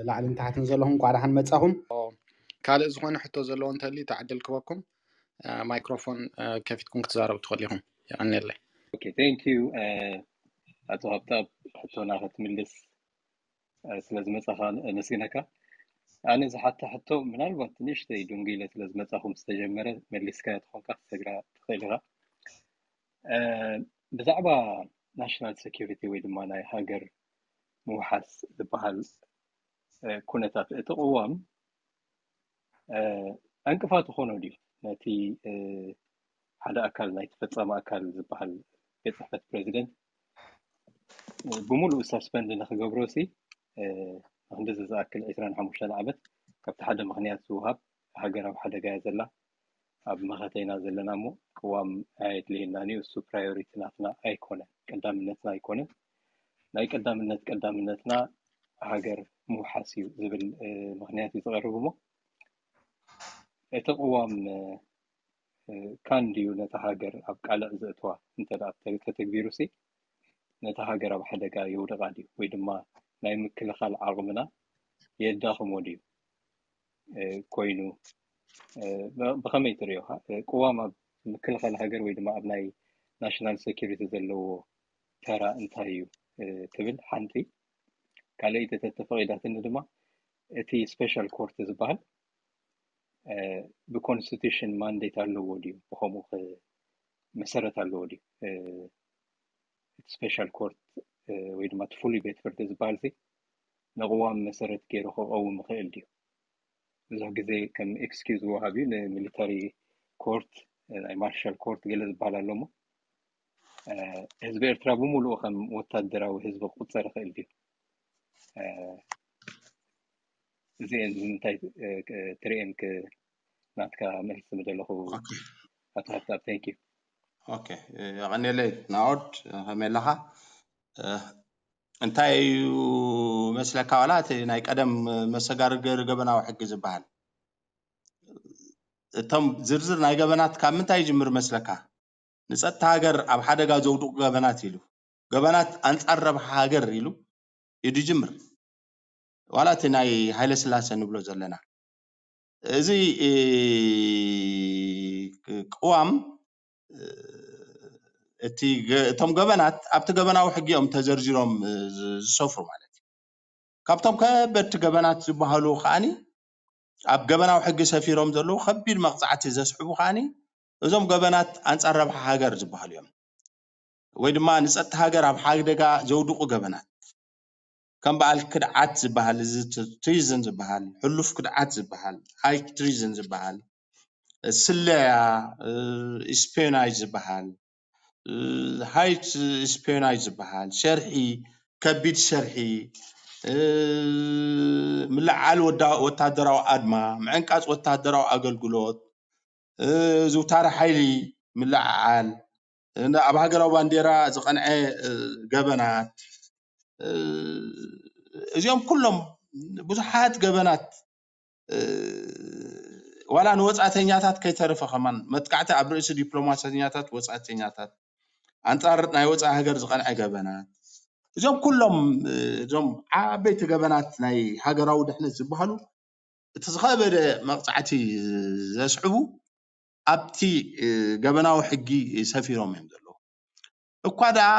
ላዕልን ታሕትን ዘለኹም እንኳዕ ደሓን መጻኹም። ካልእ ዝኾነ ሕቶ ዘለዎ እንተልዩ ተዕድል ክበኩም፣ ማይክሮፎን ከፊትኩም ክትዛረቡ ትኽእሉ ኢኹም። የቐንየለይ። Okay, thank you. ኣቶ ሃብታብ፣ ሕቶና ክትምልስ ስለ ዝመጻኻ ነመስግነካ። ኣነ ዝሓታ ሕቶ ምናልባት ንእሽተይ ዱንጊለ ስለ ዝመጻኹ ምስ ተጀመረ መሊስካዮ ትኾንካ ክትሰግራ ትኽእል ኢኻ። ብዛዕባ ናሽናል ሴኩሪቲ ወይ ድማ ናይ ሃገር ምውሓስ ዝበሃል ኩነታት፣ እቲ ቅዋም ዕንቅፋት ይኾኖ ድዩ ነቲ ሓደ ኣካል ናይቲ ፈጻሚ ኣካል ዝበሃል ቤት ጽሕፈት ፕሬዚደንት ብምሉእ ሳስፐንድ ንክገብሮ ሲ ንክንድዚ ዝኣክል ዕስራን ሓሙሽተን ዓመት ካብቲ ሓደ ምኽንያት ዝወሃብ ሃገር ኣብ ሓደጋ እያ ዘላ፣ ኣብ መኸተይና ዘለና እሞ ቅዋም ኣየድልየናን እዩ፣ እሱ ፕራዮሪቲ ናትና ኣይኮነን፣ ቀዳምነትና ኣይኮነን፣ ናይ ቀዳምነት ቀዳምነትና ሃገር ምውሓስ እዩ ዝብል ምኽንያት እዩ ዝቐርብ እሞ እቲ ቅዋም ካን ድዩ ነታ ሃገር ኣብ ቃልዕ ዘእትዋ እንተ ተተግቢሩ ሲ ነታ ሃገር ኣብ ሓደጋ የውድቓ ድዩ ወይ ድማ ናይ ምክልኻል ዓቕምና የዳኽሞ ድዩ ኮይኑ ብኸመይ ትርእዮ? ቅዋም ኣብ ምክልኻል ሃገር ወይ ድማ ኣብ ናይ ናሽናል ሴኩሪቲ ዘለዎ ተራ እንታይ እዩ ትብል ሓንቲ። ካልኣይቲ ተተፈቒዳትኒ ድማ እቲ ስፔሻል ኮርት ዝበሃል ብኮንስቲቱሽን ማንዴት ኣለዎ ድዩ? ብኸምኡ መሰረት ኣለዎ ድዩ? እቲ ስፔሻል ኮርት ወይ ድማ እቲ ፍሉይ ቤት ፍርዲ ዝበሃል ሲ ንቅዋም መሰረት ገይሩ ክቐውም ይኽእል ድዩ? ብዙሕ ግዜ ከም ኤክስኪውዝ ወሃብ እዩ። ንሚሊተሪ ኮርት፣ ናይ ማርሻል ኮርት ገለ ዝበሃል ኣሎ እሞ ህዝቢ ኤርትራ ብምሉኡ ከም ወታደራዊ ህዝቢ ክቁጸር ይኽእል ድዩ? እዚአን እንታይ ትርእየን? ናትካ መልሲ ምደለኹ ኣቶ ሃብታብ። Thank you። ኦኬ፣ የቐንየለይ ናኦድ። ከመይ ኣለኻ? እንታይ እዩ መስለካ? ዋላ እቲ ናይ ቀደም መሰጋገሪ ገበናዊ ሕጊ ዝበሃል፣ እቶም ዝርዝር ናይ ገበናት ካብ ምንታይ ይጅምር መስለካ? ንጸጥታ ሃገር ኣብ ሓደጋ ዘውድቑ ገበናት ኢሉ፣ ገበናት ኣንጻር ረብሓ ሃገር ኢሉ እዩ ዝጅምር። ዋላ እቲ ናይ ሃይለ ስላሴ ንብሎ ዘለና እዚ ቅዋም እቲ እቶም ገበናት ኣብቲ ገበናዊ ሕጊ እዮም ተዘርዚሮም ዝሰፍሩ ማለት እዩ። ካብቶም ከበድቲ ገበናት ዝበሃሉ ከዓኒ ኣብ ገበናዊ ሕጊ ሰፊሮም ዘለዉ ከቢድ መቕጻዕቲ ዘስዕቡ ከዓኒ እዞም ገበናት ኣንጻር ረብሓ ሃገር ዝበሃሉ እዮም። ወይ ድማ ንጸጥታ ሃገር ኣብ ሓደጋ ዘውድቑ ገበናት ከም በዓል ክድዓት ዝበሃል፣ እዚ ትሪዝን ዝበሃል፣ ሕሉፍ ክድዓት ዝበሃል፣ ሃይ ትሪዝን ዝበሃል፣ ስለያ፣ ስፒዮናጅ ዝበሃል፣ ሃይ ስፒዮናጅ ዝበሃል፣ ሸርሒ፣ ከቢድ ሸርሒ፣ ምልዓል ወታደራዊ ኣድማ፣ ምዕንቃጽ ወታደራዊ ኣገልግሎት፣ ዝውታረ ሓይሊ ምልዕዓል፣ ኣብ ሃገራዊ ባንዴራ ዝቐንዐ ገበናት፣ እዚኦም ኩሎም ብዙሓት ገበናት ዋላ ንወፃእተኛታት ከይተረፈ ከማን መጥቃዕቲ ኣብ ርእሲ ዲፕሎማሰኛታት ወፃእተኛታት ኣንፃር ናይ ወፃኢ ሃገር ዝቐንዐ ገበናት እዚኦም ኩሎም እዞም ዓበይቲ ገበናት ናይ ሃገራዊ ድሕነት ዝበሃሉ እቲ ዝኸበደ መቕፃዕቲ ዘስዕቡ ኣብቲ ገበናዊ ሕጊ ሰፊሮም እዮም ዘለዉ። እኳ ደኣ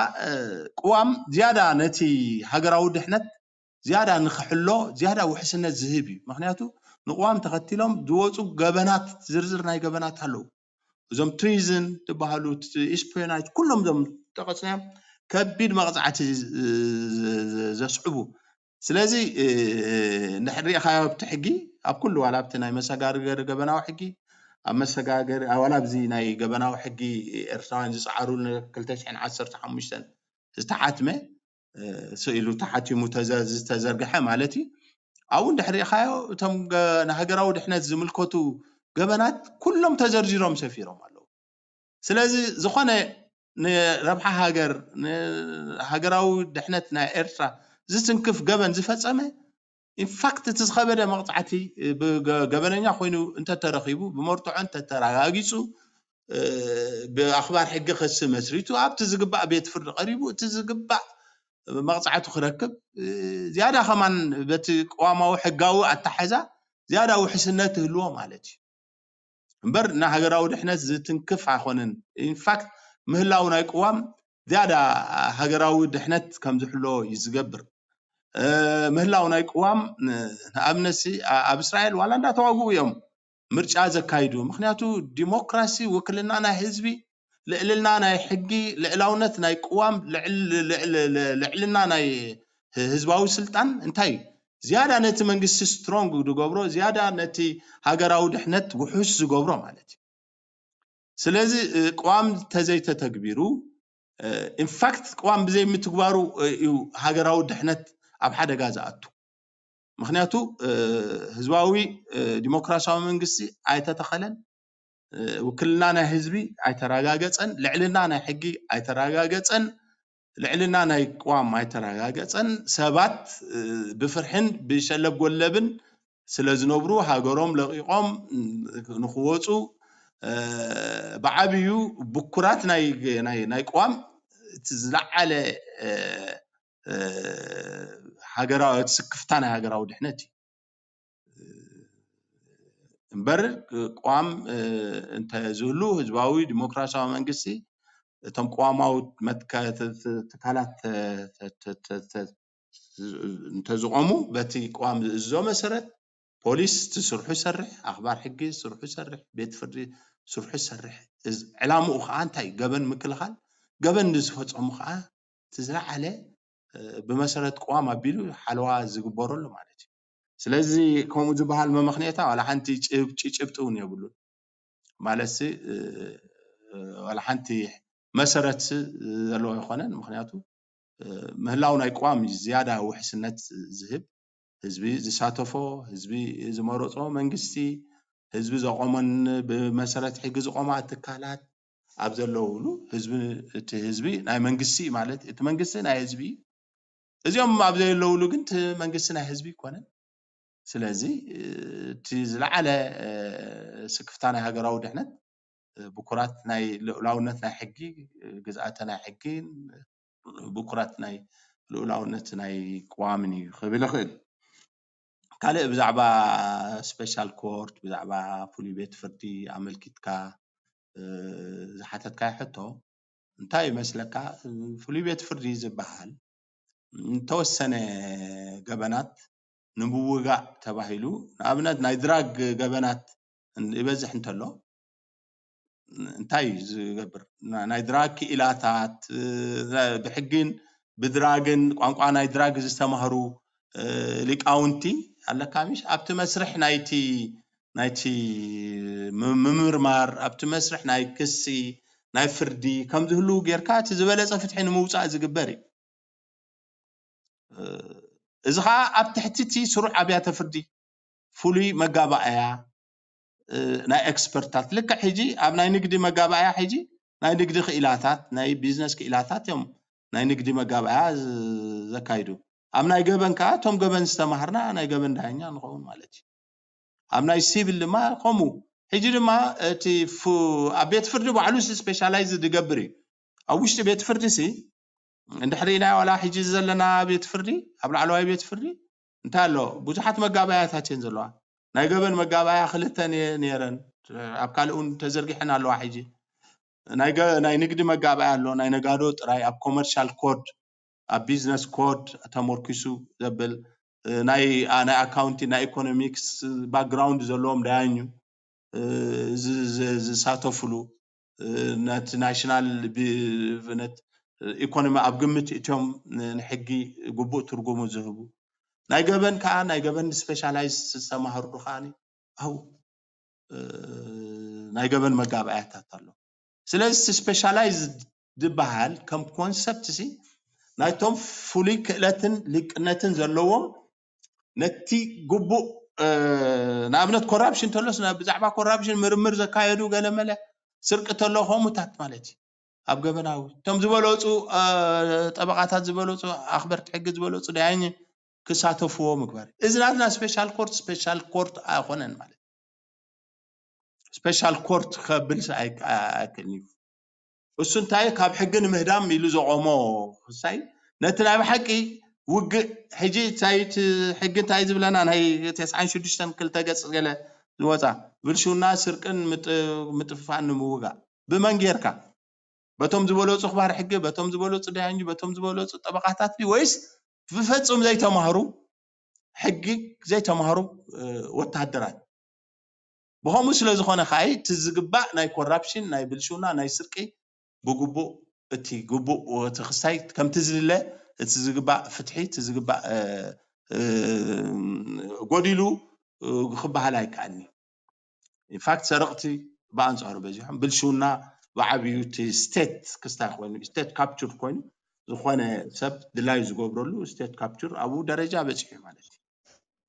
ቅዋም ዝያዳ ነቲ ሃገራዊ ድሕነት ዝያዳ ንክሕሎ ዝያዳ ውሕስነት ዝህብ እዩ። ምክንያቱ ንቅዋም ተኸቲሎም ዝወፁ ገበናት ዝርዝር ናይ ገበናት ኣለዉ። እዞም ትሪዝን ዝበሃሉ ስፒዮናጅ ኩሎም እዞም ጠቐስናዮም ከቢድ መቕፃዕቲ ዘስዕቡ ስለዚ እንድሕር ሪኢኻዮ ኣብቲ ሕጊ ኣብ ኩሉ ዋላ ኣብቲ ናይ መሰጋገሪ ገበናዊ ሕጊ ኣብ መሰጋገሪ ዋላ ኣብዚ ናይ ገበናዊ ሕጊ ኤርትራውያን ዝፀዓሩ ክልተ ሽሕን ዓሰርተ ሓሙሽተን ዝተሓትመ ስኢሉ ተሓቲሙ ዝተዘርግሐ ማለት እዩ። ኣብኡ እንድሕር ሪኢኻዮ እቶም ንሃገራዊ ድሕነት ዝምልከቱ ገበናት ኩሎም ተዘርዚሮም ሰፊሮም ኣለዉ። ስለዚ ዝኾነ ንረብሓ ሃገር ንሃገራዊ ድሕነት ናይ ኤርትራ ዝትንክፍ ገበን ዝፈጸመ ኢንፋክት እቲ ዝኸበደ መቕፃዕቲ ገበነኛ ኮይኑ እንተተረኺቡ ብመርትዖ እንተተረጋጊፁ ብኣኽባር ሕጊ ክሲ መስሪቱ ኣብቲ ዝግባእ ቤት ፍርዲ ቀሪቡ እቲ ዝግባእ መቕፃዕቱ ክረክብ ዝያዳ ከማን በቲ ቅዋማዊ ሕጋዊ ኣታሓዛ ዝያዳ ውሕስነት ትህልዎ ማለት እዩ። እምበር ንሃገራዊ ድሕነት ዝትንክፍ ኣይኮነን። ኢንፋክት ምህላው ናይ ቅዋም ዝያዳ ሃገራዊ ድሕነት ከም ዝሕሎ እዩ ዝገብር። ምህላው ናይ ቅዋም ንኣብነት ኣብ እስራኤል ዋላ እንዳተዋግኡ እዮም ምርጫ ዘካይዱ። ምክንያቱ ዲሞክራሲ፣ ውክልና ናይ ህዝቢ፣ ልዕልና ናይ ሕጊ፣ ልዕላውነት ናይ ቅዋም፣ ልዕልና ናይ ህዝባዊ ስልጣን እንታይ እዩ ዝያዳ ነቲ መንግስቲ ስትሮንግ ዝገብሮ፣ ዝያዳ ነቲ ሃገራዊ ድሕነት ውሑስ ዝገብሮ ማለት እዩ። ስለዚ ቅዋም ተዘይተተግቢሩ፣ ኢንፋክት ቅዋም ብዘይምትግባሩ እዩ ሃገራዊ ድሕነት ኣብ ሓደጋ ዝኣቱ። ምክንያቱ ህዝባዊ ዲሞክራሲያዊ መንግስቲ ኣይተተኸለን፣ ውክልና ናይ ህዝቢ ኣይተረጋገፀን፣ ልዕልና ናይ ሕጊ ኣይተረጋገፀን፣ ልዕልና ናይ ቅዋም ኣይተረጋገፀን። ሰባት ብፍርሕን ብሸለብ ጎለብን ስለ ዝነብሩ ሃገሮም ለቒቖም ንክወፁ ብዓብዩ ብኩራት ናይ ቅዋም እቲ ዝለዓለ ሃገራዊ ስክፍታ ናይ ሃገራዊ ድሕነት እዩ። እምበር ቅዋም እንተዝህሉ ህዝባዊ ዲሞክራሲያዊ መንግስቲ እቶም ቅዋማዊ ትካላት እንተዝቆሙ በቲ ቅዋም ዝእዝዞ መሰረት ፖሊስ ስርሑ ይሰርሕ፣ ኣኽባር ሕጊ ስርሑ ይሰርሕ፣ ቤት ፍርዲ ስርሑ ይሰርሕ። ዕላምኡ ከዓ እንታይ? ገበን ምክልኻል፣ ገበን ንዝፈፀሙ ከዓ እቲ ዝለዓለ ብመሰረት ቅዋም ኣቢሉ ሓለዋ ዝግበረሉ ማለት እዩ። ስለዚ ከምኡ ዝበሃል መመኽንያታ ዋላ ሓንቲ ጭብጢ እውን የብሉን። ማለትሲ ዋላ ሓንቲ መሰረት ዘለዎ ኣይኮነን። ምክንያቱ ምህላው ናይ ቅዋም ዝያዳ ውሕስነት ዝህብ፣ ህዝቢ ዝሳተፎ፣ ህዝቢ ዝመረፆ መንግስቲ፣ ህዝቢ ዘቆመን ብመሰረት ሕጊ ዝቆማ ትካላት ኣብ ዘለውሉ ህዝቢ፣ እቲ ህዝቢ ናይ መንግስቲ ማለት እቲ መንግስቲ ናይ ህዝቢ እዩ። እዚኦም ኣብ ዘለውሉ ግን እቲ መንግስቲ ናይ ህዝቢ ይኮነን። ስለዚ እቲ ዝለዓለ ስክፍታ ናይ ሃገራዊ ድሕነት ብኩራት ናይ ልኡላውነት ናይ ሕጊ፣ ግዝኣተ ናይ ሕጊ፣ ብኩራት ናይ ልኡላውነት ናይ ቅዋምን እዩ ክብል ይኽእል። ካልእ ብዛዕባ ስፔሻል ኮርት፣ ብዛዕባ ፍሉይ ቤት ፍርዲ ኣመልኪትካ ዝሓተትካዮ ሕቶ እንታይ ይመስለካ? ፍሉይ ቤት ፍርዲ ዝበሃል እንተወሰነ ገበናት ንምውጋእ ተባሂሉ፣ ንኣብነት ናይ ድራግ ገበናት ይበዝሕ እንተሎ እንታይ እዩ ዝገብር? ናይ ድራግ ክኢላታት ብሕግን ብድራግን ቋንቋ ናይ ድራግ ዝተማህሩ ሊቃውንቲ ኣለካ ምሽ ኣብቲ መስርሕ ናይቲ ናይቲ ምምርማር ኣብቲ መስርሕ ናይ ክሲ ናይ ፍርዲ ከም ዝህልው ጌርካ እቲ ዝበለፀ ፍትሒ ንምውፃእ ዝግበር እዩ። እዚ ከዓ ኣብ ትሕቲ እቲ ስሩዕ ኣብያተ ፍርዲ ፍሉይ መጋባእያ ናይ ኤክስፐርታት ልክዕ ሕጂ ኣብ ናይ ንግዲ መጋባእያ ሕጂ ናይ ንግዲ ክኢላታት ናይ ቢዝነስ ክኢላታት እዮም ናይ ንግዲ መጋባእያ ዘካይዱ። ኣብ ናይ ገበን ከዓ እቶም ገበን ዝተማሃርና ናይ ገበን ዳኛ ንኸውን ማለት እዩ። ኣብ ናይ ሲቪል ድማ ከምኡ። ሕጂ ድማ እቲ ኣብ ቤት ፍርዲ ባዕሉ ስፔሻላይዝ ዝገብር እዩ። ኣብ ውሽጢ ቤት ፍርዲ ሲ እንድሕሪና ዋላ ሕጂ ዘለና ቤት ፍርዲ ኣብ ላዕለዋይ ቤት ፍርዲ እንታይ ኣሎ? ብዙሓት መጋባያታት እየን ዘለዋ። ናይ ገበን መጋባያ ክልተ ነይረን ኣብ ካልእ እውን ተዘርጊሐን ኣለዋ። ሕጂ ናይ ንግዲ መጋባያ ኣሎ፣ ናይ ነጋዶ ጥራይ ኣብ ኮመርሻል ኮድ ኣብ ቢዝነስ ኮድ ተመርኪሱ ዘብል ናይ ኣካውንቲንግ ናይ ኢኮኖሚክስ ባክግራውንድ ዘለዎም ዳያኙ ዝሳተፍሉ ነቲ ናሽናል ኢኮኖሚ ኣብ ግምት እትዮም ንሕጊ ግቡእ ትርጉሙ ዝህቡ ናይ ገበን ከዓ ናይ ገበን ስፔሻላይዝ ዝተማሃሩ ከዓ ኣብኡ ናይ ገበን መጋባእያታት ኣሎ። ስለዚ ስፔሻላይዝ ዝበሃል ከም ኮንሰፕት ሲ ናይቶም ፍሉይ ክእለትን ሊቅነትን ዘለዎም ነቲ ግቡእ ንኣብነት ኮራፕሽን ተሎስ ብዛዕባ ኮራፕሽን ምርምር ዘካየዱ ገለመለ ስርቂ ተሎ ከምኡታት ማለት እዩ። ኣብ ገበናዊ እቶም ዝበለፁ ጠበቃታት ዝበለፁ ኣክበርቲ ሕጊ ዝበለፁ ዳያኝ ክሳተፍዎ ምግባር እዚ ናትና ስፔሻል ኮርት ስፔሻል ኮርት ኣይኮነን ማለት ስፔሻል ኮርት ከብል ኣይክእልን እዩ። እሱ እንታይ ካብ ሕጊ ንምህዳም ኢሉ ዘቆሞ ክሳይ ነቲ ናይ ብሓቂ ውግእ ሕጂ እንታይ እቲ ሕጊ እንታይ ዝብለና ናይ ተስዓን ሽዱሽተን ክልተ ገጽ ገለ ዝወጻ ብልሽውና ስርቅን ምጥ- ምጥፍፋን ንምውጋእ ብመን ጌርካ በቶም ዝበለጹ ክባር ሕጊ በቶም ዝበለጹ ዳያኙ በቶም ዝበለጹ ጠበቃታት ድዩ ወይስ ብፈጹም ዘይተማህሩ ሕጊ ዘይተማህሩ ወታደራት ብኸምኡ ስለ ዝኾነ ከኣ እቲ ዝግባእ ናይ ኮራፕሽን ናይ ብልሽውና ናይ ስርቂ ብግቡእ እቲ ግቡእ እቲ ክሳይ ከምቲ ዝድለ እቲ ዝግባእ ፍትሒ እቲ ዝግባእ ጎዲሉ ክበሃል ኣይከኣልኒ ኢንፋክት ሰረቕቲ ብኣንፃሩ በዚሖም ብልሽውና ብዓብዩ እቲ ስቴት ክስታይ ኮይኑ ስቴት ካፕቹር ኮይኑ ዝኾነ ሰብ ድላዩ ዝገብረሉ ስቴት ካፕቹር ኣብኡ ደረጃ በፂሑ ማለት እዩ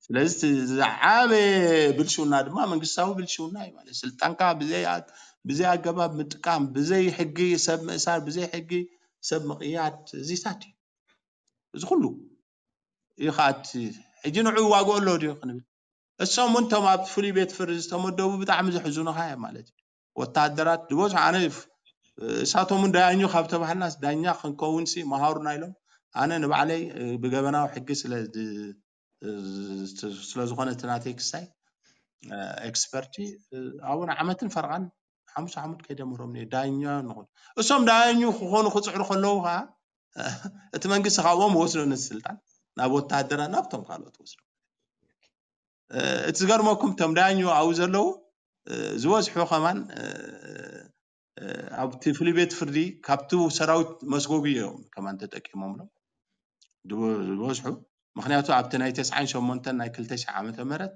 ስለዚ ዝዓበየ ብልሽውና ድማ መንግስታዊ ብልሽውና እዩ ማለት ስልጣንካ ብዘይ ኣገባብ ምጥቃም ብዘይ ሕጊ ሰብ ምእሳር ብዘይ ሕጊ ሰብ ምቕያድ እዚታት እዩ እዚ ኩሉ እዩ ከዓ ሕጂ ንዑ ዋግኦ ኣሎ ድዩ ክንብል እሶም እውን ቶም ኣብ ፍሉይ ቤት ፍርዲ ዝተመደቡ ብጣዕሚ ዘሕዝኑኻ እዮም ማለት እዩ ወታደራት ዝበዝሑ ኣነ እሳቶም እውን ዳያኙ ካብ ተባሃልና ዳኛ ክንከውን ሲ መሃሩና ኢሎም ኣነ ንባዕለይ ብገበናዊ ሕጊ ስለ ስለዝኾነ እቲ ናተይ ክሳይ ኤክስፐርቲ ኣብኡ ንዓመትን ፈርቓን ሓሙስ ዓመት ከይደምሮም ዳኛ ንኾኑ እሶም ዳያኙ ክኾኑ ክፅዕሩ ከለዉ ከዓ እቲ መንግስቲ ካብኦም ወስዶ ነቲ ስልጣን ናብ ወታደራ ናብቶም ካልኦት ወስዶ እቲ ዝገርመኩም እቶም ዳያኙ ኣብኡ ዘለዉ ዝበዝሑ ከማን ኣብቲ ፍሉይ ቤት ፍርዲ ካብቲ ሰራዊት መስጎጉ እዮም ከማን ተጠቂሞምሎም ዝበዝሑ ምክንያቱ ኣብቲ ናይ ተስዓን ሸሞንተን ናይ ክልተ ሺሕ ዓመተ ምህረት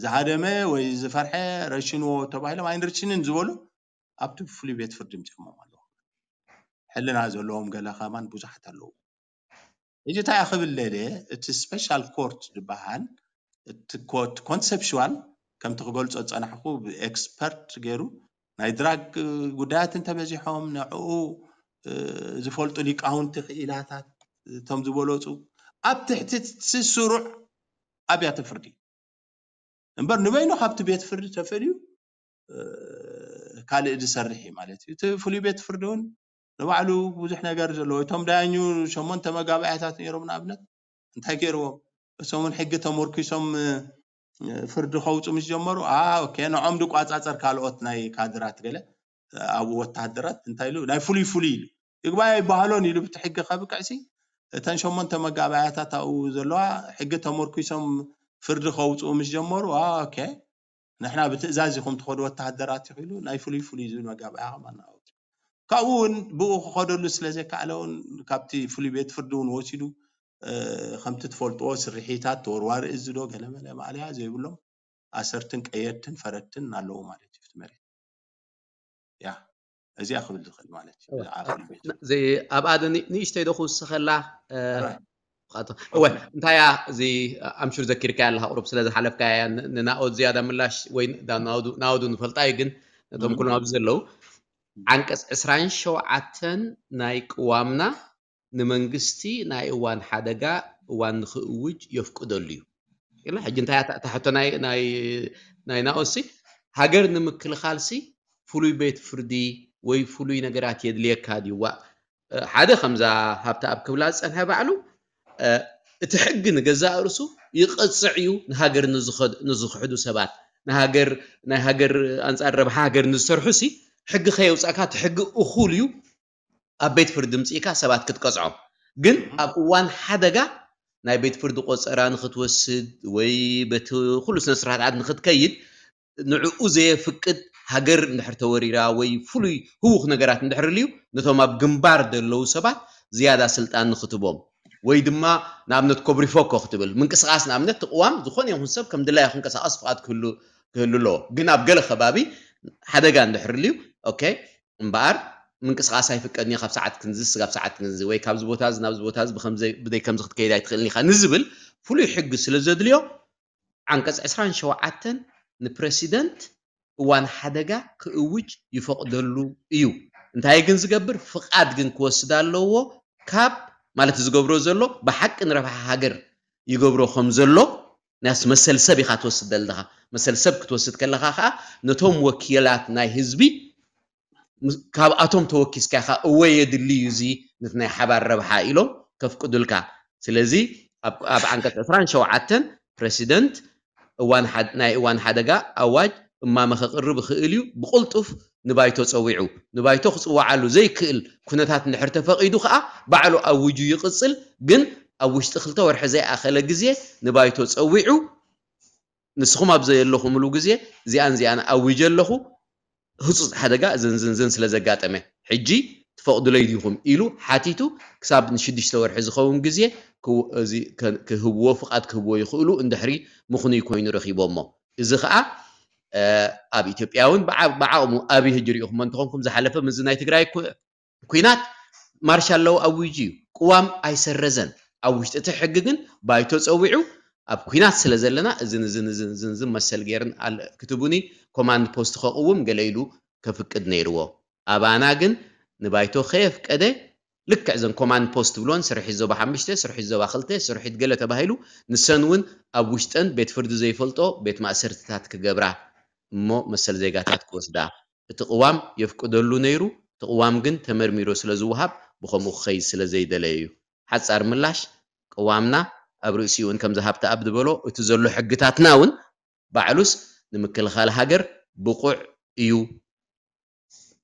ዝሃደመ ወይ ዝፈርሐ ረሽንዎ ተባሂሎም ኣይንርሽንን ዝበሉ ኣብቲ ፍሉይ ቤት ፍርዲ ምፅኦሞም ኣለዉ ሕልና ዘለዎም ገለ ከማን ብዙሓት ኣለዉ ሕጂ እንታይ ክብል ደልየ እቲ ስፔሻል ኮርት ዝበሃል እቲ ኮንሰፕሽዋል ከምቲ ክገልፆ ዝፀናሕኩ ብኤክስፐርት ገይሩ ናይ ድራግ ጉዳያት እንተበዚሖም ንዕኡ ዝፈልጡ ሊቃውንቲ ክኢላታት እቶም ዝበለፁ ኣብ ትሕቲ ስሩዕ ኣብያተ ፍርዲ እምበር ንበይኑ ካብቲ ቤት ፍርዲ ተፈልዩ ካልእ ዝሰርሕ እዩ ማለት እዩ እቲ ፍሉይ ቤት ፍርዲ እውን ንባዕሉ ብዙሕ ነገር ዘለዎ እቶም ዳያኙ ሸሞንተ መጋባእያታት ነይሮም ንኣብነት እንታይ ገይርዎም እሶምን ሕጊ ተመርኪሶም ፍርዲ ከውፁ ምስ ጀመሩ ኦኬ ንዖም ድቋፃፀር ካልኦት ናይ ካድራት ገለ ኣብኡ ወታሃደራት እንታይ ኢሉ ናይ ፍሉይ ፍሉይ ኢሉ ይግባይ ኣይበሃሎን ኢሉ ብቲ ሕጊ ከብቅዕሲ እተን ሸሞንተ መጋባእያታት ኣብኡ ዘለዋ ሕጊ ተመርኪሶም ፍርዲ ከውፅኡ ምስ ጀመሩ ኦኬ ንሕና ብትእዛዝ ኢኹም ትኸዱ ወታሃደራት ኢኹ ኢሉ ናይ ፍሉይ ፍሉይ ዝብል መጋባእያ ከማን ኣውፅኡ ካብኡ እውን ብኡ ክኸደሉ ስለ ዘይከኣለ እውን ካብቲ ፍሉይ ቤት ፍርዲ እውን ወሲዱ ከምቲ ትፈልጥዎ ስርሒታት ተወርዋሪ እዚ ዶ ገለመለ ማእለያ ዘይብሎም ኣሰርትን ቀየድትን ፈረድትን ኣለዉ ማለት እዩ መሬት ያ እዚኣ ክብል ዝኽእል ማለት እዩ ኣብኣ ንእሽተይ ዶ ክውስኸላ እወ እንታይ እያ እዚ ኣምሹር ዘኪርካ ኣለካ ቁሩብ ስለ ዝሓለፍካ እያ ንናኦድ ዝያዳ ምላሽ ወይ ናውዱ ንፈልጣ እዩ ግን ነቶም ኩሎም ኣብዚ ዘለዉ ዓንቀፅ ዕስራን ሸውዓተን ናይ ቅዋምና ንመንግስቲ ናይ እዋን ሓደጋ እዋን ንክእውጅ የፍቅደሉ እዩ ኢልና ሕጂ እንታይ እያ እታ ሕቶ ናይ ናይ ናይ ናኦሲ ሃገር ንምክልኻልሲ ፍሉይ ቤት ፍርዲ ወይ ፍሉይ ነገራት የድልየካ ድዩ ዋእ ሓደ ከምዛ ሃብተኣብ ክብላ ዝፀንሐ ባዕሉ እቲ ሕጊ ንገዛእ ርእሱ ይቐፅዕ እዩ ንሃገር ንዝኸድ- ንዝኽሕዱ ሰባት ንሃገር ናይ ሃገር ኣንፃር ረብሓ ሃገር ንዝሰርሑ ሲ ሕጊ ከየውፃእካ እቲ ሕጊ እኹል እዩ ኣብ ቤት ፍርዲ ምፅእካ ሰባት ክትቀፅዖም ግን ኣብ እዋን ሓደጋ ናይ ቤት ፍርዲ ቆፀራ ንክትወስድ ወይ በቲ ኩሉ ስነ ስርዓት ንክትከይድ ንዕኡ ዘየፍቅድ ሃገር እንድሕር ተወሪራ ወይ ፍሉይ ህውኽ ነገራት እንድሕር ልዩ ነቶም ኣብ ግንባር ዘለዉ ሰባት ዝያዳ ስልጣን ንክትቦም ወይ ድማ ንኣብነት ኮብሪፎኮ ክትብል ምንቅስቃስ ንኣብነት ትቅዋም ዝኾነ ይኹን ሰብ ከም ድላዩ ክንቀሳቀስ ፍቃድ ክህሉ ኣለዎ ግን ኣብ ገለ ከባቢ ሓደጋ እንድሕር ልዩ ኦኬ እምበኣር ምንቅስቃስ ኣይፍቀድን ካብ ሰዓት ክንዚ ስጋብ ሰዓት ክንዚ ወይ ካብዚ ቦታ እዚ ናብዚ ቦታ እዚ ብከምዚ ብደይ ከምዚ ክትከይድ ኣይትኽእልን ኢኻ ንዝብል ፍሉይ ሕጊ ስለ ዘድልዮ ዓንቀፅ ዕስራን ሸውዓተን ንፕረሲደንት እዋን ሓደጋ ክእውጅ ይፈቕደሉ እዩ። እንታይ ግን ዝገብር ፍቓድ ግን ክወስድ ኣለዎ ካብ ማለት ዝገብሮ ዘሎ ብሓቂ ንረብሓ ሃገር ይገብሮ ከም ዘሎ ናስ መሰል ሰብ ኢኻ ትወስድ ዘለኻ። መሰል ሰብ ክትወስድ ከለኻ ከዓ ነቶም ወኪላት ናይ ህዝቢ ምስ- ካብኣቶም ተወኪስካ ኢኻ፣ እወ የድሊ እዩ እዚ ነቲ ናይ ሓባር ረብሓ ኢሎም ከፍቅዱልካ። ስለዚ ኣብ ኣብ ዓንቀጽ ዕስራን ሸውዓተን ፕረሲደንት እዋን ሓድ- ናይ እዋን ሓደጋ ኣዋጅ እማመ ከቕርብ ይኽእል እዩ። ብቕልጡፍ ንባይቶ ጸዊዑ፣ ንባይቶ ክጽወዓሉ ዘይክእል ኩነታት እንድሕር ተፈቒዱ ከኣ ባዕሉ ኣዊጁ ይቕጽል። ግን ኣብ ውሽጢ ክልተ ወርሒ ዘይኣኸለ ግዜ ንባይቶ ጸዊዑ፣ ንስኹም ኣብ ዘየለኹምሉ ግዜ እዚኣን እዚኣን ኣዊጀ ኣለኹ፣ ህጹጽ ሓደጋ እዝን ዝንዝን ስለ ዘጋጠመ ሕጂ ትፈቕዱለይ ዲኹም ኢሉ ሓቲቱ ክሳብ ንሽዱሽተ ወርሒ ዝኸውን ግዜ ክው- እዚ ከ- ክህብዎ ፍቓድ ክህብዎ ይኽእሉ እንድሕሪ ምኽኑይ ኮይኑ ረኺቦሞ። እዚ ኸኣ ኣብ ኢትዮጵያ እውን ብዓቕሙ ኣብይ ህጂ ሪኢኹሞ እንተኾንኩም ዝሓለፈ ምዚ ናይ ትግራይ ኩናት ማርሻል ሎው ኣዊጁ እዩ። ቅዋም ኣይሰረዘን። ኣብ ውሽጢ እቲ ሕጊ ግን ባይቶ ፀዊዑ ኣብ ኩናት ስለ ዘለና እዝን እዝን እዝን እዝን እዝን መሰል ገይርን ክትቡኒ ኮማንድ ፖስት ከቕውም ገለ ኢሉ ከፍቅድ ነይርዎ። ኣባና ግን ንባይቶ ከየፍቀደ ልክዕ ዘን ኮማንድ ፖስት ትብሎን ስርሒት ዞባ ሓሙሽተ፣ ስርሒት ዞባ ክልተ፣ ስርሒት ገለ ተባሂሉ ንሰን እውን ኣብ ውሽጠን ቤት ፍርዲ ዘይፈልጦ ቤት ማእሰርትታት ክገብራ እሞ መሰል ዜጋታት ክወስዳ እቲ ቅዋም የፍቅደሉ ነይሩ። እቲ ቅዋም ግን ተመርሚሩ ስለ ዝወሃብ ብኸምኡ ክኸይድ ስለ ዘይደለየ እዩ። ሓፃር ምላሽ ቅዋምና ኣብ ርእሲኡ እውን ከምዚ ሃብተኣብ ዝበሎ እቲ ዘሎ ሕግታትና እውን ባዕሉስ ንምክልኻል ሃገር ብቑዕ እዩ።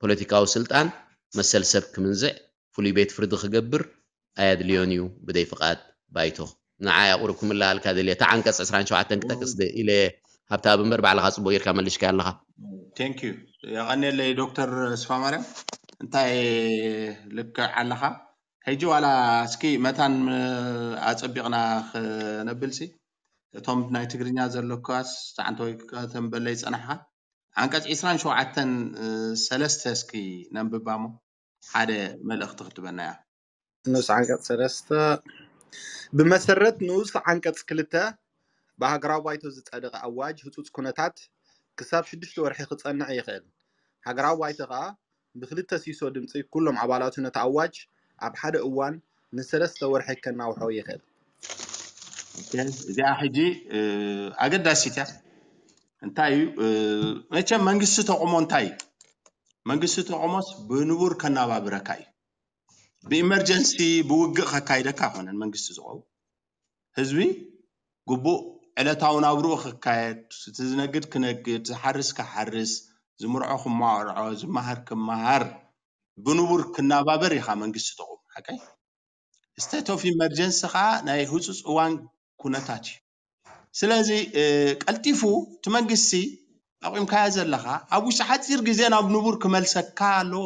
ፖለቲካዊ ስልጣን መሰል ሰብ ክምንዝዕ ፍሉይ ቤት ፍርዲ ክገብር ኣየድልዮን እዩ ብደይ ፍቓድ ባይቶ። ንዓይ ኣቑርብኩምላ ኣልካ ደልየ እታ ዓንቀፅ ዕስራን ሸውዓተን ክጠቅስ ደ- ኢለ ሃብተኣብ እምበር ባዕልኻ ፅቡቅ ጌርካ መሊሽካ ኣለኻ። ቴንክ ዩ። የቐንየለይ ዶክተር ስፋማርያም፣ እንታይ ልክዕ ኣለኻ። ሕጂ ዋላ እስኪ መታን ኣፀቢቕና ክነብልሲ እቶም ናይ ትግርኛ ዘለኳስ ፃዕንተወይ ከተንበለይ ፀናሕኻ። ዓንቀፅ ዕስራን ሸውዓተን ሰለስተ እስኪ ነንብባሞ ሓደ መልእኽቲ ክትበና እያ። ንኡስ ዓንቀፅ ሰለስተ ብመሰረት ንኡስ ዓንቀፅ ክልተ ብሃገራዊ ባይቶ ዝፀደቐ ኣዋጅ ህፁፅ ኩነታት ክሳብ ሽዱሽተ ወርሒ ክፀንዕ ይኽእል። ሃገራዊ ባይቶ ከዓ ብክልተ ሲሶ ድምፂ ኩሎም ኣባላቱ ነቲ ኣዋጅ ኣብ ሓደ እዋን ንሰለስተ ወርሒ ከናውሖ ይኽእል። እዚኣ ሕጂ ኣገዳሲት እያ። እንታይ እዩ መቸም መንግስቲ ተቆሞ እንታይ እዩ? መንግስቲ ተቆሞስ ብንቡር ከናባብረካ እዩ። ብኢመርጀንሲ ብውግእ ከካይደካ ኣይኮነን መንግስቲ ዝቆም። ህዝቢ ግቡእ ዕለታዊ ናብርኡ ክካየድ፣ እቲ ዝነግድ ክነግድ፣ ዝሓርስ ክሓርስ፣ ዝምርዖ ክማርዖ፣ ዝመሃር ክመሃር ብንቡር ክናባበር ኢኻ መንግስቲ ተቆም። ሓቀይ state of emergency ከዓ ናይ ህፁፅ እዋን ኩነታት እዩ። ስለዚ ቀልጢፉ እቲ መንግስቲ ኣቑምካዮ ዘለኻ ኣብ ውሽጢ ሓፂር ግዜ ናብ ንቡር ክመልሰካ ኣለዎ።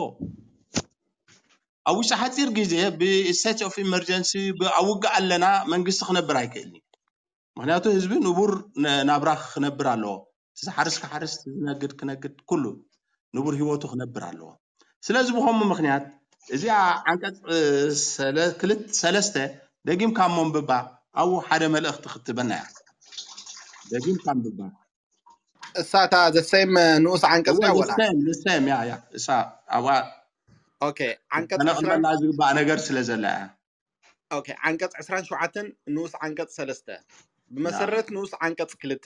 ኣብ ውሽጢ ሓፂር ግዜ ብ state of emergency ኣብ ውግእ ኣለና መንግስቲ ክነብር ኣይክእልን እዩ። ምክንያቱ ህዝቢ ንቡር ናብራ ክነብር ኣለዎ። ዝሓርስ ክሓርስ፣ ዝነግድ ክነግድ፣ ኩሉ ንቡር ሂወቱ ክነብር ኣለዎ። ስለዚ ብኸምኡ ምክንያት እዚኣ ዓንቀፅ ክልተ ሰለስተ ደጊምካ እሞ ኣንብባ ኣብኡ ሓደ መልእኽቲ ክትበና እያ። ደጊምካ ኣንብባ። እሳታ ዘሰይም ንኡስ ዓንቀፅ እወ፣ እያ ወላ ንሰም ንሰም ያ ያ እሳ ኣብኣ ኦኬ። ዓንቀፅ ከነቕመላ ዝግባእ ነገር ስለ ዘላ እያ። ኦኬ። ዓንቀፅ ዕስራን ሸውዓተን ንኡስ ዓንቀፅ ሰለስተ ብመሰረት ንኡስ ዓንቀፅ ክልተ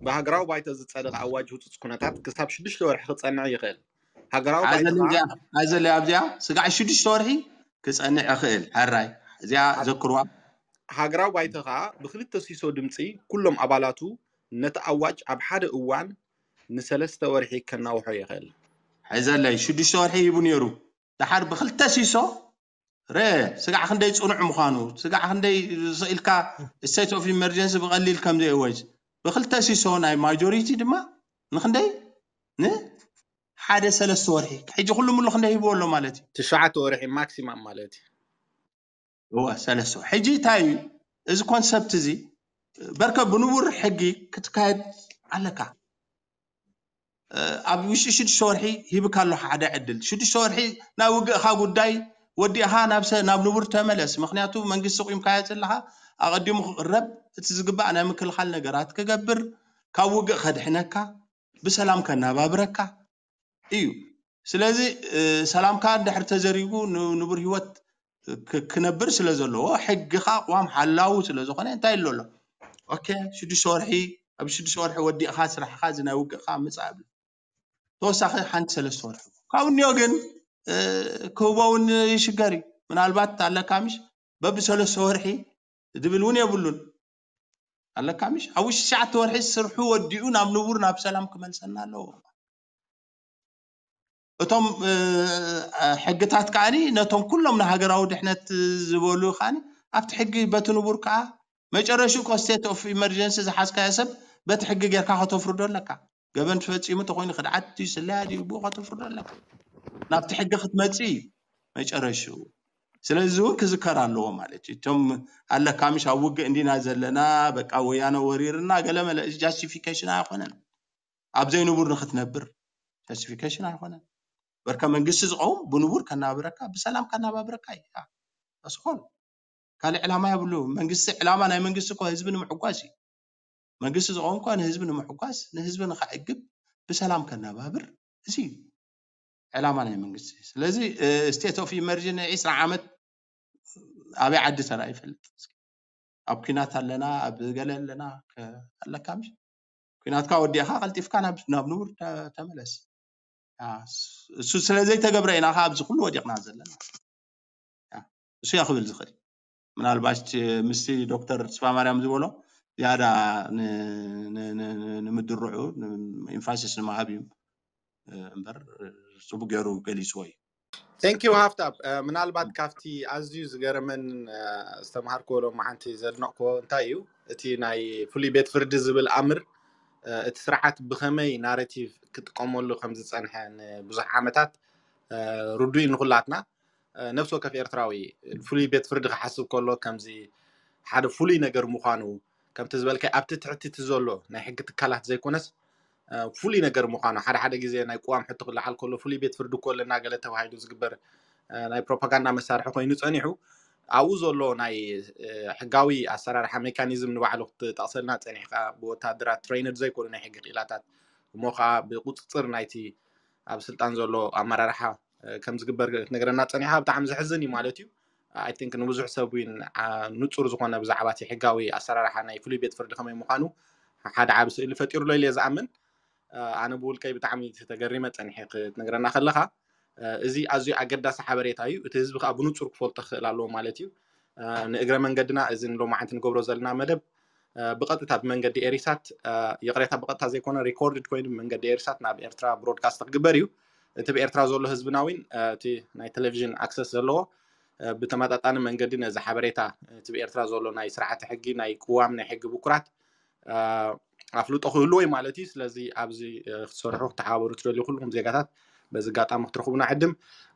ብሃገራዊ ባይቶ ዝፀደቐ ኣዋጅ ህፁፅ ኩነታት ክሳብ ሽዱሽተ ወርሒ ክፀንዕ ይኽእል። ሃገራዊ ባይቶ ኣዘለ ከዓ እዚኣ ኣዘለ ኣብዚኣ ስጋዕ ሽዱሽተ ወርሒ ክፀንዕ ይኽእል። ሕራይ እዚኣ ዘክርዋ። ሃገራዊ ባይቶ ከዓ ብክልተ ሲሶ ድምፂ ኩሎም ኣባላቱ ነቲ ኣዋጅ ኣብ ሓደ እዋን ንሰለስተ ወርሒ ከናውሖ ይኽእል። ሕዘለይ ሽዱሽተ ወርሒ ሂቡ ነይሩ። ደሓር ብክልተ ሲሶ ረ ስጋዕ ክንደይ ፅኑዕ ምዃኑ ስጋዕ ክንደይ ኢልካ state of emergency ብቐሊል ከም ዘይወጅ ብክልተ ሲሶ ናይ ማጆሪቲ ድማ ንክንደይ ንሓደ ሰለስተ ወርሒ ሕጂ ኩሉ ሙሉ ክንደይ ሂብዎ ኣሎ ማለት እዩ። ትሽዓተ ወርሒ ማክሲማም ማለት እዩ። እወ ሰለስተ ወርሒ። ሕጂ እንታይ እዩ እዚ ኮንሰፕት እዚ በርከ ብንቡር ሕጊ ክትካየድ ኣለካ። ኣብ ውሽጢ ሽዱሽተ ወርሒ ሂብካ ኣሎ ሓደ ዕድል። ሽዱሽተ ወርሒ ናይ ውግእኻ ጉዳይ ወዲእኻ ናብ ሰ- ናብ ንቡር ተመለስ። ምክንያቱ መንግስቲ ቁምካዮ ዘለኻ ኣቐዲሙ ክቕረብ እቲ ዝግባእ ናይ ምክልኻል ነገራት ክገብር ካብ ውግእ ከድሕነካ ብሰላም ከናባብረካ እዩ። ስለዚ ሰላምካ እንድሕር ተዘሪጉ ንቡር ህይወት ክነብር ስለ ዘለዎ ሕግኻ ቅዋም ሓላዊ ስለ ዝኾነ እንታይ ኣሎ ኣሎ ኦኬ ሽዱሽተ ወርሒ ኣብ ሽዱሽተ ወርሒ ወዲእኻ ስራሕኻ እዚ ናይ ውግእኻ ምፃእ ብሎ ተወሳኺ ሓንቲ ሰለስተ ወርሒ ካብኡ እኒኦ ግን ክህቦ እውን ይሽገር እዩ። ምናልባት ኣለካ ምሽ በብሰለስተ ወርሒ ዝብል እውን የብሉን። ኣለካ ምሽ ኣብ ውሽጢ ትሽዓተ ወርሒ ስርሑ ወዲኡ ናብ ንቡር ናብ ሰላም ክመልሰና ኣለዎ። እቶም ሕግታት ከዓኒ ነቶም ኩሎም ንሃገራዊ ድሕነት ዝበሉ ከዓኒ ኣብቲ ሕጊ በቲ ንቡር ከዓ መጨረሽኡ እኮ state of emergency ዝሓዝካዮ ሰብ በቲ ሕጊ ጌርካ ከተፍርዶ ኣለካ። ገበን ፈፂሙ ተኮይኑ ክድዓት ድዩ ስለያ ድዩ ብኡ ከተፍርዶ ኣለካ። ናብቲ ሕጊ ክትመፅእ እዩ መጨረሽኡ። ስለዚ እውን ክዝከር ኣለዎ ማለት እዩ። እቶም ኣለካ ምሽ ኣብ ውግእ እንዲና ዘለና በቃ ወያነ ወሪርና ገለመለ እዚ justification ኣይኮነን። ኣብ ዘይንቡር ንክትነብር justification ኣይኮነን። በርከ መንግስቲ ዝቀውም ብንቡር ከናብረካ ብሰላም ከናባብረካ እዩ። ኣስኮል ካልእ ዕላማ የብሉ። መንግስቲ ዕላማ ናይ መንግስቲ እኮ ህዝቢ ንምሕጓስ እዩ። መንግስቲ ዝቀውም እኮ ንህዝቢ ንምሕጓስ ንህዝቢ ንከዕግብ ብሰላም ከናባብር እዚ እዩ ዕላማ ናይ መንግስቲ። ስለዚ state of emergency ዒስራ ዓመት ኣበይ ዓዲ ተራ ይፈልጥ። ኣብ ኲናት ኣለና ኣብ ገለ ኣለና ኣለካ ምሽ ኲናትካ ወዲእካ ቀልጢፍካ ናብ ንቡር ተመለስ። እሱ ስለ ዘይተገብረ ኢና ኣብዚ ኩሉ ወዲቕና ዘለና። እሱ እያ ክብል ዝኽእል። ምናልባት ምስቲ ዶክተር ተስፋ ማርያም ዝበሎ ዝያዳ ንምድርዑ emphasis ንምሃብ እዩ እምበር ጽቡቅ ገይሩ ገሊጽዎ እዩ። Thank you ሃፍታብ። ምናልባት ካብቲ ኣዝዩ ዝገረመን ዝተምሃርክዎ ሎም ሓንቲ ዘድነቕክዎ እንታይ እዩ እቲ ናይ ፍሉይ ቤት ፍርዲ ዝብል ኣምር እቲ ስርዓት ብኸመይ ናሬቲቭ ክጥቀመሉ ከም ዝጸንሐ ንብዙሕ ዓመታት ርዱይ ንኹላትና ነፍሲ ወከፍ ኤርትራዊ ፍሉይ ቤት ፍርዲ ክሓስብ ከሎ ከምዚ ሓደ ፍሉይ ነገር ምዃኑ ከምቲ ዝበልካይ ኣብቲ ትሕቲ እቲ ዘሎ ናይ ሕጊ ትካላት ዘይኮነስ ፍሉይ ነገር ምዃኑ ሓደ ሓደ ግዜ ናይ ቅዋም ሕቶ ክለዓል ከሎ ፍሉይ ቤት ፍርዲ እኮ ኣለና ገለ ተባሂሉ ዝግበር ናይ ፕሮፓጋንዳ መሳርሒ ኮይኑ ጸኒሑ ኣብኡ ዘሎ ናይ ሕጋዊ ኣሰራርሓ ሜካኒዝም ንባዕሉ ክትጠቕሰልና ጸኒሕካ ብወታደራት ትሬይንድ ዘይኮኑ ናይ ሕጊ ክኢላታት እሞ ከዓ ብቁፅፅር ናይቲ ኣብ ስልጣን ዘሎ ኣመራርሓ ከም ዝግበር ክትነግረና ፀኒሓ ብጣዕሚ ዘሕዝን እዩ ማለት እዩ። I think ንብዙሕ ሰብ እውን ንፁር ዝኾነ ብዛዕባ እቲ ሕጋዊ ኣሰራርሓ ናይ ፍሉይ ቤት ፍርዲ ከመይ ምዃኑ ሓደ ዓቢ ስእሊ ፈጢሩሎ ኢለ ዝኣምን። ኣነ ብውልቀይ ብጣዕሚ ተገሪመ ፀኒሐ ክትነግረና ከለኻ እዚ ኣዝዩ ኣገዳሲ ሓበሬታ እዩ። እቲ ህዝቢ ከዓ ብንፁር ክፈልጦ ክኽእል ኣለዎ ማለት እዩ። ንእግረ መንገድና እዚ ንሎማዓንቲ ንገብሮ ዘለና መደብ ብቐጥታ ብመንገዲ ኤሪሳት ይቕሬታ ብቐጥታ ዘይኮነ ሪኮርድድ ኮይኑ ብመንገዲ ኤሪሳት ናብ ኤርትራ ብሮድካስት ክግበር እዩ። እቲ ብኤርትራ ዘሎ ህዝብና እውን እቲ ናይ ቴሌቪዥን ኣክሰስ ዘለዎ ብተመጣጣኒ መንገዲ ነዚ ሓበሬታ እቲ ብኤርትራ ዘሎ ናይ ስርዓተ ሕጊ ናይ ቅዋም ናይ ሕጊ ብኩራት ኣፍልጦ ክህልዎ እዩ ማለት እዩ። ስለዚ ኣብዚ ክትሰርሑ ክትሓባበሩ ትደልዩ ኩልኩም ዜጋታት በዚ ኣጋጣሚ ክትረኽቡና ዕድም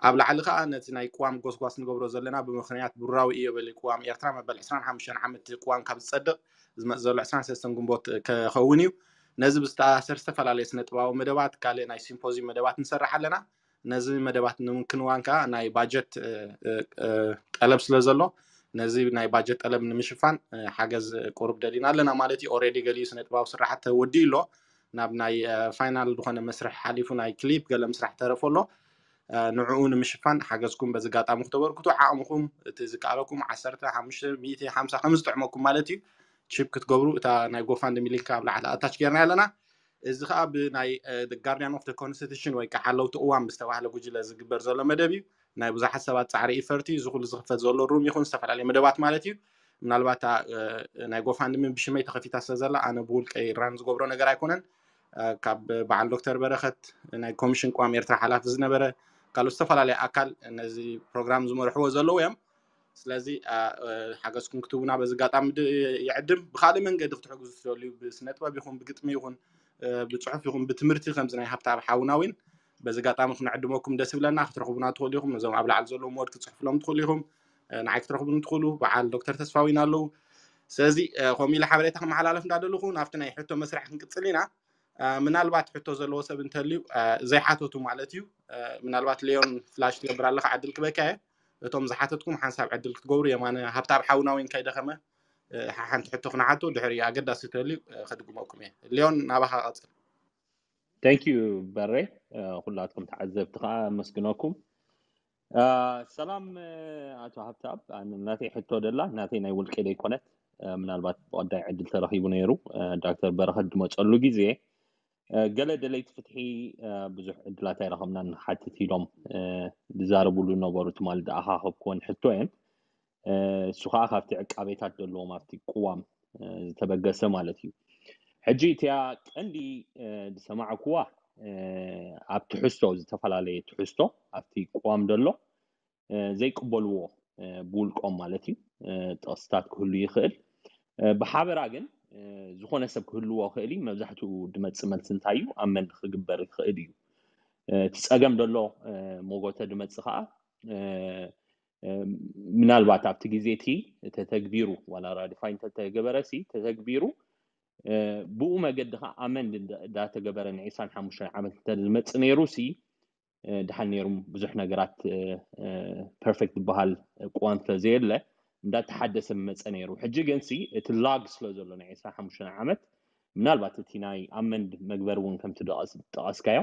ኣብ ላዕሊ ከዓ ነቲ ናይ ቅዋም ጎስጓስ ንገብሮ ዘለና ብምክንያት ብሩራዊ እዮ በሊ ቅዋም ኤርትራ መበል ዕስራን ሓሙሽተን ዓመት ቅዋም ካብ ዝፀድቕ ዝመፅ ዘሎ ዕስራን ሰለስተን ግንቦት ክኸውን እዩ። ነዚ ብዝተኣሳሰር ዝተፈላለዩ ስነ ጥበባዊ መደባት ካልእ ናይ ሲምፖዚዩም መደባት ንሰርሕ ኣለና። ነዚ መደባት ንምክንዋን ከዓ ናይ ባጀት ጠለብ ስለ ዘሎ ነዚ ናይ ባጀት ጠለብ ንምሽፋን ሓገዝ ቁሩብ ደሊና ኣለና ማለት እዩ። ኦሬዲ ገሊኡ ስነ ጥበባዊ ስራሓት ተወዲኡ ኣሎ ናብ ናይ ፋይናል ዝኾነ መስርሕ ሓሊፉ ናይ ክሊፕ ገለ ምስራሕ ተረፎ ኣሎ። ንዕኡ ንምሽፋን ሓገዝኩም በዚ ኣጋጣሚ ክተበርክቱ ዓቕምኹም እቲ ዝከኣለኩም ዓሰርተ ሓሙሽተ ሚእቲ ሓምሳ ከም ዝጥዕመኩም ማለት እዩ ቺፕ ክትገብሩ እታ ናይ ጎፋንድሚ ሊንክ ኣብ ላዕሊ ኣታች ጌርና ኣለና። እዚ ከዓ ብናይ ጋርዲያን ኦፍ ኮንስቲቱሽን ወይ ከዓ ሓለውቲ እዋን ብዝተባህለ ጉጅለ ዝግበር ዘሎ መደብ እዩ። ናይ ብዙሓት ሰባት ፃዕሪ ኢፈርቲ እዚ ኩሉ ዝኽፈት ዘሎ ሩም ይኹን ዝተፈላለዩ መደባት ማለት እዩ። ምናልባት ናይ ጎፋንድሚ ብሽመይ ተኸፊታ ስለ ዘላ ኣነ ብውልቀይ ራን ዝገብሮ ነገር ኣይኮነን። ካብ በዓል ዶክተር በረኸት ናይ ኮሚሽን ቅዋም ኤርትራ ሓላፊ ዝነበረ ካልኦት ዝተፈላለዩ ኣካል ነዚ ፕሮግራም ዝመርሕዎ ዘለዉ እዮም። ስለዚ ሓገዝኩም ክትቡና በዚ ኣጋጣሚ ይዕድም። ብካልእ መንገዲ ክትሕግዙ ትደልዩ ብስነ ጥበብ ይኹን ብግጥሚ ይኹን ብፅሑፍ ይኹን ብትምህርቲ ከምዚ ናይ ሃብታብ ሓውና እውን በዚ ኣጋጣሚ ክንዕድመኩም ደስ ይብለና። ክትረኽቡና ትኽእሉ ኢኹም። ነዞም ኣብ ላዕሊ ዘለዉ ሞድ ክትፅሕፍሎም ትኽእሉ ኢኹም። ንዓይ ክትረኽቡን ትኽእሉ። በዓል ዶክተር ተስፋዊን ኣለዉ። ስለዚ ከምኡ ኢለ ሓበሬታ ክመሓላለፍ እንዳደለኹ ናብቲ ናይ ሕቶ መስርሕ ክንቅፅል ኢና። ምናልባት ሕቶ ዘለዎ ሰብ እንተልዩ ዘይሓተቱ ማለት እዩ። ምናልባት ሌዮን ፍላሽ ትገብር ኣለካ ዕድል ክበካ እየ። እቶም ዝሓተትኩም ሓንሳብ ዕድል ክትገብሩ የማነ ሃብታብ ሓውና እውን ከይደኸመ ሓንቲ ሕቶ ክነሓቶ ድሕሪ ኣገዳሲ ተልዩ ከድግመኩም እየ። ሊዮን ናባኻ ቀፅል። Thank you በሬ። ኩላትኩም ተዓዘብቲ ከዓ ኣመስግነኩም። ሰላም ኣቶ ሃብታብ፣ ናተይ ሕቶ ደላ ናተይ ናይ ውልቂ ዘይኮነት፣ ምናልባት ብቀዳይ ዕድል ተረኪቡ ነይሩ። ዳክተር በረኸት ድመፀሉ ግዜ ገለ ደለይቲ ፍትሒ ብዙሕ ዕድላት ኣይረኸብናን ንሓትት ኢሎም ዝዛረብሉ ነበሩ። ትማሊ ዝኣኻኸብኩወን ሕቶ እየን። እሱ ከዓ ካብቲ ዕቃቤታት ዘለዎም ኣብቲ ቅዋም ዝተበገሰ ማለት እዩ። ሕጂ እቲያ ቀንዲ ዝሰማዕኩዋ ኣብ ትሕዝቶ፣ ዝተፈላለየ ትሕዝቶ ኣብቲ ቅዋም ዘሎ ዘይቅበልዎ ብውልቆም ማለት እዩ ጥቕስታት ክህሉ ይኽእል። ብሓበራ ግን ዝኾነ ሰብ ክህልዎ ክእል እዩ። መብዛሕትኡ ድመፅእ መልሲ እንታይ እዩ? ኣመንድ ክግበር ይኽእል እዩ። እቲ ፀገም ዘሎ ሞጎተ ድመፅእ ከዓ ምናልባት ኣብቲ ግዜ እቲ ተተግቢሩ ዋላ ራዲፋይ እንተተገበረ ሲ ተተግቢሩ ብኡ መገዲ ከዓ ኣመንድ እንዳተገበረ ንዒስራን ሓሙሽተን ዓመት እንተ ዝመፅእ ነይሩ ሲ ድሓን ነይሩ ብዙሕ ነገራት ፐርፌክት ዝበሃል ቅዋም ስለ ዘየለ እንዳተሓደሰ መፀ ነይሩ። ሕጂ ግን ሲ እቲ ላግ ስለ ዘሎ ናይ ዕስራን ሓሙሽተን ዓመት ምናልባት እቲ ናይ ኣመንድ መግበር እውን ከምቲ ጠቐስካዮ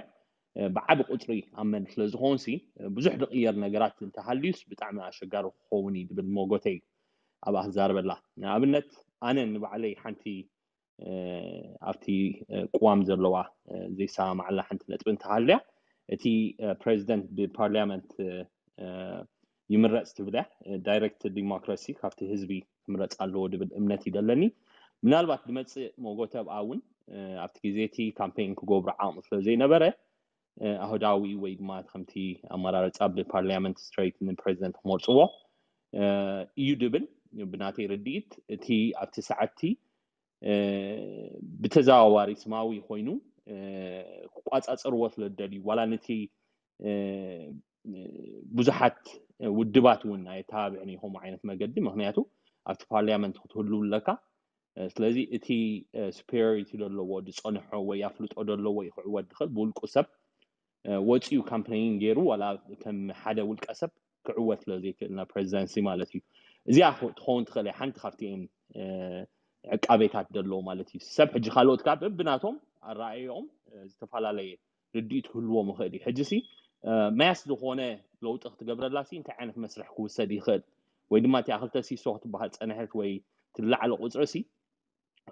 ብዓቢ ቁፅሪ ኣመንድ ስለ ዝኾን ሲ ብዙሕ ዝቕየር ነገራት እንተሃልዩስ ብጣዕሚ ኣሸጋሪ ክኸውን እዩ ዝብል ሞጎተይ ኣብኣ ክዛረበላ። ንኣብነት ኣነ ንባዕለይ ሓንቲ ኣብቲ ቅዋም ዘለዋ ዘይሰማማዓላ ሓንቲ ነጥቢ እንተሃልያ እቲ ፕሬዚደንት ብፓርላመንት ይምረፅ ትብል እያ። ዳይሬክት ዲሞክራሲ ካብቲ ህዝቢ ክምረፅ ኣለዎ ዝብል እምነት እዩ ዘለኒ። ምናልባት ዝመፅእ ሞጎተ ኣብኣ እውን ኣብቲ ግዜ እቲ ካምፔን ክገብሩ ዓቕሚ ስለ ዘይነበረ ኣህዳዊ ወይ ድማ ከምቲ ኣመራርፃ ብፓርላመንት ስትሬት ንፕሬዚደንት ክመርፅዎ እዩ ድብል ብናተይ ርድኢት እቲ ኣብቲ ሰዓትቲ ብተዘዋዋሪ ስማዊ ኮይኑ ክቋፃፀርዎ ስለ ዝደልዩ ዋላ ነቲ ብዙሓት ውድባት እውን ኣየተባብዕን እዩ ከምኡ ዓይነት መገዲ። ምክንያቱ ኣብቲ ፓርላመንት ክትህሉ ኣለካ። ስለዚ እቲ ሱፔሪዮሪቲ ዘለዎ ዝፀንሖ ወይ ኣፍልጦ ዘለዎ እዩ ክዕወት ዝኽእል ብውልቁ ሰብ ወፂኡ ካምፔይን ገይሩ ዋላ ከም ሓደ ውልቀ ሰብ ክዕወት ስለ ዘይክእል ናብ ፕሬዚደንሲ ማለት እዩ። እዚኣ ትኸውን ትኽእል ሓንቲ ካብቲ ዕቃቤታት ዘለዎ ማለት እዩ። ሰብ ሕጂ ካልኦት ካብ ብናቶም ኣረኣእዮም ዝተፈላለየ ርድኢት ክህልዎም ይኽእል እዩ። ሕጂ ሲ መያስ ዝኾነ ለውጢ ክትገብረላ ሲ እንታይ ዓይነት መስርሕ ክውሰድ ይኽእል ወይ ድማ እቲኣ ክልተ ሲሶ ክትበሃል ፀንሐት ወይ ትላዕለ ቁፅሪ ሲ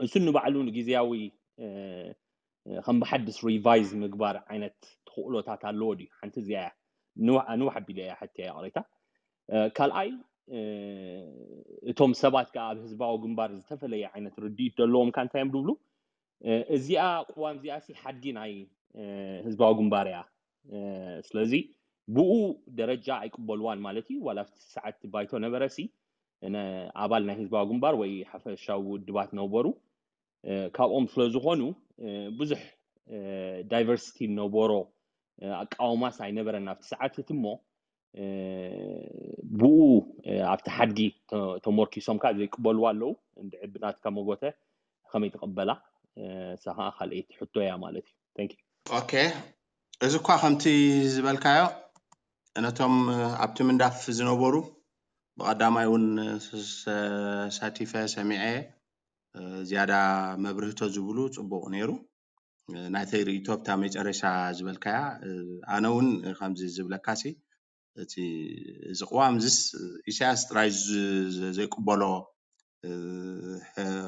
እሱ ንባዕሉ ንግዜያዊ ከም ብሓድስ ሪቫይዝ ምግባር ዓይነት ተኽእሎታት ኣለዎ ድዩ? ሓንቲ እዚኣ እያ። ንውሕ ኣቢለ እያ ሕትያ ይቕሬታ። ካልኣይ እቶም ሰባት ከዓ ኣብ ህዝባዊ ግንባር ዝተፈለየ ዓይነት ርድኢት ዘለዎም ካ እንታይ እዮም ዝብሉ? እዚኣ ቅዋም እዚኣ ሲ ሓድጊ ናይ ህዝባዊ ግንባር እያ። ስለዚ ብኡ ደረጃ ኣይቅበልዋን ማለት እዩ። ዋላ ኣብቲ ሰዓት ባይቶ ነበረ ሲ ኣባል ናይ ህዝባዊ ግንባር ወይ ሓፈሻዊ ውድባት ነበሩ። ካብኦም ስለ ዝኾኑ ብዙሕ ዳይቨርሲቲ ነበሮ ኣቃውማስ ኣይነበረን ኣብቲ ሰዓት እቲ እሞ ብኡ ኣብቲ ሓድጊ ተመርኪሶም ከዓ ዘይቅበልዋ ኣለዉ። እንድዒ ብናትካ መጎተ ከመይ ትቕበላ? እሳ ከዓ ካልኣይቲ ሕቶ እያ ማለት እዩ። Thank you። ኦኬ፣ እዚ እኳ ከምቲ ዝበልካዮ ነቶም ኣብቲ ምንዳፍ ዝነበሩ ብቐዳማይ እውን ተሳቲፈ ሰሚዐ ዝያዳ መብርህቶ ዝብሉ ፅቡቕ ነይሩ። ናተይ ርእቶ ኣብታ መጨረሻ ዝበልካያ ኣነ እውን ከምዚ ዝብለካ ሲ እቲ እዚ ቅዋም ዝስ ኢሳያስ ጥራይ ዘይቅበሎ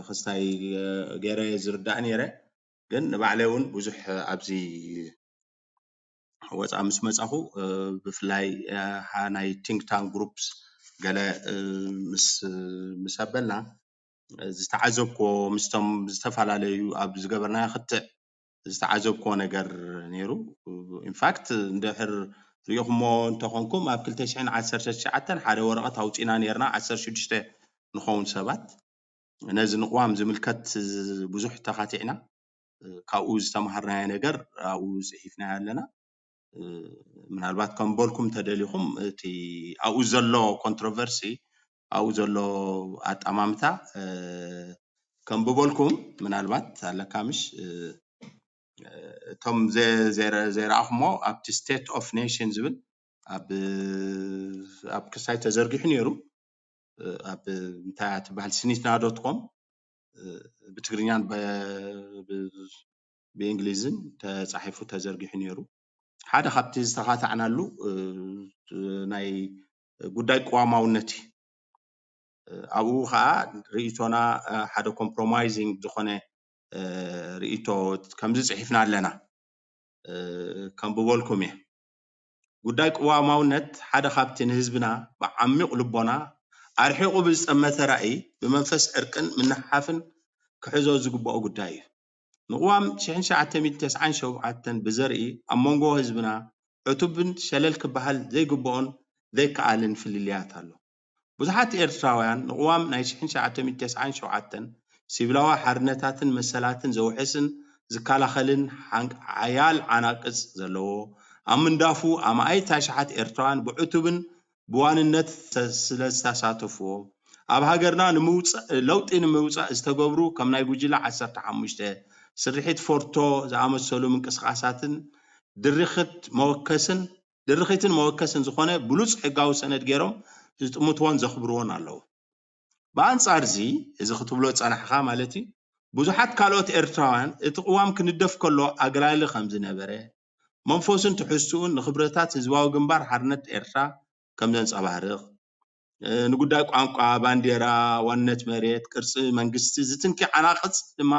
ክስታይ ገይረ ዝርዳእ ነይረ ግን ንባዕለይ እውን ብዙሕ ኣብዚ ወፃ ምስ መፃኹ ብፍላይ ናይ ቲንክ ታንክ ግሩፕስ ገለ ምስ ኣበልና ዝተዓዘብኮ ምስቶም ዝተፈላለዩ ኣብ ዝገበርናዮ ክትዕ ዝተዓዘብኮ ነገር ነይሩ። ኢንፋክት እንድሕር ሪኢኹሞ እንተኾንኩም ኣብ ክልተ ሽሕን ዓሰርተ ትሽዓተን ሓደ ወረቐት ኣውፂና ነርና ዓሰርተ ሽዱሽተ ንኸውን ሰባት ነዚ ንቕዋም ዝምልከት ብዙሕ ተኻቲዕና ካብኡ ዝተምሃርናዮ ነገር ኣብኡ ፅሒፍናዮ ኣለና። ምናልባት ከም በልኩም ተደሊኹም እቲ ኣብኡ ዘሎ ኮንትሮቨርሲ ኣብኡ ዘሎ ኣጠማምታ ከም ብበልኩም ምናልባት ኣለካ ምሽ እቶም ዘይረኣኹሞ ኣብቲ ስቴት ኦፍ ኔሽን ዝብል ኣብ ክስታይ ተዘርጊሑ ነይሩ። ኣብ እንታይ ትበሃል ስኒትና ዶት ኮም ብትግርኛን ብእንግሊዝን ተፃሒፉ ተዘርጊሑ ነይሩ። ሓደ ካብቲ ዝተኻታዕናሉ ናይ ጉዳይ ቅዋማውነት እዩ። ኣብኡ ከዓ ርእቶና ሓደ ኮምፕሮማይዚንግ ዝኾነ ርእይቶ ከምዚ ጽሒፍና ኣለና። ከንብበልኩም እየ። ጉዳይ ቅዋማውነት ሓደ ካብቲ ንህዝብና ብዓሚቕ ልቦና ኣርሒቑ ብዝጠመተ ራእይ ብመንፈስ ዕርቅን ምንሕሓፍን ክሕዞ ዝግብኦ ጉዳይ እዩ። ንቅዋም ሽሕን ትሽዓተ ሚእትን ተስዓን ሸውዓተን ብዘርኢ ኣብ መንጎ ህዝብና ዕቱብን ሸለል ክበሃል ዘይግብኦን ዘይከኣልን ፍልልያት ኣሎ። ብዙሓት ኤርትራውያን ንቅዋም ናይ ሽሕን ትሽዓተ ሚእትን ተስዓን ሸውዓተን ሲቪላዊ ሓርነታትን መሰላትን ዘውሕስን ዝከላኸልን ሓያል ዓናቅጽ ዘለዎ ኣብ ምንዳፉ ኣማኢት ኣሽሓት ኤርትራውያን ብዕቱብን ብዋንነት ስለ ዝተሳተፍዎ ኣብ ሃገርና ለውጢ ንምውፃእ ዝተገብሩ ከም ናይ ጉጅለ ዓሰርተ ሓሙሽተ ስርሒት ፎርቶ ዝኣመሰሉ ምንቅስቃሳትን ድርኽት መወከስን ድርኺትን መወከስን ዝኾነ ብሉፅ ሕጋዊ ሰነድ ገይሮም ዝጥምትዎን ዘኽብርዎን ኣለዉ። ብኣንፃር እዚ እዚ ክትብሎ ዝፀናሕኻ ማለት እዩ ብዙሓት ካልኦት ኤርትራውያን እቲ ቅዋም ክንደፍ ከሎ ኣግላሊ ከም ዝነበረ መንፈሱን ትሕዝትኡን ንኽብረታት ህዝባዊ ግንባር ሓርነት ኤርትራ ከም ዘንፀባርቕ ንጉዳይ ቋንቋ፣ ባንዴራ፣ ዋንነት መሬት፣ ቅርፂ መንግስቲ ዝትንኪ ዓናቕፅ ድማ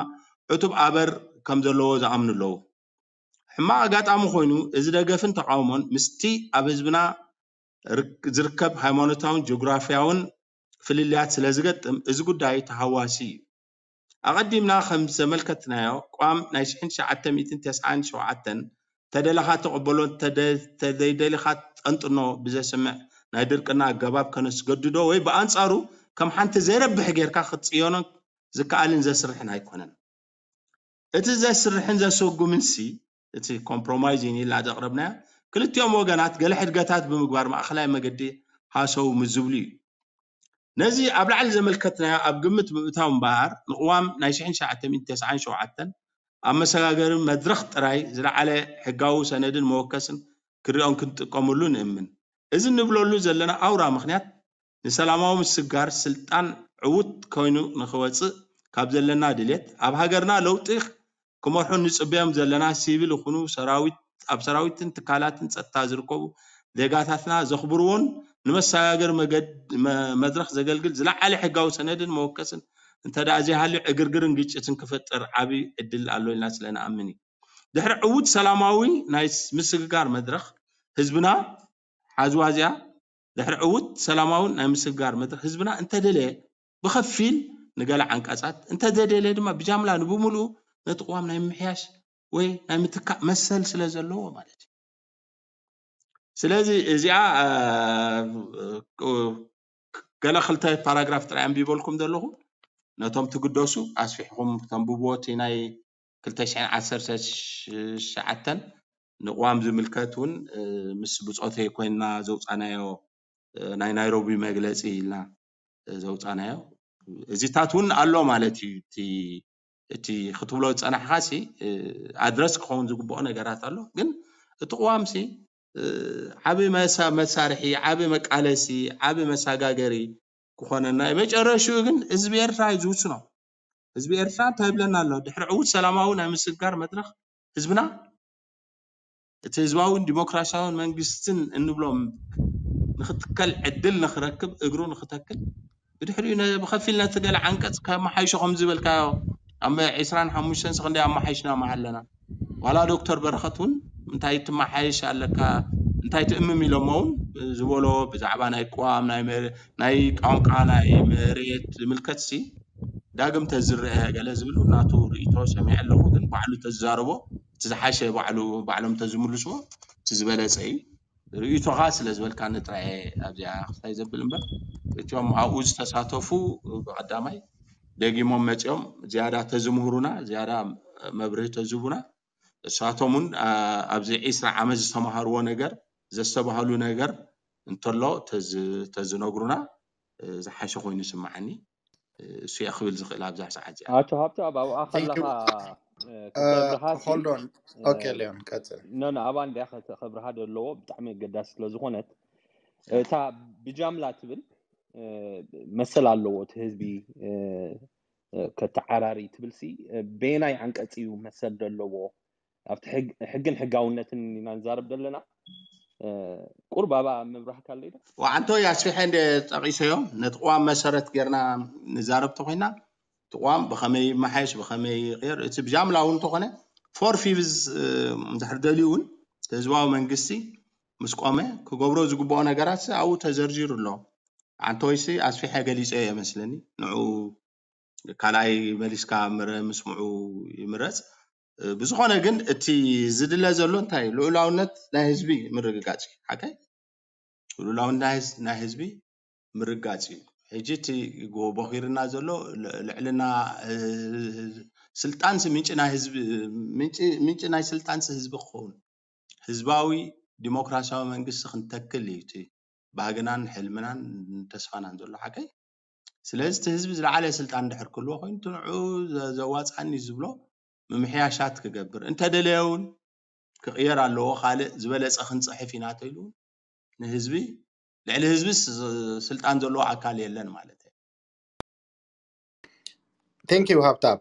ዕቱብ ኣበር ከም ዘለዎ ዝኣምኑ ኣለዉ። ሕማቕ ኣጋጣሚ ኮይኑ እዚ ደገፍን ተቓውሞን ምስቲ ኣብ ህዝብና ዝርከብ ሃይማኖታውን ጂኦግራፊያውን ፍልልያት ስለ ዝገጥም እዚ ጉዳይ ተሃዋሲ እዩ። ኣቐዲምና ከም ዘመልከትናዮ ቋም ናይ ሽሕን ትሽዓተ ሚእትን ተስዓን ሸውዓተን ተደለኻ ተቐበሎ ተደይደሊኻ ጠንጥኖ ብዘስምዕ ናይ ድርቅና ኣገባብ ከነስገድዶ ወይ ብኣንጻሩ ከም ሓንቲ ዘይረብሕ ጌርካ ክትጽዮኖ ዝከኣልን ዘስርሕን ኣይኮነን። እቲ ዘስርሕን ዘሰጉምን ሲ እቲ ኮምፕሮማይዝ ኢላ ዘቕረብናዮ ክልቲኦም ወገናት ገለ ሕድገታት ብምግባር ማእኸላይ መገዲ ሃሰው ምዝብሉ እዩ። ነዚ ኣብ ላዕሊ ዘመልከትናዮ ኣብ ግምት ብምእታው እምበኣር ንቅዋም ናይ ሽሕን ትሽዓተ ሚእትን ተስዓን ሸውዓተን ኣብ መሰጋገሪ መድረኽ ጥራይ ዝለዓለ ሕጋዊ ሰነድን መወከስን ክሪኦን ክንጥቀመሉ ንእምን። እዚ ንብለሉ ዘለና ኣውራ ምኽንያት ንሰላማዊ ምስግጋር ስልጣን ዕዉት ኮይኑ ንኽወፅእ ካብ ዘለና ድሌት ኣብ ሃገርና ለውጢ ክመርሑ ንፅበዮም ዘለና ሲቪል ይኹኑ ሰራዊት ኣብ ሰራዊትን ትካላትን ፀጥታ ዝርከቡ ዜጋታትና ዘኽብርዎን ንመሰጋገሪ መገድ መድረኽ ዘገልግል ዝለዓለ ሕጋዊ ሰነድን መወከስን እንተ ደኣ ዘይሃልዩ ዕግርግርን ግጭትን ክፈጥር ዓብዪ ዕድል ኣሎ ኢልና ስለ ንኣምን እዩ። ድሕሪ ዕዉት ሰላማዊ ናይ ምስግጋር መድረኽ ህዝብና ሓዝዋ እዚኣ ድሕሪ ዕዉት ሰላማውን ናይ ምስግጋር መድረኽ ህዝብና እንተደለየ ብኸፊል ንገለ ዓንቀጻት እንተዘይደልየ ድማ ብጃምላ ንብምልኡ ነቲ ቅዋም ናይ ምምሕያሽ ወይ ናይ ምትካእ መሰል ስለ ዘለዎ ማለት እዩ። ስለዚ እዚኣ ገለ ክልተ ፓራግራፍ ጥራይ ኣንቢበልኩም ዘለኹ ነቶም ትግደሱ ኣስፊሕኹም ተንብብዎ እቲ ናይ ክልተ ሽሕን ዓሰርተ ትሽዓተን ንቅዋም ዝምልከት እውን ምስ ብፆተይ ኮይንና ዘውፃናዮ ናይ ናይሮቢ መግለፂ ኢልና ዘውፃናዮ እዚታት እውን ኣሎ ማለት እዩ። እቲ ክትብሎ ዝፀናሕካ ሲ ኣድረስ ክኸውን ዝግብኦ ነገራት ኣሎ። ግን እቲ ቅዋም ሲ ዓብ መሳርሒ፣ ዓብ መቃለሲ፣ ዓብ መሳጋገሪ ክኾነና እዩ። መጨረሽኡ ግን ህዝቢ ኤርትራ እዩ ዝውስኖ። ህዝቢ ኤርትራ እንታይ ይብለና ኣሎ? ድሕሪ ዕዉት ሰላማዊ ናይ ምስግጋር መድረኽ ህዝብና እቲ ህዝባውን ዲሞክራሲያውን መንግስትን እንብሎም ንክትከል ዕድል ንክረክብ እግሩ ንክተክል ብድሕሪኡ ብከፊል ነቲ ገለ ዓንቀፅ ከመሓይሾ ከም ዝበልካዮ ኣብ ዕስራን ሓሙሽተን ሰክንዲ ኣመሓይሽና ኣለና። ዋላ ዶክተር በረኸት እውን እንታይ ትመሓየሽ ኣለካ እንታይ ትእምም ኢሎሞ እውን ዝበሎ ብዛዕባ ናይ ቅዋም ናይ ቋንቋ ናይ መሬት ዝምልከት ሲ ዳግም ተዝረአ ገለ ዝብል ናቱ ርእይቶ ሰሚዐ ኣለኹ። ግን ባዕሉ ተዝዛረቦ እቲ ዝሓሸ ባዕሉ ባዕሎም ተዝምልስዎ እቲ ዝበለፀ እዩ። ርእይቶኻ ስለ ዝበልካኒ ጥራየ ኣብዚኣ ክስታይ ዘብል እምበር እቲኦም ኣብኡ ዝተሳተፉ ብቐዳማይ ደጊሞም መፂኦም ዝያዳ ተዝምህሩና ዝያዳ መብርሂ ተዝህቡና እሳቶም እውን ኣብዚ ዒስራ ዓመት ዝተምሃርዎ ነገር ዘስተባህሉ ነገር እንተሎ ተዝነግሩና ዝሓሸ ኮይኑ ይስምዓኒ። እሱ እየ ክብል ዝኽእል ኣብዛ ሰዓት እዚኣ። ኣቶ ሃብተኣብ ኣብኣ ከለኻ ክብረሃ ሆልዶን ኦኬ ሊዮን ቀፅል። ኖ ኖ ኣብኣ እንዲያ ከብርሃ ዘለዎ ብጣዕሚ ኣገዳሲ ስለ ዝኾነት እታ ብጃምላ ትብል መሰል ኣለዎ እቲ ህዝቢ ከተዓራሪ ትብል ሲ በየናይ ዓንቀፅ እዩ መሰል ዘለዎ ኣብቲ ሕግን ሕጋውነትን ኢና ንዛረብ ዘለና። ቁርብ ኣብኣ ምብራህ ካለይ ዶ? ዋዓንቶ ያስፊሐ እንደ ጠቂሰዮ ነቲ ቅዋም መሰረት ጌርና ንዛረብ ተኮይና እቲ ቅዋም ብኸመይ ይመሓየሽ፣ ብኸመይ ይቕየር፣ እቲ ብጃምላ እውን እንተኾነ ፎር ፊቭዝ እንድሕር ደልዩ እውን ህዝባዊ መንግስቲ ምስ ቆመ ክገብሮ ዝግብኦ ነገራት ኣብኡ ተዘርዚሩ ኣሎ። ኣንተወይሲ ኣስፊሐ ገሊፀ እየ መስለኒ። ንዑ ካልኣይ መሊስካ ምስምዑ ይምረፅ። ብዝኾነ ግን እቲ ዝድለ ዘሎ እንታይ? ልዑላውነት ናይ ህዝቢ ምርግጋፅ እዩ። ሓቀይ ልዑላውነት ናይ ህዝቢ ምርጋፅ እዩ። ሕጂ እቲ ቦኺርና ዘሎ ልዕልና ስልጣንሲ ምንጭ ናይ ህዝቢ ምንጭ ናይ ስልጣንሲ ህዝቢ ክኸውን ህዝባዊ ዲሞክራሲያዊ መንግስቲ ክንተክል እዩ እቲ ባህግናን ሕልምናን ተስፋናን ዘሎ ሓቀይ። ስለዚ እቲ ህዝቢ ዝለዓለ ስልጣን ድሕር ክህልዎ ኮይኑ እቲ ንዑ ዘዋፅኣኒ ዝብሎ ምምሕያሻት ክገብር እንተደለየ እውን ክቕየር ኣለዎ። ካልእ ዝበለፀ ክንፅሕፍ ኢና ተኢሉ ንህዝቢ ልዕሊ ህዝቢ ስልጣን ዘለዎ ኣካል የለን ማለት እዩ። Thank you ሃብታብ።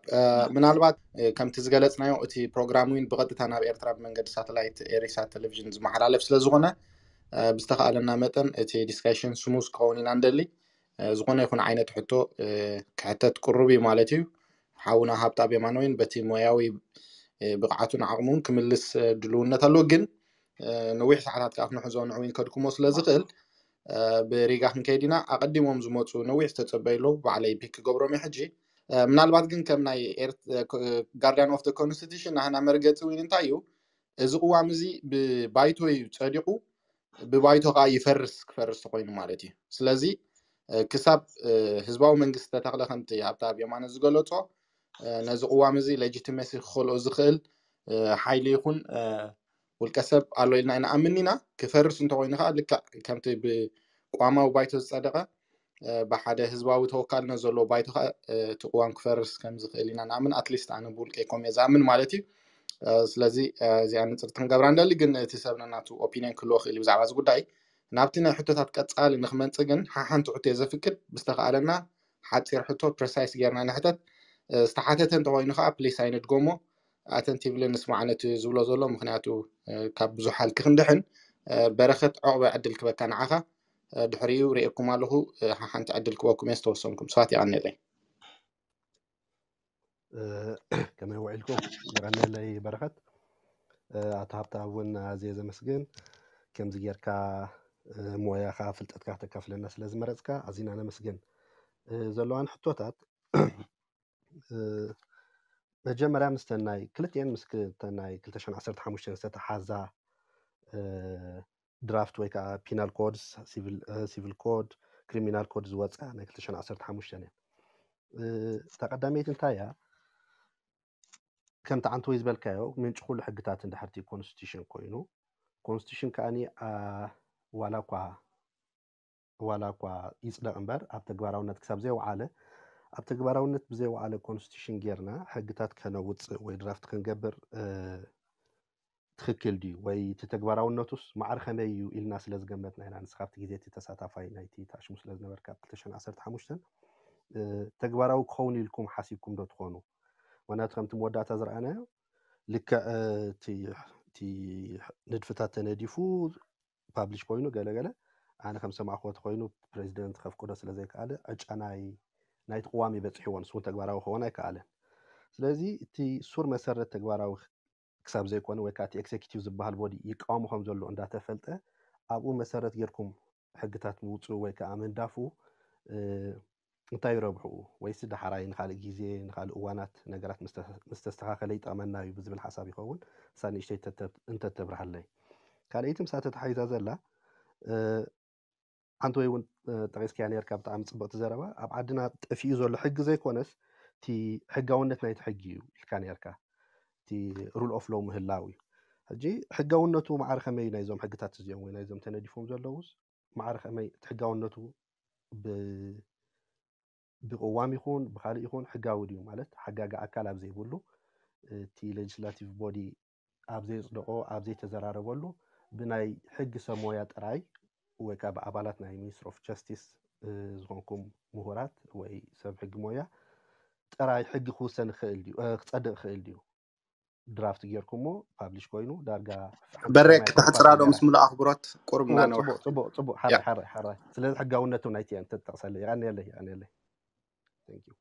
ምናልባት ከምቲ ዝገለፅናዮ እቲ ፕሮግራም እውን ብቐጥታ ናብ ኤርትራ ብመንገዲ ሳተላይት ኤሪሳት ቴሌቪዥን ዝመሓላለፍ ስለዝኾነ ብዝተኻእለና መጠን እቲ ዲስካሽን ስሙዝ ክኸውን ኢና ንደሊ። ዝኾነ ይኹን ዓይነት ሕቶ ክሕተት ቅሩብ እዩ ማለት እዩ። ሓውና ሃብታብ የማነ እውን በቲ ሞያዊ ብቕዓቱን ዓቕሙን ክምልስ ድልውነት ኣለዎ። ግን ነዊሕ ሰዓታት ከዓ ክንሕዞ ንዕው ከድክሞ ስለ ዝኽእል ብሪጋ ክንከይድ ኢና። ኣቐዲሞም ዝመፁ ነዊሕ ዝተፀበዩ ኣለዉ። ባዕለይ ፒክ ክገብሮም እየ ሕጂ። ምናልባት ግን ከም ናይ ጋርዲያን ኦፍ ኮንስቲቱሽን ናህና መርገፂ እውን እንታይ እዩ፣ እዚ ቅዋም እዚ ብባይቶ እዩ ፀዲቑ፣ ብባይቶ ከዓ ይፈርስ፣ ክፈርስ ተኮይኑ ማለት እዩ። ስለዚ ክሳብ ህዝባዊ መንግስቲ ተተኽለ ከምቲ ኣብቲ ኣብ የማነ ዝገለፆ ነዚ ቅዋም እዚ ሌጂቲመሲ ክኸልኦ ዝኽእል ሓይሊ ይኹን ውልቀ ሰብ ኣሎ ኢልና ኣይንኣምን ኢና። ክፈርስ እንተኮይኑ ከዓ ልክዕ ከምቲ ብቋማዊ ባይቶ ዝፀደቐ ብሓደ ህዝባዊ ተወካልነት ዘለዎ ባይቶ ከዓ እቲ ቅዋም ክፈርስ ከም ዝኽእል ኢና ንኣምን። ኣትሊስት ኣነ ብውልቀይ ከምኡ እየ ዝኣምን ማለት እዩ። ስለዚ እዚኣ ንፅርቲ ክንገብራ ንደሊ፣ ግን እቲ ሰብ ነናቱ ኦፒንየን ክህልዎ ክእል እዩ ብዛዕባ እዚ ጉዳይ። ናብቲ ናይ ሕቶታት ቀፃሊ ንክመፅእ ግን ሓሓንቲ ሕቶ እየ ዘፍቅድ። ብዝተኸኣለና ሓፂር ሕቶ ፕረሳይስ ጌርና ንሕተት። ዝተሓተተ እንተኮይኑ ከዓ ፕሊስ ኣይንድገሞ፣ ኣተንቲቭሊ ንስማዕ ነቲ ዝብሎ ዘሎ፣ ምክንያቱ ካብ ብዙሕ ሃልኪ ክንድሕን። በረኸት ዑቕበ ዕድል ክበካ ንዓኻ። ድሕሪኡ ርእየኩም ኣለኹ። ሓሓንቲ ዕድል ክበኩም እየ ዝተወሰንኩም ሰባት። የቐንየለይ። ከመይ ውዒልኩም? የቐንየለይ በረኸት። ኣቶ ሃብታብ እውን ኣዝየ ዘመስግን፣ ከምዚ ጌርካ ሞያኻ ፍልጠትካ ክተካፍለና ስለ ዝመረፅካ ኣዚና ነመስግን። ዘለዋን ሕቶታት መጀመርያ ምስ ተናይ ክልቲኤን ምስ ተናይ ክልተ ሽሕን ዓሰርተ ሓሙሽተን ዝተተሓዛ ድራፍት ወይ ከዓ ፒናል ኮድስ፣ ሲቪል ኮድ፣ ክሪሚናል ኮድ ዝወፅኣ ናይ ክልተ ሽሕን ዓሰርተ ሓሙሽተን እየን። እታ ቀዳመይቲ እንታይ እያ? ከምቲ ዓንተወይ ዝበልካዮ ምንጪ ኩሉ ሕግታት እንድሕርቲ ኮንስቲቱሽን ኮይኑ፣ ኮንስቲቱሽን ከዓኒ ዋላ እኳ ዋላ እኳ ይፅደቕ እምበር ኣብ ተግባራውነት ክሳብ ዘይወዓለ፣ ኣብ ተግባራውነት ብዘይወዓለ ኮንስቲቱሽን ጌርና ሕግታት ከነውፅእ ወይ ድራፍት ክንገብር ትኽክል ድዩ ወይ እቲ ተግባራውነቱስ ማዕረ ከመይ እዩ ኢልና ስለ ዝገመትና ኢና። ንስኻ ኣብቲ ግዜ እቲ ተሳታፋይ ናይቲ ታሽሙ ስለ ዝነበርካ ኣብ ክልተ ሽሕን ዓሰርተ ሓሙሽተን ተግባራዊ ክኸውን ኢልኩም ሓሲብኩም ዶ ትኾኑ? ምክንያቱ ከምቲ መወዳእታ ዝረኣናዮ ልክዕ እቲ ንድፍታት ተነዲፉ ፓብሊሽ ኮይኑ ገለ ገለ ኣነ ከም ሰማዕክዎ ተኮይኑ ፕሬዚደንት ከፍቅዶ ስለ ዘይከኣለ ዕጫ ናይ ናይቲ ቅዋም እዩ በፂሕዎ፣ ንሱ እውን ተግባራዊ ክኸውን ኣይከኣለን። ስለዚ እቲ ሱር መሰረት ተግባራዊ ክሳብ ዘይኮነ ወይ ከዓ እቲ ኤክዜኪቲቭ ዝበሃል ቦዲ ይቃወሞ ከም ዘሎ እንዳተፈልጠ ኣብኡ መሰረት ጌርኩም ሕግታት ምውፅኡ ወይ ከዓ ምንዳፉ እንታይ ረብሕኡ? ወይስ ዳሕራይ ንካልእ ግዜ ንካልእ እዋናት ነገራት ምስ ተስተኻኸለ ይጠቕመና እዩ ብዝብል ሓሳብ ይኸውን? እሳ ንእሽተይ እንተተብርሃለይ። ካልኣይቲ ምሳ ተተሓሒዛ ዘላ ሓንቲ ወይ እውን ጠቂስካያ ነርካ ብጣዕሚ ፅብቅቲ ዘረባ። ኣብ ዓድና ጠፊኡ ዘሎ ሕጊ ዘይኮነስ እቲ ሕጋውነት ናይቲ ሕጊ እዩ ኢልካ ነርካ። እቲ ሩል ኦፍ ሎው ምህላው እዩ። ሕጂ ሕጋውነቱ ማዕረ ከመይ ናይዞም ሕግታት እዚኦም ወይ ናይዞም ተነዲፎም ዘለውስ ማዕረ ከመይ እቲ ሕጋውነቱ ብቅዋም ይኹን ብካልእ ይኹን ሕጋዊ ድዩ ማለት ሓጋጊ ኣካል ኣብ ዘይብሉ እቲ ሌጅስላቲቭ ቦዲ ኣብ ዘየፅደቆ ኣብ ዘይተዘራረበሉ ብናይ ሕጊ ሰብ ሞያ ጥራይ ወይ ከዓ ብኣባላት ናይ ሚኒስትሪ ኦፍ ጀስቲስ ዝኾንኩም ምሁራት ወይ ሰብ ሕጊ ሞያ ጥራይ ሕጊ ክውሰን ይኽእል ድዩ ክፀድቕ ይኽእል ድዩ? ድራፍት ጌርኩሞ ፓብሊሽ ኮይኑ ዳርጋ በሬ ክተሕፅራ ዶ ምስ ሙሉእ ኣኽብሮት ቁሩብ እናነውሕ ፅቡቅ ፅቡቅ ሓራይ ሓራይ ሓራይ ስለዚ ሕጋውነቱ ናይቲ እያ እንተትጠቅሰለይ የቀንየለይ የቀንየለይ። Thank you።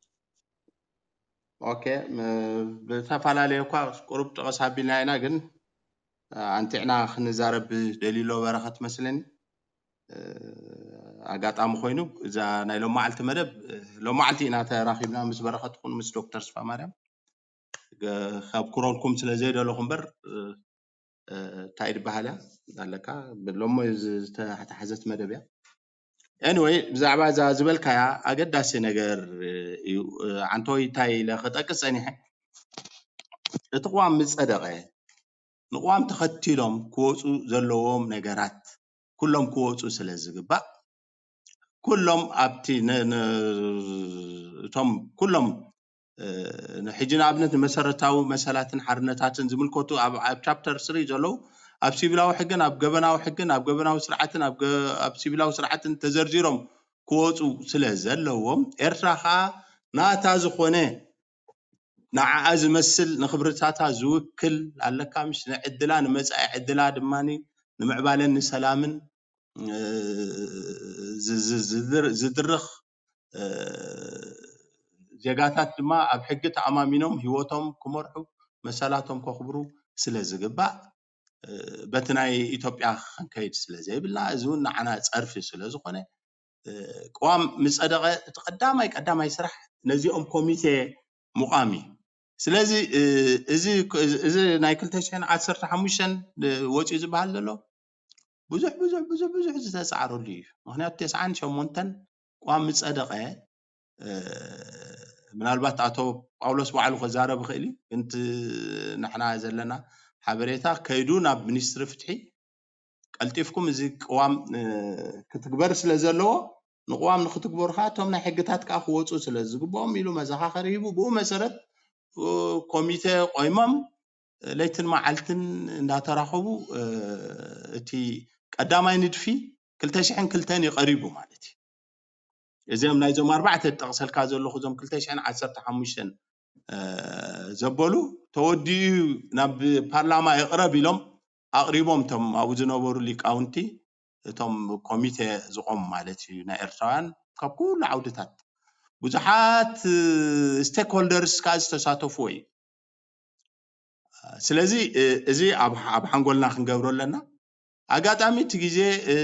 ኦኬ፣ ም- ብተፈላለየ እኳ ቁሩብ ጠቐስ ኣቢልና ኢና፣ ግን ኣንቲዕና ክንዛረብ ደልዩ ኣሎ በረኸት መስለኒ። እ፣ ኣጋጣሚ ኮይኑ እዛ ናይ ሎማዓልቲ መደብ፣ እ፣ ሎማዓልቲ ኢና ተራኺብና ምስ በረኸት ኹን ምስ ዶክተር ስፋ ማርያም። ገ- ካብ ክረልኩም ስለ ዘይደለኹ እምበር፣ እ፣ እ፣ እንታይ ድበሃል እያ ኣለካ፣ ሎሞ ዝተሓሓዘት መደብ እያ። Anyway፣ ብዛዕባ እዛ ዝበልካያ ኣገዳሲ ነገር እዩ። ኣንቶይ እንታይ ኢለ ክጠቅስ ጸኒሐ፣ እቲ ቅዋም ምስ ጸደቐ ንቅዋም ተኸቲሎም ክወፁ ዘለዎም ነገራት ኩሎም ክወፁ ስለ ዝግባእ፣ ኩሎም ኣብቲ ነ- ነ- እቶም ኩሎም እ፣ ንሕጂ ንኣብነት ንመሰረታዊ መሰላትን ሓርነታትን ዝምልከቱ ኣብ ኣብ ቻፕተር ስሪ ዘለዉ ኣብ ሲቪላዊ ሕግን ኣብ ገበናዊ ሕግን ኣብ ገበናዊ ስርዓትን ኣብ ገ- ኣብ ሲቪላዊ ስርዓትን ተዘርዚሮም ክወፁ ስለ ዘለዎም፣ ኤርትራ ከዓ ናታ ዝኾነ ንዓኣ ዝመስል ንክብርታታ ዝውክል ኣለካ ምሽ ንዕድላ ንመፃኢ ዕድላ ድማ ንምዕባለን ንሰላምን እ፣ ዝ- ዝ- ዝድር- ዝድርኽ እ፣ ዜጋታት ድማ ኣብ ሕጊ ተኣማሚኖም ህይወቶም ክመርሑ መሰላቶም ከኽብሩ ስለ ዝግባእ እ፣ በቲ ናይ ኢትዮጵያ ክንከይድ ስለ ዘይብልና፣ እዚ እውን ንዓና ፀርፊ ስለ ዝኾነ እ፣ ቅዋም ምፀደቐ እቲ ቀዳማይ ቀዳማይ ስራሕ ነዚኦም ኮሚቴ ምቋም እዩ። ስለዚ እ፣ እዚ እዚ ናይ ክልተ ሽሕን ዓሰርተ ሓሙሽተን ወፂኡ ዝበሃል ዘሎ ብዙሕ ብዙሕ ብዙሕ ብዙሕ ዝተፃዕረሉ እዩ። ምክንያቱ ተስዓን ሸሞንተን ቅዋም ምፀደቐ እ፣ ምናልባት ኣቶ ጳውሎስ ባዕሉ ክዛረብ ይኽእል እዩ፣ ግን እቲ ንሕና ዘለና ሓበሬታ ከይዱ ናብ ሚኒስትሪ ፍትሒ ቀልጢፍኩም እዚ ቅዋም እ፣ ክትግበር ስለ ዘለዎ ንቅዋም ንክትግበሩ ከዓ እቶም ናይ ሕግታት ከዓ ክወፁ ስለ ዝግብኦም ኢሉ መዘኻኸሪ ሂቡ። ብኡ መሰረት እ፣ ኮሚቴ ቆይሞም ለይትን መዓልትን እንዳተራኸቡ እ፣ እቲ ቀዳማይ ንድፊ ክልተ ሽሕን ክልተን እዩ ቀሪቡ ማለት እዩ። እዚኦም ናይዞም ኣርባዕተ ጠቕሰልካ ዘለኹ እዞም ክልተ ሽሕን ዓሰርተ ሓሙሽተን እ፣ ዘበሉ ተወዲኡ ናብ ፓርላማ ይቕረብ ኢሎም ኣቕሪቦም እቶም ኣብኡ ዝነበሩ ሊቃውንቲ እቶም ኮሚቴ ዝቆሙ ማለት እዩ ናይ ኤርትራውያን ካብ ኩሉ ዓውድታት ብዙሓት ስቴክ ሆልደርስ ከዓ ዝተሳተፉዎ እዩ። ስለዚ እ፣ እዚ ኣብ ኣብ ሓንጎልና ክንገብሮ ኣለና። ኣጋጣሚ እቲ ግዜ እ፣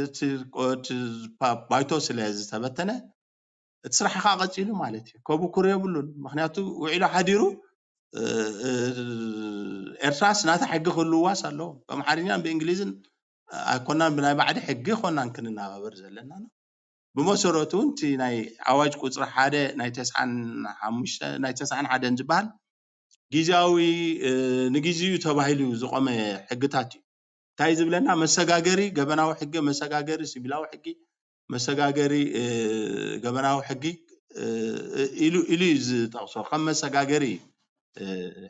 እቲ እቲ ባ- ባይቶ ስለ ዝተበተነ እቲ ስራሕ ከዓ ቀፂሉ ማለት እዩ። ከብኩር የብሉን። ምክንያቱ ውዒሉ ሓዲሩ እ፣ እ፣ ኤርትራስ ናታ ሕጊ ክህልዋስ ኣለዎ። ብኣምሓርኛን ብእንግሊዝን ኣይኮናን ብናይ ባዕዲ ሕጊ ኮናን ክንናባበር ዘለና ነው። ብመሰረቱ እውን እቲ ናይ ኣዋጅ ቁፅሪ ሓደ ናይ ተስዓን ሓሙሽተ ናይ ተስዓን ሓደን ዝበሃል ግዜያዊ እ፣ ንግዜኡ ተባሂሉ ዝቆመ ሕግታት እዩ። እንታይ ዝብለና መሰጋገሪ ገበናዊ ሕጊ፣ መሰጋገሪ ሲቪላዊ ሕጊ፣ መሰጋገሪ እ፣ ገበናዊ ሕጊ እ፣ ኢሉ ኢሉ እዩ ዝጠቕሶ ከም መሰጋገሪ እዩ። እ፣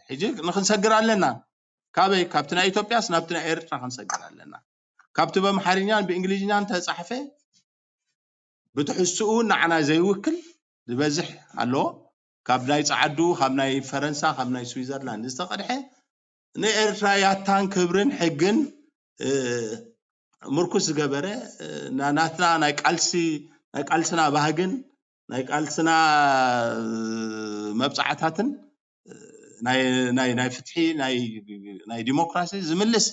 ሕጂ ንክንሰግር ኣለና። ካበይ ካብቲ ናይ ኢትዮጵያስ ናብቲ ናይ ኤርትራ ክንሰግር ኣለና። ካብቲ በምሓርኛን ብእንግሊዝኛን ተፃሕፈ ብትሕዝትኡ ንዓና ዘይውክል ዝበዝሕ ኣሎ። ካብ ናይ ጸዓዱ፣ ካብ ናይ ፈረንሳ፣ ካብ ናይ ስዊዘርላንድ ዝተቐድሐ ንኤርትራ ያታን ክብርን ሕግን እ፣ ምርኩስ ዝገበረ እ፣ ና- ናትና ናይ ቃልሲ ናይ ቃልስና ባህግን ናይ ቃልስና እ፣ መብጻዕታትን እ፣ ናይ ናይ ናይ ፍትሒ ናይ ናይ ዲሞክራሲ ዝምልስ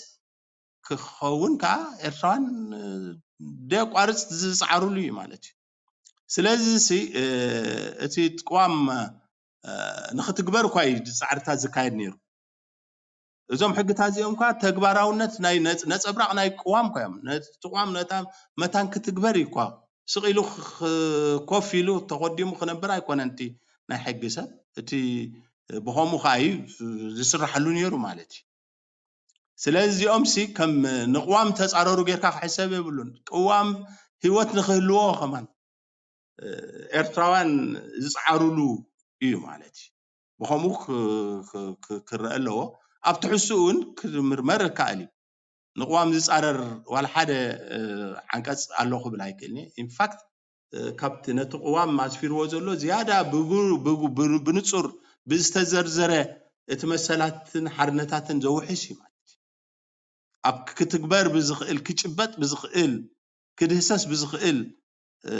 ክኸውን ከዓ ኤርትራውያን እ፣ ደቋርጽ ዝጻዕሩሉ እዩ ማለት እዩ። ስለዚ ሲ እ፣ እቲ ቅዋም እ፣ ንክትግበር እኳ እዩ ጻዕርታት ዝካየድ ነይሩ። እዞም ሕግታት እዚኦም እኳ ተግባራውነት ናይ ነጽ- ነጸብራቕ ናይ ቅዋም እኳ እዮም። ነቲ ቅዋም ነታ መታን ክትግበር እዩ እኳ ስቕ ኢሉ ክ- ክ- ኮፍ ኢሉ ተቆዲሙ ክነብር ኣይኮነን እቲ ናይ ሕጊ ሰብ። እቲ ብኸምኡ ከዓ እዩ ዝስራሐሉ ነይሩ ማለት እዩ። ስለዚ እዚኦም ሲ ከም ንቅዋም ተጻረሩ ጌርካ ክሕሰብ የብሉን። ቅዋም ህይወት ንክህልዎ ከማን እ፣ ኤርትራውያን ዝጸዓሩሉ እዩ ማለት እዩ። ብኸምኡ ክ- ክ- ክ- ክረአ ኣለዎ። ኣብ ትሕዝትኡ እውን ክምርመር ይከኣል እዩ። ንቅዋም ዝጻረር ዋላ ሓደ እ፣ ዓንቀጽ ኣሎ ክብል ኣይክእልን እየ። ኢንፋክት እ፣ ካብቲ ነቲ ቅዋም ኣስፊርዎ ዘሎ ዝያዳ ብጉ- ብጉ- ብን- ብንጹር ብዝተዘርዘረ እቲ መሰላትን ሓርነታትን ዘውሕስ እዩ ማለት እዩ። ኣብ ክትግበር ብዝኽእል ክጭበጥ ብዝኽእል ክድህሰስ ብዝኽእል እ፣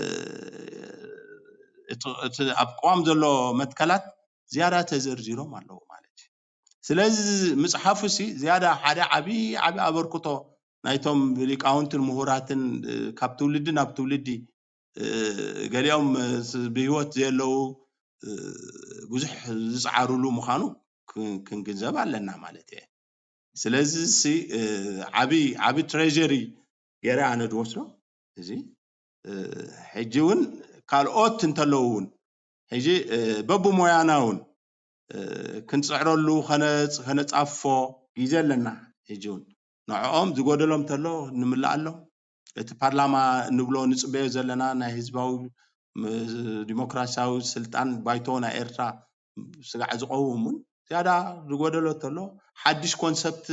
እቲ እቲ ኣብ ቅዋም ዘሎ መትከላት ዝያዳ ተዘርዚሮም ኣለዉ ማለት እዩ። ስለዚ ምፅሓፉ ሲ ዝያዳ ሓደ ዓብዪ ዓብዪ ኣበርክቶ ናይቶም ሊቃውንትን ምሁራትን ካብ ትውልዲ ናብ ትውልዲ ገሊኦም ብህይወት ዘየለዉ ብዙሕ ዝፀዓሩሉ ምዃኑ ክንግንዘብ ኣለና ማለት እየ። ስለዚ ሲ ዓብዪ ዓብዪ ትሬሪ ገይረ ኣነ ድወስዶ እዚ ሕጂ እውን ካልኦት እንተለዉ እውን ሕጂ በብሞያና እውን ክንፅዕረሉ ከነፃፎ ግዜ ኣለና። ሕጂ እውን ንዕኦም ዝጎደሎም ተሎ ንምልኣሎም እቲ ፓርላማ ንብሎ ንፅበዮ ዘለና ናይ ህዝባዊ ዲሞክራሲያዊ ስልጣን ባይቶ ናይ ኤርትራ ስጋዕ ዝቀውም እውን ዝያዳ ዝጎደሎ ተሎ ሓድሽ ኮንሰፕት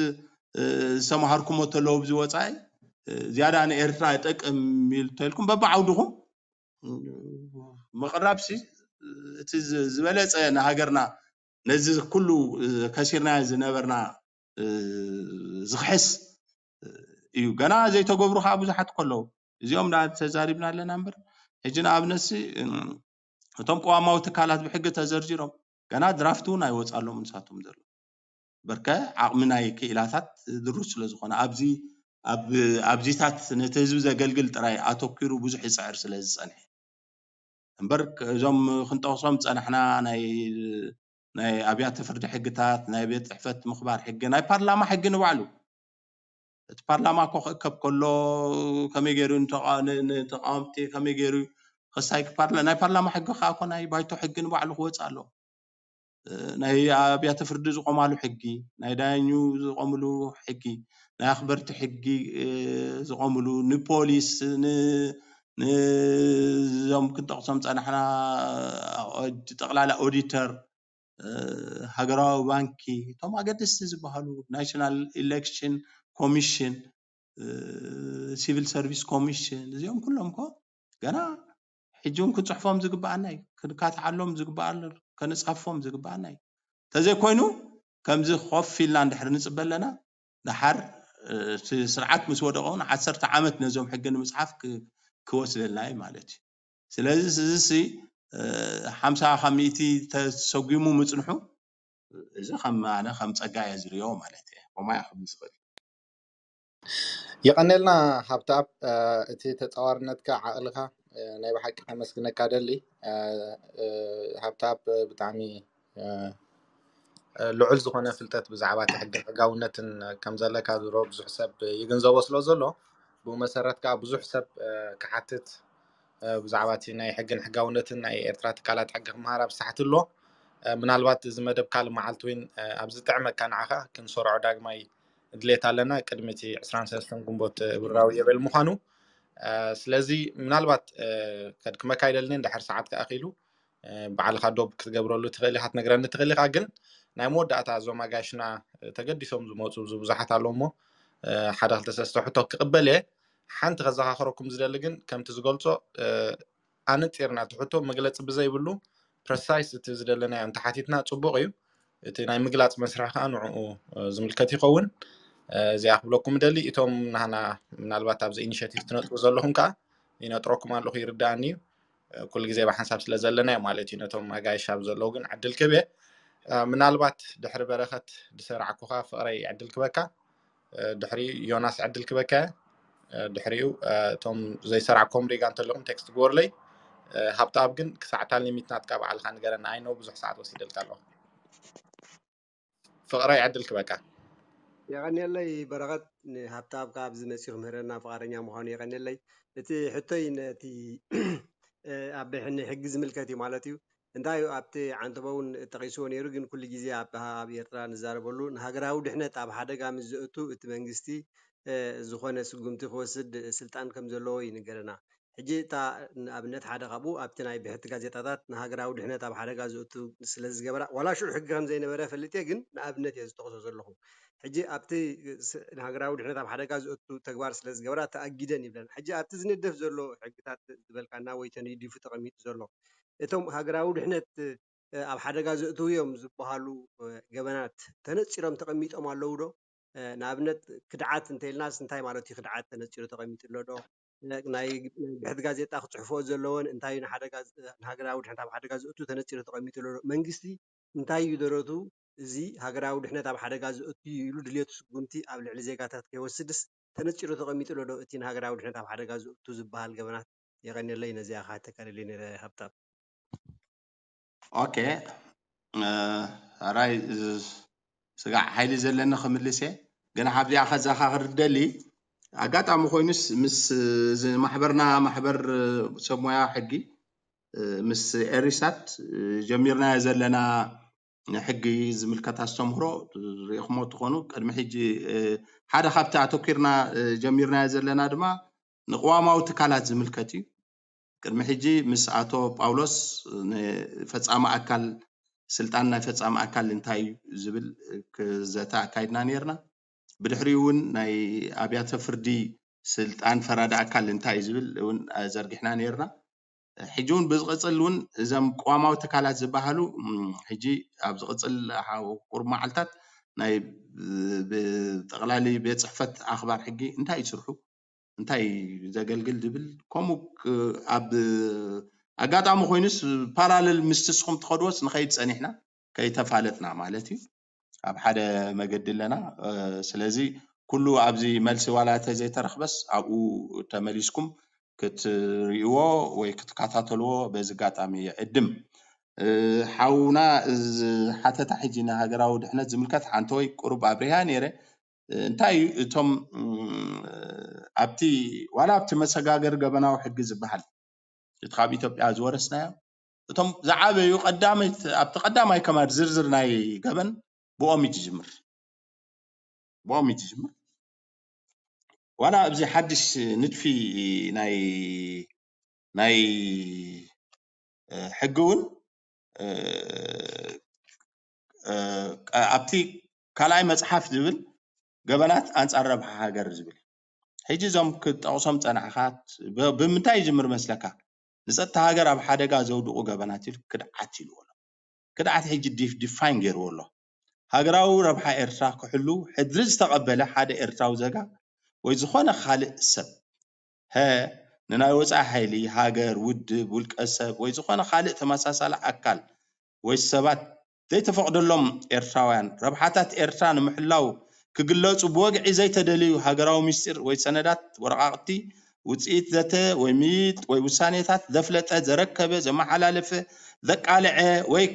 ዝተምሃርኩሞ ተለዉ ብዚ ወፃኢ ዝያዳ ንኤርትራ ይጠቅም ኢሉ ተልኩም በብዓውድኹም ምቕራብሲ እቲ ዝበለፀ ንሃገርና ነዚ ኩሉ ከሲርና ዝነበርና ዝኽሕስ እዩ። ገና ዘይተገብሩ ከዓ ብዙሓት ከለዉ እዚኦም ተዛሪብና ኣለና እምበር ሕጂ ንኣብነትሲ እቶም ቅዋማዊ ትካላት ብሕጊ ተዘርዚሮም ገና ድራፍት እውን ኣይወፃሎም ንሳቶም ዘሎ በርከ ዓቕሚ ናይ ክኢላታት ድሩት ስለ ዝኾነ ኣብዚ ኣብዚታት ነቲ ህዝቢ ዘገልግል ጥራይ ኣተኪሩ ብዙሕ ይፅዕር ስለ ዝፀንሐ እምበር እዞም ክንጠቕሶም ዝፀናሕና ናይ ናይ ኣብያተ ፍርዲ ሕግታት ናይ ቤት ፅሕፈት ምኽባር ሕጊ ናይ ፓርላማ ሕጊ ንባዕሉ እቲ ፓርላማ እኮ ክእከብ ከሎ ከመይ ገይሩ ንተቃወምቲ ከመይ ገይሩ ከሳይ ናይ ፓርላማ ሕጊ ከዓ እኮ ናይ ባይቶ ሕጊ ንባዕሉ ክወፅእ ኣለዎ። ናይ ኣብያተ ፍርዲ ዝቆማሉ ሕጊ፣ ናይ ዳኙ ዝቆምሉ ሕጊ፣ ናይ ኣኽበርቲ ሕጊ ዝቆምሉ ንፖሊስ ንዞም ክንጠቕሶም ፀናሕና ጠቕላላ ኦዲተር ሃገራዊ ባንኪ እቶም ኣገደስቲ ዝበሃሉ ናሽናል ኢሌክሽን ኮሚሽን ሲቪል ሰርቪስ ኮሚሽን እዚኦም ኩሎም ኮ ገና ሕጂ እውን ክንፅሕፎም ዝግበኣና እዩ ክንካትዓሎም ዝግበኣሉ ከነፃፎም ዝግበኣና እዩ እንተዘይኮይኑ ከምዚ ኮፍ ኢልና እንድሕር ንፅበ ኣለና ድሓር ስርዓት ምስ ወደቀ እውን ዓሰርተ ዓመት ነዞም ሕጊ ንምፅሓፍ ክወስደልና እዩ ማለት እዩ ስለዚ እዚ ሓምሳ ካብ ሚእቲ ተሰጒሙ ምፅንሑ እዚ ከም ኣነ ከም ፀጋ እየ ዝሪኦ ማለት እየ ኮማይ ክብል ዝኽእል የቐነልና ሃብተኣብ እቲ ተፃዋርነትካ ዓቕልኻ ናይ ብሓቂ ከመስግነካ ደሊ ሃብተኣብ ብጣዕሚ ልዑል ዝኾነ ፍልጠት ብዛዕባ እቲ ሕግን ሕጋውነትን ከም ዘለካ ዝሮ ብዙሕ ሰብ ይግንዘቦ ስለ ዘሎ ብኡ መሰረት ከዓ ብዙሕ ሰብ ክሓትት ብዛዕባ እቲ ናይ ሕግን ሕጋውነትን ናይ ኤርትራ ትካላት ሕጊ ክመሃር ኣብ ሳሕቲ ኣሎ ምናልባት እዚ መደብ ካልእ መዓልቲ እውን ኣብ ዝጥዕመካ ንዓኻ ክንሰርዖ ዳግማይ ድሌት ኣለና ቅድሚ እቲ ዕስራን ሰለስተን ግንቦት ብራዊ የበል ምዃኑ ስለዚ ምናልባት ከድክመካ ይደልኒ እንድሕር ሰዓት ክኣኪሉ ባዕልካ ዶብ ክትገብረሉ ትኽእል ኢካ ትነግረኒ ትኽእል ኢካ ግን ናይ መወዳእታ እዞም ኣጋይሽና ተገዲሶም ዝመፁ ብዙ ብዙሓት ኣለዎ እሞ ሓደ ክልተ ሰለስተ ሕቶ ክቕበል እየ ሓንቲ ከዘኻኽረኩም ዝደሊ ግን ከምቲ ዝገልፆ ኣነፂርና እቲ ሕቶ መግለፂ ብዘይብሉ ፕረሳይስ እቲ ዝደለናዮ እንተሓቲትና ፅቡቕ እዩ እቲ ናይ ምግላፅ መስርሒ ከዓ ንዕኡ ዝምልከት ይኸውን እዚኣ ክብለኩም ደሊ እቶም ናህና ምናልባት ኣብዚ ኢኒሽቲቭ ትነጥሩ ዘለኹም ከዓ ይነጥረኩም ኣለኹ ይርዳእኒ እዩ ኩሉ ግዜ ብሓንሳብ ስለ ዘለና እዩ ማለት እዩ ነቶም ኣጋይሽ ኣብ ዘለዉ ግን ዕድል ክህብ እየ ምናልባት ድሕሪ በረኸት ዝሰራዕኩኻ ፍቕረይ ዕድል ክበካ ድሕሪኡ ዮናስ ዕድል ክበካ እየ ድሕሪኡ እቶም ዘይሰራዕኮም ሪጋ እንተለኹም ቴክስት ግበርለይ ሃብተኣብ ግን ክሳዕታ ሊሚት ናትካ በዓልካ ንገረና ኣይነው ብዙሕ ሰዓት ወሲደልካ ኣለኹ ፍቕረይ ዕድል ክበካ የቐንየለይ በረኸት ንሃብተኣብ ካብ ዝመፅኡ ክምህረና ፍቓደኛ ምዃኑ የቐንየለይ እቲ ሕቶይ ነቲ ኣብ ሕጊ ዝምልከት እዩ ማለት እዩ እንታይ ኣብቲ ዓንተቦ እውን ጠቒስዎ ነይሩ ግን ኩሉ ግዜ ኣብ ኣብ ኤርትራ ንዛረበሉ ንሃገራዊ ድሕነት ኣብ ሓደጋ ምስ ዘእቱ እቲ መንግስቲ ዝኾነ ስጉምቲ ክወስድ ስልጣን ከም ዘለዎ ይንገረና ሕጂ እታ ንኣብነት ሓደ ካብኡ ኣብቲ ናይ ብሕቲ ጋዜጣታት ንሃገራዊ ድሕነት ኣብ ሓደጋ ዘእቱ ስለ ዝገበራ ዋላ ሽዑ ሕጊ ከም ዘይነበረ ፈሊጥ እየ ግን ንኣብነት እየ ዝጠቕሶ ዘለኹ ሕጂ ኣብቲ ንሃገራዊ ድሕነት ኣብ ሓደጋ ዘእቱ ተግባር ስለ ዝገበራ ተኣጊደን ይብለን ሕጂ ኣብቲ ዝንደፍ ዘሎ ሕግታት ዝበልካና ወይ ተንዲፉ ተቐሚጡ ዘሎ እቶም ሃገራዊ ድሕነት ኣብ ሓደጋ ዘእትው እዮም ዝበሃሉ ገበናት ተነፂሮም ተቐሚጦም ኣለዉ ዶ? ንኣብነት ክድዓት እንተኢልናስ እንታይ ማለት እዩ ክድዓት ተነፂሩ ተቐሚጡ ኣሎ ዶ? ናይ ብሕቲ ጋዜጣ ክፅሕፎ ዘለዎን እንታይ ንሃገራዊ ድሕነት ኣብ ሓደጋ ዘእቱ ተነፂሩ ተቐሚጡ ኣሎ ዶ? መንግስቲ እንታይ እዩ ደረቱ? እዚ ሃገራዊ ድሕነት ኣብ ሓደጋ ዘእቱ እዩ ኢሉ ድልየቱ ስጉምቲ ኣብ ልዕሊ ዜጋታት ከይወስድስ ተነጺሩ ተቐሚጡ ኣሎ ዶ እቲ ንሃገራዊ ድሕነት ኣብ ሓደጋ ዘእቱ ዝበሃል ገበናት? የቐንየለይ። ነዚኣ ክሓተካ ደልየ ነይረ ሃብታም። ኦኬ፣ ራይ ስጋዕ ሓይሊ ዘለኒ ክምልስ እየ። ግን ካብዚኣ ከዘኻኽር ደሊ፣ ኣጋጣሚ ኮይኑስ ምስ እዚ ማሕበርና፣ ማሕበር ሰብ ሞያ ሕጊ፣ ምስ ኤሪሳት ጀሚርናዮ ዘለና ንሕጊ ዝምልከት ኣስተምህሮ ርኢኹሞ ትኾኑ። ቅድሚ ሕጂ ሓደ ካብቲ ኣተኪርና ጀሚርናዮ ዘለና ድማ ንቅዋማዊ ትካላት ዝምልከት እዩ። ቅድሚ ሕጂ ምስ ኣቶ ጳውሎስ ንፈጻሚ ኣካል፣ ስልጣን ናይ ፈጻሚ ኣካል እንታይ እዩ ዝብል ክዘተ ኣካይድና ነይርና። ብድሕሪኡ እውን ናይ ኣብያተ ፍርዲ ስልጣን ፈራዲ ኣካል እንታይ እዩ ዝብል እውን ዘርጊሕና ነይርና። ሕጂ እውን ብዝቕጽል እውን እዞም ቅዋማዊ ትካላት ዝበሃሉ ሕጂ ኣብ ዝቕጽል ቁሩብ መዓልታት ናይ ብጠቕላሊ ቤት ጽሕፈት ኣኽባር ሕጊ እንታይ ይስርሑ፣ እንታይ ዘገልግል ዝብል፣ ከምኡ ኣብ ኣጋጣሚ ኮይኑስ ፓራለል ምስቲ ንስኹም ትኸድዎስ ንኸይድ ጸኒሕና ከይተፋለጥና ማለት እዩ። ኣብ ሓደ መገዲ ኣለና። ስለዚ ኩሉ ኣብዚ መልሲ ዋላ እንተ ዘይተረኽበስ ኣብኡ ተመሊስኩም ክትርእይዎ ወይ ክትከታተልዎ በዚ ኣጋጣሚ ይዕድም። ሓውና ዝሓተታ ሕጂ ንሃገራዊ ድሕነት ዝምልከት ሓንቲ ወይ ቁሩብ ኣብሪሃ ነይረ። እንታይ እዩ እቶም ኣብቲ ዋላ ኣብቲ መሰጋገሪ ገበናዊ ሕጊ ዝበሃል እቲ ካብ ኢትዮጵያ ዝወረስናዮ እቶም ዝዓበዩ ቀዳመይቲ ኣብቲ ቀዳማይ ከማድ ዝርዝር ናይ ገበን ብኦም እዩ ዝጅምር። ብኦም እዩ ዝጅምር። ዋላ ኣብዚ ሓድሽ ንድፊ ናይ ናይ ሕጊ እውን ኣብቲ ካልኣይ መፅሓፍ ዝብል ገበናት ኣንፃር ረብሓ ሃገር ዝብል ሕጂ እዞም ክጠቕሶም ፀናሕኻት ብምንታይ ይጅምር መስለካ? ንፀጥታ ሃገር ኣብ ሓደጋ ዘውድቑ ገበናት ኢሉ ክድዓት ኢልዎ ኣሎ። ክድዓት ሕጂ ዲፋይን ገይርዎ ኣሎ። ሃገራዊ ረብሓ ኤርትራ ክሕሉ ሕድሪ ዝተቐበለ ሓደ ኤርትራዊ ዘጋ ወይ ዝኾነ ካልእ ሰብ፣ ሀ፣ ንናይ ወጻኢ ሓይሊ፣ ሃገር፣ ውድብ፣ ውልቀ ሰብ ወይ ዝኾነ ካልእ ተመሳሳሊ ኣካል ወይ ሰባት ዘይተፈቕደሎም ኤርትራውያን ረብሓታት ኤርትራ ንምሕላው ክግለጹ ብወግዒ ዘይተደልዩ ሃገራዊ ምስጢር ወይ ሰነዳት፣ ወረቓቕቲ፣ ውጽኢት ዘተ ወይ ምይይጥ ወይ ውሳኔታት ዘፍለጠ፣ ዘረከበ፣ ዘመሓላለፈ፣ ዘቃልዐ ወይ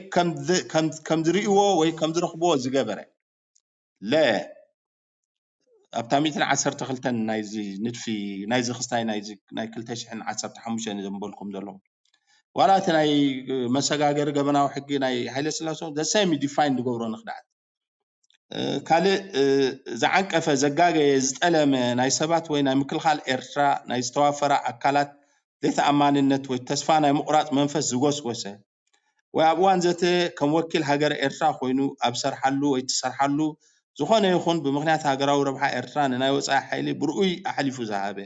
ከም ዝርእይዎ ወይ ከም ዝረኽብዎ ዝገበረ። ለ ኣብታ ሚእትን ዓሰርተ ክልተን ናይዚ ንድፊ ናይዚ ክስታይ ናይዚ ናይ ክልተ ሽሕን ዓሰርተ ሓሙሽተን ዘንበልኩም ዘለኹ ዋላ እቲ ናይ መሰጋገሪ ገበናዊ ሕጊ ናይ ሃይለ ስላሰ ዘሰሚ ዲፋይን ዝገብሮ ንክድዓት ካልእ ዝዓንቀፈ ዘጋገየ ዝጠለመ ናይ ሰባት ወይ ናይ ምክልኻል ኤርትራ ናይ ዝተዋፈራ ኣካላት ዘይተኣማንነት ወይ ተስፋ ናይ ምቑራፅ መንፈስ ዝጎስጎሰ ወይ ኣብ እዋን ዘተ ከም ወኪል ሃገረ ኤርትራ ኮይኑ ኣብ ሰርሓሉ ወይ ትሰርሓሉ ዝኾነ ይኹን ብምኽንያት ሃገራዊ ረብሓ ኤርትራ ንናይ ወጻኢ ሓይሊ ብርኡይ ኣሕሊፉ ዝሃበ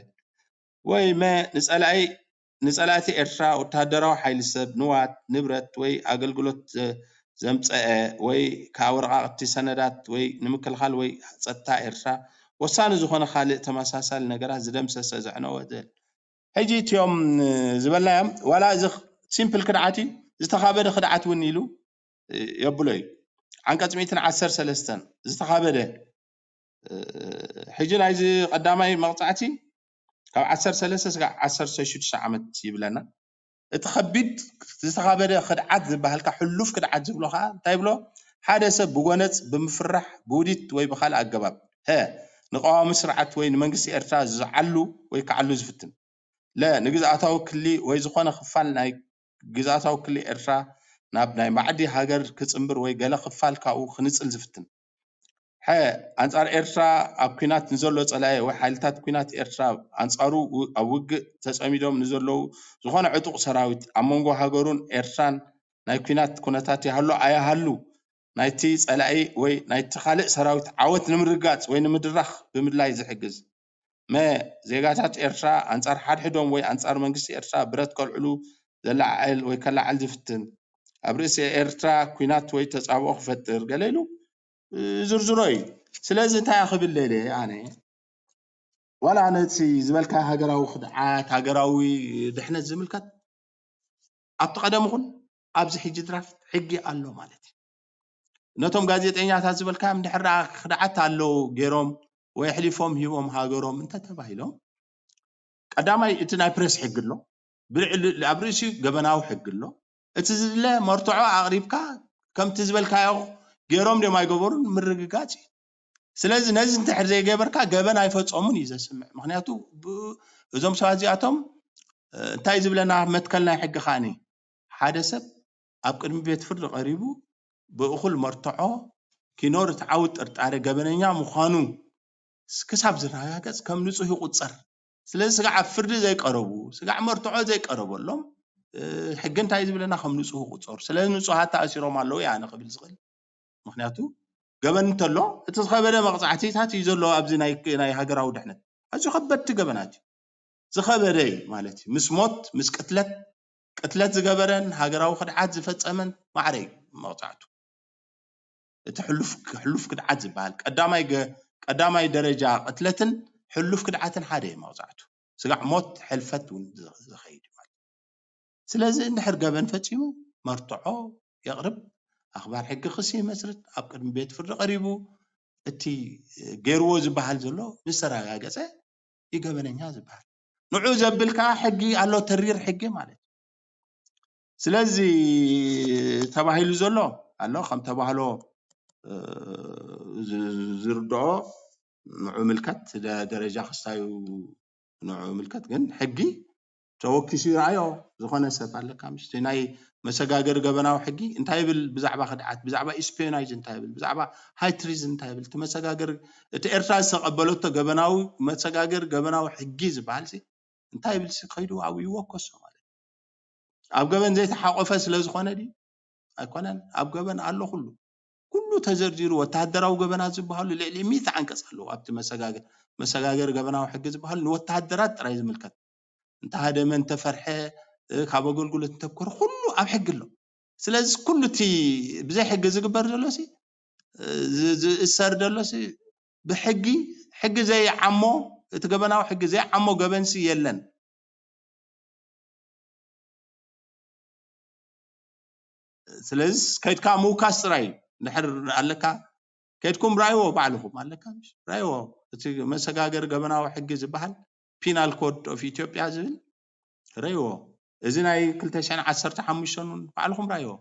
ወይ መ ንጸላኢ ንጸላእቲ ኤርትራ ወተሃደራዊ ሓይሊ ሰብ ንዋት ንብረት ወይ ኣገልግሎት ዘምጸአ ወይ ከዓ ወረቓቕቲ ሰነዳት ወይ ንምክልኻል ወይ ጸጥታ ኤርትራ ወሳኒ ዝኾነ ካልእ ተመሳሳሊ ነገራት ዝደምሰሰ ዘዕነወ ዘል ሕጂ እቲኦም ዝበልናዮም ዋላ እዚ ሲምፕል ክድዓት እዩ ዝተኻበደ ክድዓት እውን ኢሉ የብሎ እዩ። ዓንቀጽ ሚእትን ዓሰርተ ሰለስተን ዝተኻበደ ሕጂ ናይዚ ቀዳማይ መቕጻዕቲ ካብ ዓሰርተ ሰለስተ ስጋዕ ዓሰርተ ሽዱሽተ ዓመት ይብለና። እቲ ከቢድ ዝተኻበደ ክድዓት ዝበሃልካ ሕሉፍ ክድዓት ዝብሎ ከዓ እንታይ ይብሎ? ሓደ ሰብ ብጎነጽ ብምፍራሕ ብውዲት ወይ ብካልእ ኣገባብ ሀ ንቀዋሚ ስርዓት ወይ ንመንግስቲ ኤርትራ ዝዓሉ ወይ ክዓሉ ዝፍትን ለ ንግዝኣታዊ ክሊ ወይ ዝኾነ ክፋል ናይ ግዝኣታዊ ክሊ ኤርትራ ናብ ናይ ማዕዲ ሃገር ክጽንብር ወይ ገለ ክፋል ካብኡ ክንጽል ዝፍትን። ሐ ኣንጻር ኤርትራ ኣብ ኲናት ንዘሎ ጸላኢ ወይ ሓይልታት ኲናት ኤርትራ ኣንጻሩ ኣብ ውግእ ተጸሚዶም ንዘለዉ ዝኾነ ዕጡቕ ሰራዊት ኣብ መንጎ ሃገሩን ኤርትራን ናይ ኲናት ኩነታት ይሃሉ ኣይሃሉ ናይቲ ጸላኢ ወይ ናይቲ ካልእ ሰራዊት ዓወት ንምርጋጽ ወይ ንምድራኽ ብምድላይ ዝሕግዝ። መ ዜጋታት ኤርትራ ኣንጻር ሓድሕዶም ወይ ኣንጻር መንግስቲ ኤርትራ ብረት ከልዕሉ ዘለዓዕል ወይ ከለዓዕል ዝፍትን ኣብ ርእሲ ኤርትራ ኲናት ወይ ተጻብኦ ክፈጥር ገለ ኢሉ ዝርዝሮ እዩ። ስለዚ እንታይ ክብል ደልየ ኣነ ዋላ ነቲ ዝበልካ ሃገራዊ ክድዓት ሃገራዊ ድሕነት ዝምልከት ኣብቲ ቀደም ይኹን ኣብዚ ሕጂ ድራፍት ሕጊ ኣሎ ማለት እዩ። ነቶም ጋዜጠኛታት ዝበልካዮም ድሕር ክድዓት ኣለዉ ገይሮም ወይ ኣሕሊፎም ሂቦም ሃገሮም እንተተባሂሎም፣ ቀዳማይ እቲ ናይ ፕሬስ ሕጊ ኣሎ። ብልዕሊ ኣብ ርእሲኡ ገበናዊ ሕጊ ኣሎ። እቲ ዝድለ መርትዖ ኣቕሪብካ ከምቲ ዝበልካዮ ገይሮም ድዮም ኣይገበሩን ምርግጋጽ እዩ። ስለዚ ነዚ እንድሕር ዘይገበርካ ገበን ኣይፈጸሙን እዩ ዘስምዕ። ምኽንያቱ ብ- እዞም ሰባት እዚኣቶም እ፣ እንታይ ዝብለና መትከል ናይ ሕጊ ከኣኒ ሓደ ሰብ ኣብ ቅድሚ ቤት ፍርዲ ቀሪቡ ብእኹል መርትዖ ኪኖር እቲ ዓውት ጥርጣረ ገበነኛ ምዃኑ ክሳብ ዝረጋገጽ ከም ንጹህ ይቑጸር። ስለዚ ስጋዕ ኣብ ፍርዲ ዘይቀረቡ፣ ስጋዕ መርትዖ ዘይቀረበሎም እ፣ ሕጊ እንታይ ዝብለና ከም ንጹህ ይቑጸሩ። ስለዚ ንጹሃት ተኣሲሮም ኣለዉ እየ ኣነ ክብል ዝኽእል። ምኽንያቱ ገበን እንተሎ እቲ ዝኸበደ መቕጻዕቲታት እዩ ዘሎ ኣብዚ ናይ ናይ ሃገራዊ ድሕነት። ኣዝዩ ከበድቲ ገበናት እዩ። ዝኸበደ እዩ ማለት እዩ። ምስ ሞት፣ ምስ ቅትለት፣ ቅትለት ዝገበረን ሃገራዊ ክድዓት ዝፈጸመን ማዕረ እዩ መቕጻዕቱ። እቲ ሕሉፍ ሕሉፍ ክድዓት ዝበሃል ቀዳማይ ገ- ቀዳማይ ደረጃ ቅትለትን ሕሉፍ ክድዓትን ሓደ እዩ መቕጻዕቱ። ስጋዕ ሞት፣ ሕልፈት እውን ዝ- ዝኸይድ እዩ ማለት እዩ። ስለዚ እንድሕር ገበን ፈጺሙ መርትዖ የቕርብ፣ ኣኽባር ሕጊ ክሲ ይመስርት፣ ኣብ ቅድሚ ቤት ፍርዲ ቀሪቡ እቲ ገይርዎ ዝበሃል ዘሎ ምስ ተረጋገጸ እዩ ገበነኛ ዝበሃል። ንዑ ዘብል ከዓ ሕጊ ኣሎ፣ ተሪር ሕጊ ማለት እዩ። ስለዚ ተባሂሉ ዘሎ ኣሎ ከም ተባህሎ እ፣ ዝ- ዝርድኦ ንዑ ምልከት ደ- ደረጃ ክስታዩ ንዑ ምልከት ግን ሕጊ ተወኪሱ ይረኣዮ። ዝኾነ ሰብ ኣለካ ምሽ ናይ መሰጋገሪ ገበናዊ ሕጊ እንታይ ይብል ብዛዕባ ክድዓት ብዛዕባ ኢስፒዮናጅ እንታይ ይብል ብዛዕባ ሃይ ትሪዝን እንታይ ይብል እቲ መሰጋገሪ እቲ ኤርትራ ዝተቐበለቶ ገበናዊ መሰጋገሪ ገበናዊ ሕጊ ዝበሃል ሲ እንታይ ይብል ሲ ከይዱ ኣብኡ ይወከሶ ማለት እዩ። ኣብ ገበን ዘይተሓቆፈ ስለ ዝኾነ ድዩ ኣይኮነን ኣብ ገበን ኣሎ ኩሉ ኩሉ ተዘርዚሩ ወተሃደራዊ ገበናት ዝበሃሉ ልዕሊ ሚእቲ ዓንቀፅ ኣለዎ ኣብቲ መሰጋገር መሰጋገር ገበናዊ ሕጊ ዝበሃሉ ንወተሃደራት ጥራይ ዝምልከት እንተሃደመ እንተፈርሐ ካብ ኣገልግሎት እንተኮረ ኩሉ ኣብ ሕጊ ኣሎ ስለዚ ኩሉ እቲ ብዘይ ሕጊ ዝግበር ዘሎ ሲ ዝእሰር ዘሎ ሲ ብሕጊ ሕጊ ዘይዓሞ እቲ ገበናዊ ሕጊ ዘይዓሞ ገበን ሲ የለን ስለዚ ከይድካ ምውካስ ጥራይ እንድሕር ኣለካ ከይድኩም ራይዎ ባዕልኹም ኣለካ ራይዎ እቲ መሰጋገሪ ገበናዊ ሕጊ ዝበሃል ፒናል ኮድ ኦፍ ኢትዮጵያ ዝብል ራይዎ እዚ ናይ ክልተ ሽሕን ዓሰርተ ሓሙሽተን እውን ባዕልኹም ራይዎ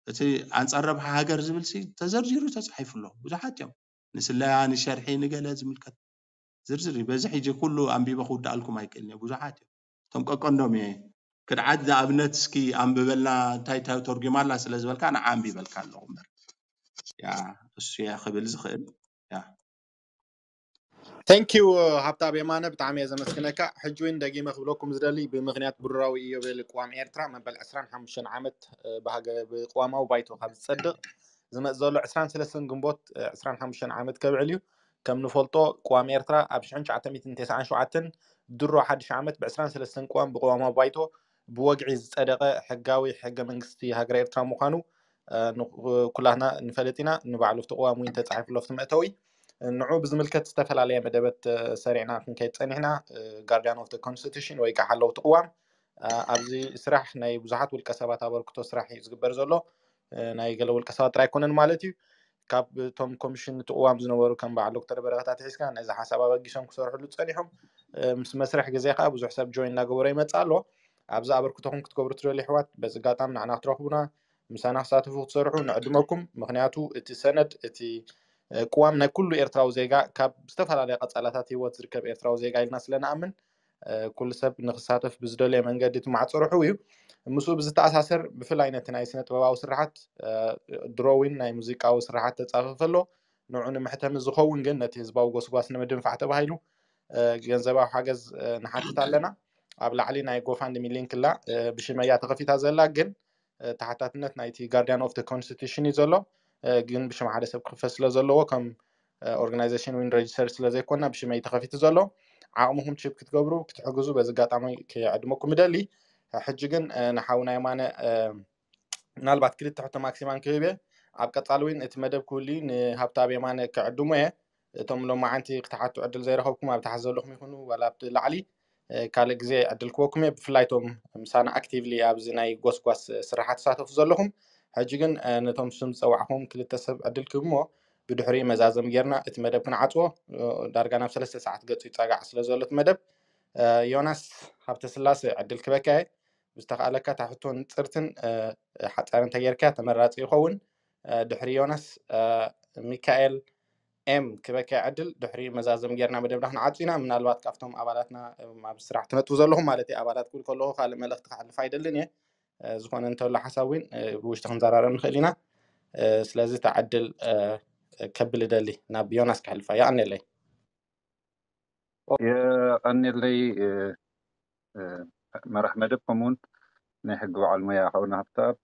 እቲ ኣንፃር ረብሓ ሃገር ዝብል ሲ ተዘርዚሩ ተፃሒፉ ኣሎ ብዙሓት እዮም ንስለያ ንሸርሒ ንገለ ዝምልከት ዝርዝር እዩ በዚ ሕጂ ኩሉ ኣንቢበ ክውድኣልኩም ኣይክእልን እየ ብዙሓት እዮም እቶም ቀቀንዶም እየ ክድዓት ንኣብነት እስኪ ኣንብበልና እንታይ እንታይ ተርጉማ ኣላ ስለ ዝበልካ ንዓ ኣንቢበልካ ኣለኹ እምበር ያ እሱ እየ ክብል ዝኽእል ያ Thank you ሃብታብ የማነ ብጣዕሚ እየ ዘመስግነካ ሕጂ እውን ደጊመ ክብለኩም ዝደሊ ብምክንያት ብሩራዊ ኢዮቤል ቅዋም ኤርትራ መበል ዕስራን ሓሙሽተን ዓመት ብሃገ ብቅዋማዊ ባይቶ ካብ ዝጸድቕ ዝመጽእ ዘሎ ዕስራን ሰለስተን ግንቦት ዕስራን ሓሙሽተን ዓመት ከብዕል እዩ ከም ንፈልጦ ቅዋም ኤርትራ ኣብ ሽሕን ትሽዓተ ሚእትን ተስዓን ሸውዓተን ድሮ ሓድሽ ዓመት ብ ዕስራን ሰለስተን ቅዋም ብቅዋማዊ ባይቶ ብወግዒ ዝጸደቐ ሕጋዊ ሕገ መንግስቲ ሃገረ ኤርትራ ምዃኑ ኩላትና ንፈልጥ ኢና ንባዕሉ ኣብቲ ቅዋም እውን ተፃሒፉ ኣሎ ኣብቲ መእተዊ ንዑ ብዝምልከት ዝተፈላለየ መደበት ሰሪዕና ክንከይድ ፀኒሕና guardian of the constitution ወይ ከዓ ሓለውቲ ቅዋም ኣብዚ ስራሕ ናይ ብዙሓት ውልቀ ሰባት ኣበርክቶ ስራሕ እዩ ዝግበር ዘሎ ናይ ገለ ውልቀ ሰባት ጥራይ ኣይኮነን ማለት እዩ ካብ እቶም ኮሚሽን እቲ ቅዋም ዝነበሩ ከም በዓል ዶክተር በረኸት ኣትሒዝካ ነዚ ሓሳብ ኣበጊሶም ክሰርሕሉ ፀኒሖም ምስ መስርሕ ግዜ ከዓ ብዙሕ ሰብ ጆይን እናገበሮ ይመፅእ ኣሎ ኣብዚ ኣበርክቶኹም ክትገብሩ ትደልዩ ኣሕዋት በዚ ኣጋጣሚ ንዓና ክትረኽቡና ምሳና ክሳተፉ ክትሰርሑ ንዕድመኩም ምኽንያቱ እቲ ሰነድ እቲ ቅዋም ናይ ኩሉ ኤርትራዊ ዜጋ ካብ ዝተፈላለያ ቀፃላታት ህይወት ዝርከብ ኤርትራዊ ዜጋ ኢልና ስለ ንኣምን ኩሉ ሰብ ንክሳተፍ ብዝደለየ መንገዲ እቲ ማዕፆ ርሑው እዩ ምስኡ ብዝተኣሳሰር ብፍላይ ነቲ ናይ ስነ ጥበባዊ ስራሓት ድሮዊን ናይ ሙዚቃዊ ስራሓት ተፃፈፈ ኣሎ ንዑ ንምሕተሚ ዝኸውን ግን ነቲ ህዝባዊ ጎስጓስ ንምድንፋዕ ተባሂሉ ገንዘባዊ ሓገዝ ንሓትት ኣለና ኣብ ላዕሊ ናይ ጎፋንድሚ ሊንክ ላ ብሽመያ ተኸፊታ ዘላ ግን ተሓታትነት ናይቲ guardian of the constitution እዩ ዘሎ ግን ብሽም ሓደ ሰብ ክኽፈት ስለ ዘለዎ ከም organization ዊን register ስለ ዘይኮና ብሽመይ ተኸፊቱ ዘሎ ዓቕምኹም ችፕ ክትገብሩ ክትሕግዙ በዚ ኣጋጣሚ ክዕድመኩም ምደሊ ሕጂ ግን ንሓውና የማነ ምናልባት ክልተ ሕቶ ማክሲማን ክህብ እየ ኣብ ቀፃሊ እውን እቲ መደብ ክህሉ ንሃብታብ የማነ ክዕድሙ እየ እቶም ሎማዓንቲ ክትሓቱ ዕድል ዘይረኸብኩም ኣብ ታሕቲ ዘለኹም ይኹኑ ዋላ ኣብቲ ላዕሊ ካልእ ግዜ ዕድል ክወኩም እየ ብፍላይ ቶም ምሳና ኣክቲቭሊ ኣብዚ ናይ ጎስጓስ ስራሓት ትሳተፉ ዘለኹም ሕጂ ግን ነቶም ስም ዝፀዋዕኹም ክልተ ሰብ ዕድል ክህብሞ፣ ብድሕሪኡ መዛዘም ጌርና እቲ መደብ ክንዓፅዎ። ዳርጋ ናብ ሰለስተ ሰዓት ገፁ ይፀጋዕ ስለ ዘሎ እቲ መደብ። ዮናስ ሃብተስላሴ ዕድል ክበካየ፣ ብዝተኻእለካ እታ ሕቶ ንፅርትን ሓፃርን ተጌርካ ተመራፂ ይኸውን። ድሕሪ ዮናስ ሚካኤል ኤም ክበካ ዕድል ድሕሪ መዛዘም ጌርና መደብና ክንዓጹ ኢና። ምናልባት ካብቶም ኣባላትና ኣብ ስራሕ ትነጥቡ ዘለኹም ማለት እዩ፣ ኣባላት ክብል ከለኹ ካልእ መልእኽቲ ክሓልፍ ኣይደልን እየ። ዝኾነ እንተሎ ሓሳብ እውን ብውሽጢ ክንዘራረብ ንኽእል ኢና። ስለዚ እታ ዕድል ከብል እደሊ ናብ ዮናስ ክሕልፋ። የቐንየለይ። የቐንየለይ መራሕ መደብ፣ ከምኡውን ናይ ሕጊ በዓል ሞያ ሓውና ሃብተኣብ።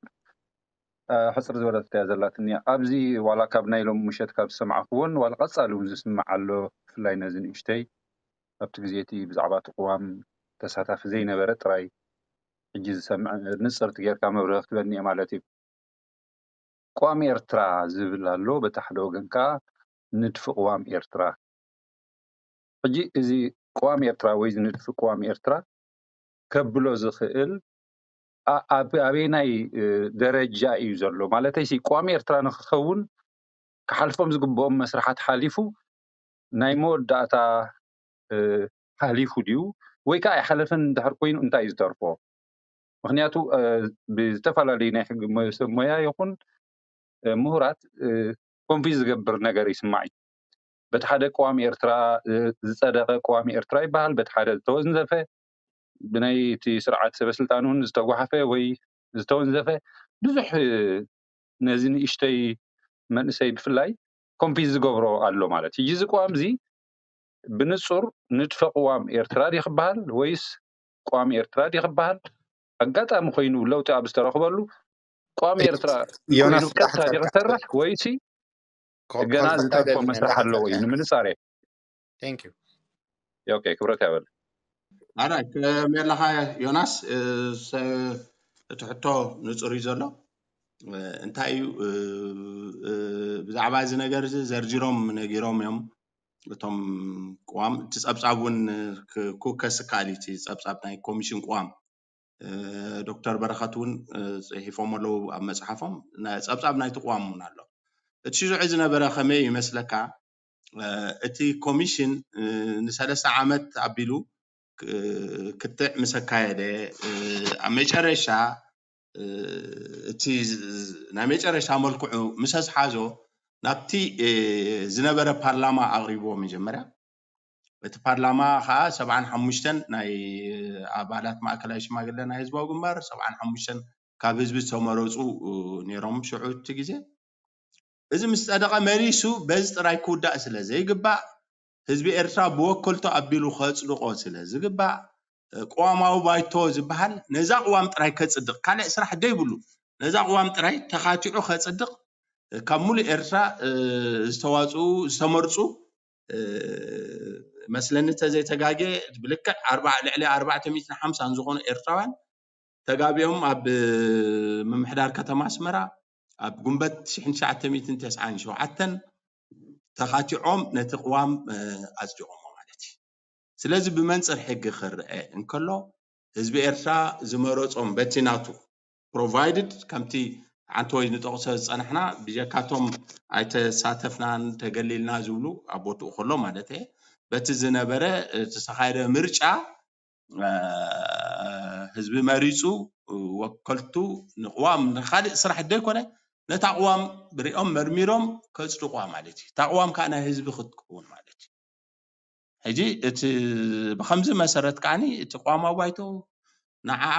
ሕፅር ዝበለት እያ ዘላትኒ። ኣብዚ ዋላ ካብ ናይ ሎም ምሸት ካብ ዝሰማዕክዎን ዋላ ቀፃሊ እውን ዝስማዕ ኣሎ፣ ብፍላይ ነዚ ንእሽተይ ኣብቲ ግዜ እቲ ብዛዕባ እቲ ቅዋም ተሳታፊ ዘይነበረ ጥራይ ሕጂ ዝሰምዕ ንፅርቲ ጌርካ መብርሂ ክትበኒ እየ ማለት እዩ። ቅዋም ኤርትራ ዝብል ኣሎ፣ በቲ ሓደ ወገን ከዓ ንድፊ ቅዋም ኤርትራ። ሕጂ እዚ ቅዋም ኤርትራ ወይ እዚ ንድፊ ቅዋም ኤርትራ ከብሎ ዝኽእል ኣበየናይ ደረጃ እዩ ዘሎ? ማለተይ ሲ ቅዋም ኤርትራ ንክኸውን ክሓልፎም ዝግብኦም መስርሓት ሓሊፉ ናይ መወዳእታ ሓሊፉ ድዩ ወይ ከዓ ኣይሓለፈን እንድሕር ኮይኑ እንታይ እዩ ዝተርፎ? ምክንያቱ ብዝተፈላለዩ ናይ ሕጊ ሰብ ሞያ ይኹን ምሁራት ኮንፊዝ ዝገብር ነገር ይስማዕ እዩ። በቲ ሓደ ቅዋም ኤርትራ ዝፀደቐ ቅዋም ኤርትራ ይበሃል፣ በቲ ሓደ ዝተወንዘፈ ብናይ እቲ ስርዓት ሰበስልጣን እውን ዝተጓሓፈ ወይ ዝተወንዘፈ ብዙሕ ነዚ ንእሽተይ መንእሰይ ብፍላይ ኮንፊዝ ዝገብሮ ኣሎ ማለት እዩ። እዚ ቅዋም እዚ ብንጹር ንድፈ ቅዋም ኤርትራ ድዩ ክበሃል ወይስ ቅዋም ኤርትራ ድዩ ክበሃል? ኣጋጣሚ ኮይኑ ለውጢ ኣብ ዝተረኽበሉ ቅዋም ኤርትራ ኮይኑ ቀጥታ ድዩ ክሰርሕ ወይሲ ገና ዝተርፎ መስርሕ ኣለዎ እዩ ንምንጻር እየ። ኦኬ፣ ክብረት ያበል። ኣራይ ከመይ ኣለኻ ዮናስ? እቲ ሕቶ ንጹር እዩ ዘሎ። እንታይ እዩ ብዛዕባ እዚ ነገር እዚ ዘርዚሮም ነጊሮም እዮም እቶም ቅዋም። እቲ ጸብጻብ እውን ክውከስ ይከኣል እዩ፣ እቲ ጸብጻብ ናይ ኮሚሽን ቅዋም። ዶክተር በረኸት እውን ጽሒፎም ኣለዉ ኣብ መጽሓፎም፣ ጸብጻብ ናይቲ ቅዋም እውን ኣሎ። እቲ ሽዙዕ ዝነበረ ከመይ ይመስለካ? እቲ ኮሚሽን ንሰለስተ ዓመት ኣቢሉ ክትዕ ምስ ኣካየደ፣ ኣብ መጨረሻ እቲ ናይ መጨረሻ መልክዑ ምስ ኣስሓዞ ናብቲ ዝነበረ ፓርላማ ኣቕሪብዎ መጀመርያ። እቲ ፓርላማ ከዓ ሰብዓን ሓሙሽተን ናይ ኣባላት ማእከላይ ሽማግለ ናይ ህዝባዊ ግንባር፣ ሰብዓን ሓሙሽተን ካብ ህዝቢ ዝተመረፁ ነይሮም ሽዑ እቲ ግዜ። እዚ ምስ ጸደቐ መሊሱ በዚ ጥራይ ክውዳእ ስለ ዘይግባእ፣ ህዝቢ ኤርትራ ብወከልቱ ኣቢሉ ከጽድቆ ስለ ዝግባእ፣ ቅዋማዊ ባይቶ ዝበሃል ነዛ ቅዋም ጥራይ ከጽድቕ፣ ካልእ ስራሕ ዘይብሉ፣ ነዛ ቅዋም ጥራይ ተኻቲዑ ከጽድቕ፣ ካብ ሙሉእ ኤርትራ ዝተዋጽኡ ዝተመርጹ መስለኒ ተዘይተጋጌ ብልክዕ ኣርባዓ ልዕሊ ኣርባዕተ ሚእትን ሓምሳን ዝኾኑ ኤርትራውያን ተጋቢኦም ኣብ ምምሕዳር ከተማ ኣስመራ ኣብ ጉንበት ሽሕን ትሽዓተ ሚእትን ተስዓን ሸውዓተን ተኻቲዖም ነቲ ቅዋም ኣጽዲቖሞ ማለት እዩ። ስለዚ ብመንጽር ሕጊ ክረአ እንከሎ ህዝቢ ኤርትራ ዝመረጾም በቲ ናቱ ፕሮቫይድድ ከምቲ ሓንቲ ወይ ንጠቕሶ ዝጸናሕና ብጀካቶም ኣይተሳተፍናን ተገሊልና ዝብሉ ኣብ ቦትኡ ከሎ ማለት እየ በቲ ዝነበረ ዝተኻየደ ምርጫ ህዝቢ መሪፁ ወከልቱ ንቅዋም ንካሊእ ስራሕ ደይኮነ ነታ ቅዋም ብሪኦም መርሚሮም ከፅድቋ ማለት እዩ። እታ ቅዋም ከዓ ናይ ህዝቢ ክትከውን ማለት እዩ። ሕጂ እቲ ብከምዚ መሰረት ከዓኒ እቲ ቅዋማዊ ባይቶ ንዓዓ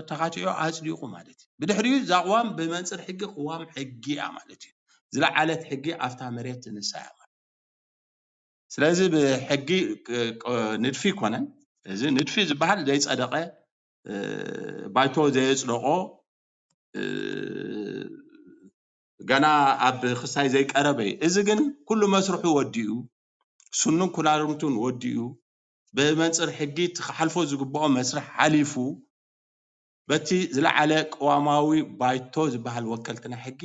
ተኻቲዑ ኣፅዲቑ ማለት እዩ። ብድሕሪኡ እዛ ቅዋም ብመንፅር ሕጊ ቅዋም ሕጊ እያ ማለት እዩ። ዝለዓለት ሕጊ ኣብታ መሬት ትንሳ እያ ማለት ስለዚ ብሕጊ ንድፊ ይኮነን። እዚ ንድፊ ዝበሃል ዘይፀደቐ ባይቶ ዘየፅደቆ ገና ኣብ ክስታይ ዘይቀረበ እዩ። እዚ ግን ኩሉ መስርሑ ወዲኡ፣ ስኑን ኩላርምቱን ወዲኡ፣ ብመንፅር ሕጊ እቲ ክሓልፎ ዝግብኦ መስርሕ ሓሊፉ በቲ ዝለዓለ ቅዋማዊ ባይቶ ዝበሃል ወከልቲ ናይ ሕጊ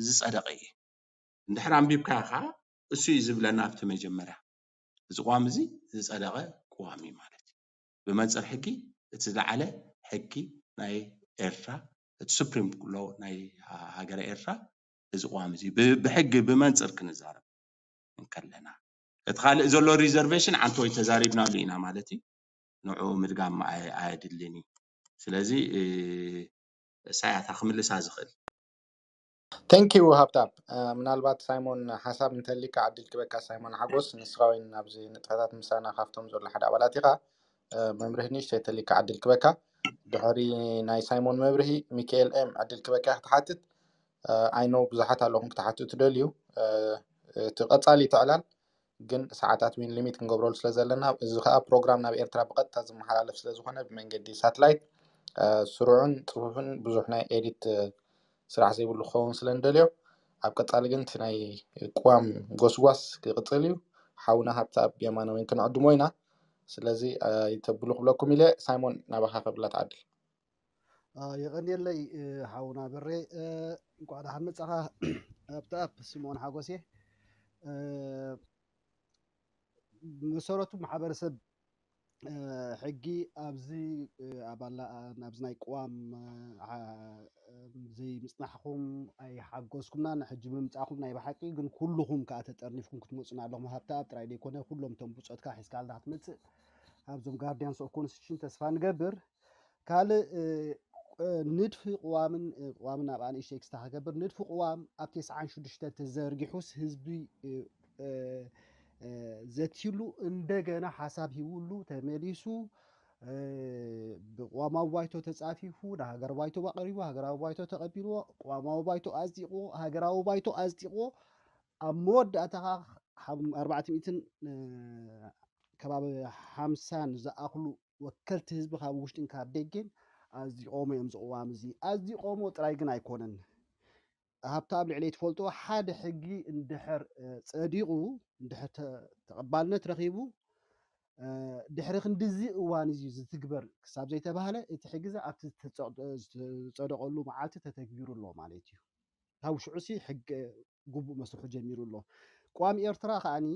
ዝፀደቐ እዩ። እንድሕር ኣንቢብካዮ ከዓ እሱ እዩ ዝብለና ኣብቲ መጀመርያ እዚ ቅዋም እዚ ዝፀደቐ ቅዋም እዩ ማለት እዩ። ብመንፅር ሕጊ እቲ ዝለዓለ ሕጊ ናይ ኤርትራ እቲ ሱፕሪም ሎ ናይ ሃገረ ኤርትራ እዚ ቅዋም እዚ ብሕጊ ብመንፅር ክንዛረብ እንከለና፣ እቲ ካልእ ዘሎ ሪዘርቬሽን ዓንተ ወይ ተዛሪብናሉ ኢና ማለት እዩ። ንዑ ምድጋም ኣየድልን እዩ። ስለዚ እሳያታ ክምልሳ ዝኽእል Thank you ሃብታም። ምናልባት ሳይሞን ሓሳብ እንተሊካ ዕድል ክበካ። ሳይሞን ሓጎስ ንስኻ ወይ ናብዚ ንጥፈታት ምሳና ካብቶም ዘሎ ሓደ ኣባላት ኢኻ። መምርህ ንእሽተይ ተሊካ ዕድል ክበካ። ድሕሪ ናይ ሳይሞን መብርሂ ሚካኤል ኤም ዕድል ክበካ ክትሓትት። I know ብዙሓት ኣለኹም ክትሓትቱ ትደልዩ። እቲ ቀጻሊ ትዕላል ግን ሰዓታት ዊን ሊሚት ክንገብረሉ ስለ ዘለና፣ እዚ ከዓ ፕሮግራም ናብ ኤርትራ ብቐጥታ ዝመሓላለፍ ስለ ዝኾነ ብመንገዲ ሳትላይት ስሩዕን ፅፉፍን ብዙሕ ናይ ኤዲት ስራሕ ዘይብሉ ክኸውን ስለ ንደልዮ፣ ኣብ ቀፃሊ ግን እቲ ናይ ቅዋም ጎስጓስ ክቕፅል እዩ። ሓውና ሃብተኣብ የማነ ወይን ክንዕድሞ ኢና። ስለዚ ይተብሉ ክብለኩም ኢለ። ሳይሞን ናባኻ ከብላ ትዓድል። የቐንየለይ ሓውና በሬ። እንኳዕ ደሓን መጻኻ። ኣብተኣብ ስምኦን ሓጎሴ። መሰረቱ ማሕበረሰብ ሕጊ ኣብዚ ኣባላ ናብዚ ናይ ቅዋም ዘይምፅናሕኩም ኣይሓጎስኩምናን ሕጂ ምምፃእኩም ናይ ብሓቂ ግን ኩልኹም ከዓ ተጠርኒፍኩም ክትመፁና ኣለኹም። ሃብተኣብ ጥራይ ዘይኮነ ኩሎም እቶም ብፆትካ ሒዝካልና ክትመፅእ ኣብዞም ጋርዲያንስ ኦፍ ኮንስቲቱሽን ተስፋ ንገብር። ካልእ ንድፊ ቅዋምን ቅዋምን ኣብ ኣንእሽተይ ክስታ ክገብር ንድፊ ቅዋም ኣብ ተስዓን ሽዱሽተን ተዘርጊሑስ ህዝቢ ዘትይሉ እንደገና ሓሳብ ሂውሉ ተመሊሱ ብቅዋማዊ ባይቶ ተፃፊፉ ንሃገር ባይቶ ኣቅሪቡ ሃገራዊ ባይቶ ተቀቢልዎ ቅዋማዊ ባይቶ ኣፅዲቅዎ ሃገራዊ ባይቶ ኣፅዲቅዎ ኣብ መወዳእታ ከዓ ኣርባዕተ ሚእትን ከባቢ ሓምሳን ዝኣኽሉ ወከልቲ ህዝቢ ካብ ውሽጥን ካብ ደገን ኣፅዲቆሞ እዮም እዚ ቅዋም እዚ ኣፅዲቆሞ ጥራይ ግን ኣይኮነን። ሃብተኣብ ልዕለይ ትፈልጥዎ ሓደ ሕጊ እንድሕር ፀዲቑ እንድሕር ተቐባልነት ረኺቡ ድሕሪ ክንድዚ እዋን እዚ ዝትግበር ክሳብ ዘይተባህለ እቲ ሕጊ እዚ ኣብቲ ዝፀደቐሉ መዓልቲ ተተግቢሩ ኣሎ ማለት እዩ። ካብ ሽዑ ሲ ሕጊ ግቡእ መስርሑ ጀሚሩ ኣሎ። ቅዋም ኤርትራ ከዓኒ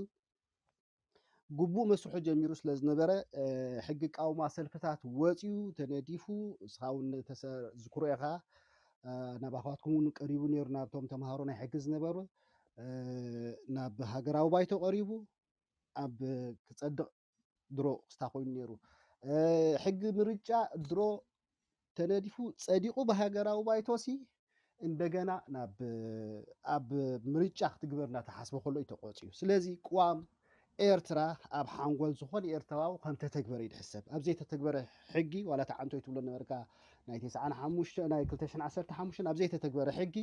ግቡእ መስርሑ ጀሚሩ ስለ ዝነበረ ሕጊ ቃውማ ሰልፍታት ወፂኡ ተነዲፉ እስኻ እውን ዝክሮ ኢኻ ናባኻትኩም እውን ቀሪቡ ነይሩ ናብቶም ተምሃሮ ናይ ሕጊ ዝነበሩ ናብ ሃገራዊ ባይቶ ቀሪቡ ኣብ ክፀድቕ ድሮ ክስታ ኮይኑ ነይሩ ሕጊ ምርጫ ድሮ ተነዲፉ ፀዲቑ ብሃገራዊ ባይቶሲ እንደገና ናብ ኣብ ምርጫ ክትግበር እናተሓስበ ከሎ እዩ ተቆፂዩ። ስለዚ ቅዋም ኤርትራ ኣብ ሓንጎል ዝኾነ ኤርትራዊ ከም ተተግበረ እዩ ዝሕሰብ። ኣብ ዘይተተግበረ ሕጊ ዋላ ተዓንቶ ትብሎ ነበርካ ናይ ተስዓን ሓሙሽተ ናይ ክልተ ሽሕን ዓሰርተ ሓሙሽተን ኣብ ዘይተተግበረ ሕጊ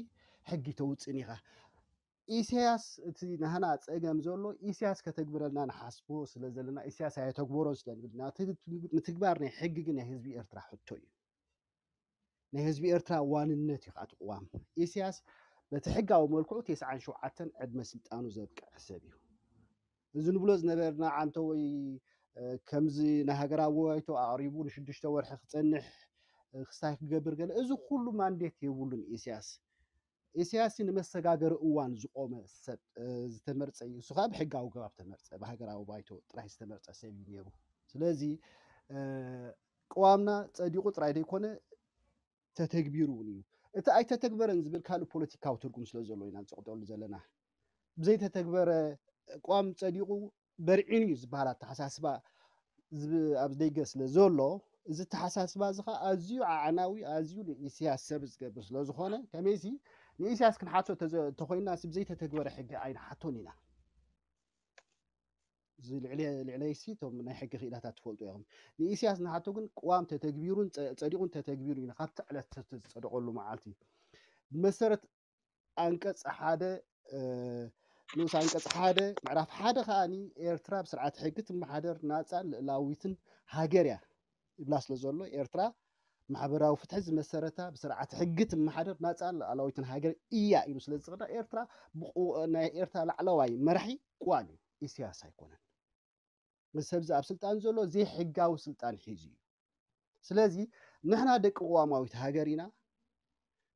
ሕጊ ተውፅን ኢኻ። ኢሳያስ እቲ ናህና ፀገም ዘሎ ኢሳያስ ከተግብረልና ንሓስቦ ስለ ዘለና ኢሳያስ ኣየተግበሮን ስለ ንብል ንትግባር ናይ ሕጊ ግን ናይ ህዝቢ ኤርትራ ሕቶ እዩ። ናይ ህዝቢ ኤርትራ ዋንነት እዩ ከዓ እቲ ቅዋም። ኢሳያስ በቲ ሕጋዊ መልክዑ ተስዓን ሸውዓተን ዕድመ ስልጣኑ ዘብቅዐ ሰብ እዩ። እዚ ንብሎ ዝነበርና ዓንተ ወይ ከምዚ ናይ ሃገራዊ ባይቶ ኣቕሪቡ ንሽዱሽተ ወርሒ ክፀንሕ ክስታይ ክገብር ገለ እዚ ኩሉ ማንዴት የብሉን ኢሳያስ። ኢሳያስ ንመሰጋገሪ እዋን ዝቆመ ሰብ ዝተመርፀ እዩ። እሱ ከዓ ብሕጋዊ ገባብ ተመርፀ፣ ብሃገራዊ ባይቶ ጥራይ ዝተመርፀ ሰብ እዩ ነይሩ። ስለዚ ቅዋምና ፀዲቑ ጥራይ ዘይኮነ ተተግቢሩ እውን እዩ። እቲ ኣይተተግበረን ዝብል ካልእ ፖለቲካዊ ትርጉም ስለ ዘሎ ኢና ንፅቕጠሉ ዘለና። ብዘይተተግበረ ቅዋም ፀዲቑ በርዒኑ እዩ ዝበሃል ኣተሓሳስባ ኣብ ደገ ስለ ዘሎ እዚ ኣተሓሳስባ እዚ ከዓ ኣዝዩ ዓዕናዊ ኣዝዩ ንኢሳያስ ሰብ ዝገብር ስለ ዝኾነ ከመይሲ ንኢሳያስ ክንሓቶ እንተኾይንና ብዘይተተግበረ ሕጊ ኣይንሓቶን ኢና። እዚ ልዕለይሲ እቶም ናይ ሕጊ ክኢላታት ትፈልጡ ኢኹም። ንኢሳያስ ንሓቶ ግን ቅዋም ተተግቢሩን ፀዲቑን ተተግቢሩ ኢና ካብቲ ዕለት ዝፀደቐሉ መዓልቲ ብመሰረት ኣንቀፅ ሓደ ንኡስ ኣንቀፅ ሓደ ምዕራፍ ሓደ ከዓኒ ኤርትራ ብስርዓት ሕጊ ትመሓደር ናፃን ልእላዊትን ሃገር እያ ይብላ ስለ ዘሎ ኤርትራ ማሕበራዊ ፍትሒ ዝመሰረታ ብስርዓት ሕጊ ትመሓደር ናፃን ልኣላዊትን ሃገር እያ ኢሉ ስለ ዝቕዳ ኤርትራ ናይ ኤርትራ ላዕለዋይ መራሒ ቅዋም እዩ ኢሳያስ ኣይኮነን። እዚ ሰብዚ ኣብ ስልጣን ዘሎ ዘይሕጋዊ ስልጣን ሒዙ እዩ። ስለዚ ንሕና ደቂ ቅዋማዊት ሃገር ኢና፣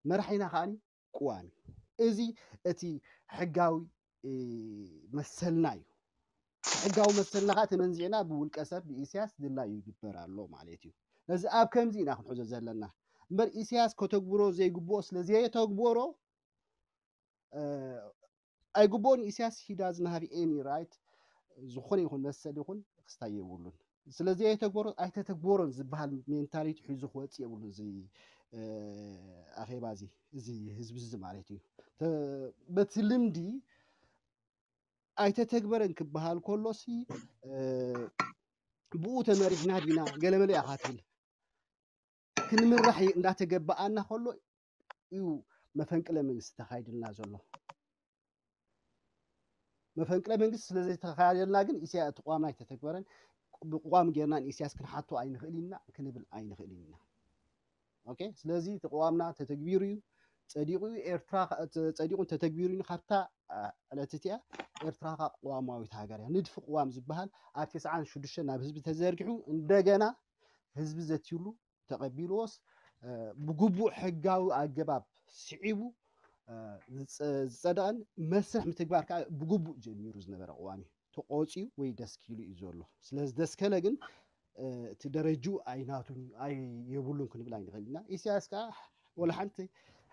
መራሒና ከዓኒ ቅዋም እዩ። እዚ እቲ ሕጋዊ መሰልና እዩ። ሕጋዊ መሰልና ከዓ ተመንዚዕና ብውልቀ ሰብ ብኢሳያስ ድላዩ ይግበር ኣሎ ማለት እዩ። ነዚ ኣብ ከምዚ ኢና ክንሕዞ ዘለና። እምበር ኢሳያስ ከተግብሮ ዘይግብኦ ስለ ዘየተግበሮ ኣይግብኦን። ኢሳያስ he doesn't have any right ዝኾነ ይኹን መሰል ይኹን ክስታይ የብሉን። ስለ ዘየተግበሮ ኣይተተግበሮን ዝበሃል ሜንታሊቲ ሒዙ ክወፅእ የብሉን። እዚ ኣኼባ እዚ እዚ ህዝቢ እዚ ማለት እዩ። በቲ ልምዲ ኣይተተግበረን ክበሃል ከሎሲ ብኡ ተመሪሕና ዲና ገለመለ ኢኻ ትብል። ክንምራሕ እንዳተገበኣና ከሎ እዩ መፈንቅለ መንግስቲ ተኻይድልና ዘሎ። መፈንቅለ መንግስቲ ስለ ዘይተኻየደልና ግን ኢሳያ እቲ ቅዋምና ኣይተተግበረን። ብቅዋም ጌርና ንኢሳያስ ክንሓቶ ኣይንኽእል ኢና ክንብል ኣይንኽእል ኢና። ኦኬ፣ ስለዚ እቲ ቅዋምና ተተግቢሩ እዩ፣ ጸዲቑ እዩ። ኤርትራ ጸዲቑን ተተግቢሩ እዩ። ካብታ ዕለት እቲኣ ኤርትራ ኸኣ ቅዋማዊት ሃገር እያ። ንድፊ ቅዋም ዝበሃል ኣብ ተስዓን ሽዱሽተን ናብ ህዝቢ ተዘርጊሑ እንደገና ህዝቢ ዘትዩሉ ተቐቢልዎስ ብግቡእ ሕጋዊ ኣገባብ ስዒቡ ዝጸደቐን መስርሕ ምትግባር ከዓ ብግቡእ ጀሚሩ ዝነበረ ቅዋም እዩ። ተቆፂዩ ወይ ደስኪሉ እዩ ዘሎ። ስለ ዝደስከለ ግን እቲ ደረጅኡ ኣይናቱን ኣይ የብሉን ክንብል ኣይንኽእል ኢና። ኢሳያስ ከዓ ወላ ሓንቲ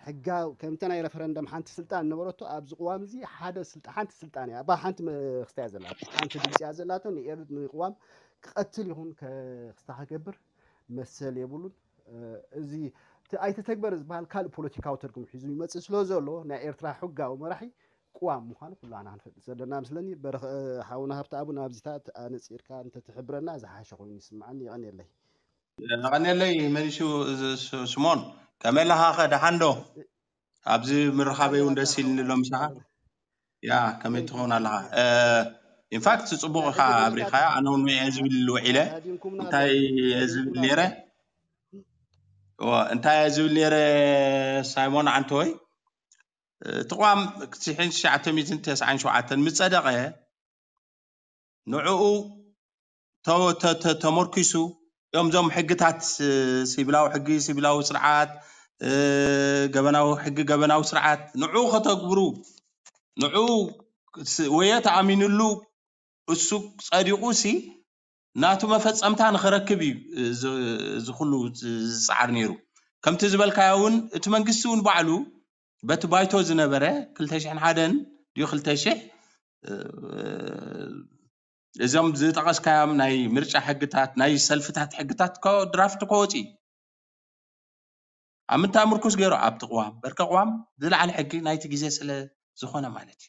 ሕጋዊ ከምቲ ናይ ረፈረንደም ሓንቲ ስልጣን ነበረቶ ኣብዚ ቅዋም እዚ ሓደ ስልጣን ሓንቲ ስልጣን እያ ባ ሓንቲ መክስታ እያ ዘላቶ ሓንቲ ድምፂ እያ ዘላቶ ንኤርት ንቅዋም ክቐትል ይኹን ክስታ ክገብር መሰል የብሉን። እዚ ኣይተተግበረ ዝበሃል ካልእ ፖለቲካዊ ትርጉም ሒዙ ይመፅእ ስለ ዘሎ ናይ ኤርትራ ሕጋዊ መራሒ ቅዋም ምዃኑ ኩላና ክንፈልጥ ዘለና ምስለኒ። በረኸ ሓውና ሃብተኣብ ናብዚታት ኣነፂርካ እንተትሕብረና ዝሓሸ ኮይኑ ይስምዓኒ። የቐንየለይ። የቐንየለይ መሊሱ ስሞን ከመይ ኣለኻ? ከ ደሓን ዶ? ኣብዚ ምርኻበይ እውን ደስ ኢልኒ ኣሎ ምሳኻ። ያ ከመይ ትኸውን ኣለኻ? ኢንፋክት ፅቡቅ ኢኻ ኣብሪኻያ። ኣነ እውን እየ ዝብል ውዒለ እንታይ እየ ዝብል ነይረ እንታይ እየ ዝብል ነይረ ሳይሞን ዓንተወይ እቲ ቅዋም ትሽዓተ ሚእትን ተስዓን ሸውዓተን ምስ ጸደቐ ንዕኡ ተመርኪሱ እዮም እዞም ሕግታት ሲቪላዊ ሕጊ ሲቪላዊ ስርዓት ገበናዊ ሕጊ ገበናዊ ስርዓት ንዕኡ ከተግብሩ ንዕኡ ወየ ተኣሚንሉ እሱ ጸዲቑ ሲ ናቱ መፈጸምታ ንኽረክብ እዩ እዚ ኩሉ ዝፀዓር ነይሩ። ከምቲ ዝበልካዮ እውን እቲ መንግስቲ እውን ባዕሉ በቲ ባይቶ ዝነበረ ክልተ ሽሕን ሓደን ድዩ ክልተ ሽሕ እዞም ዝጠቐስካዮም ናይ ምርጫ ሕግታት ናይ ሰልፍታት ሕግታት ድራፍት ከወፂ ኣብ ምንታይ ምርኩስ ገይሩ ኣብቲ ቅዋም በርከ ቅዋም ዝለዓለ ሕጊ ናይቲ ግዜ ስለ ዝኾነ ማለት እዩ።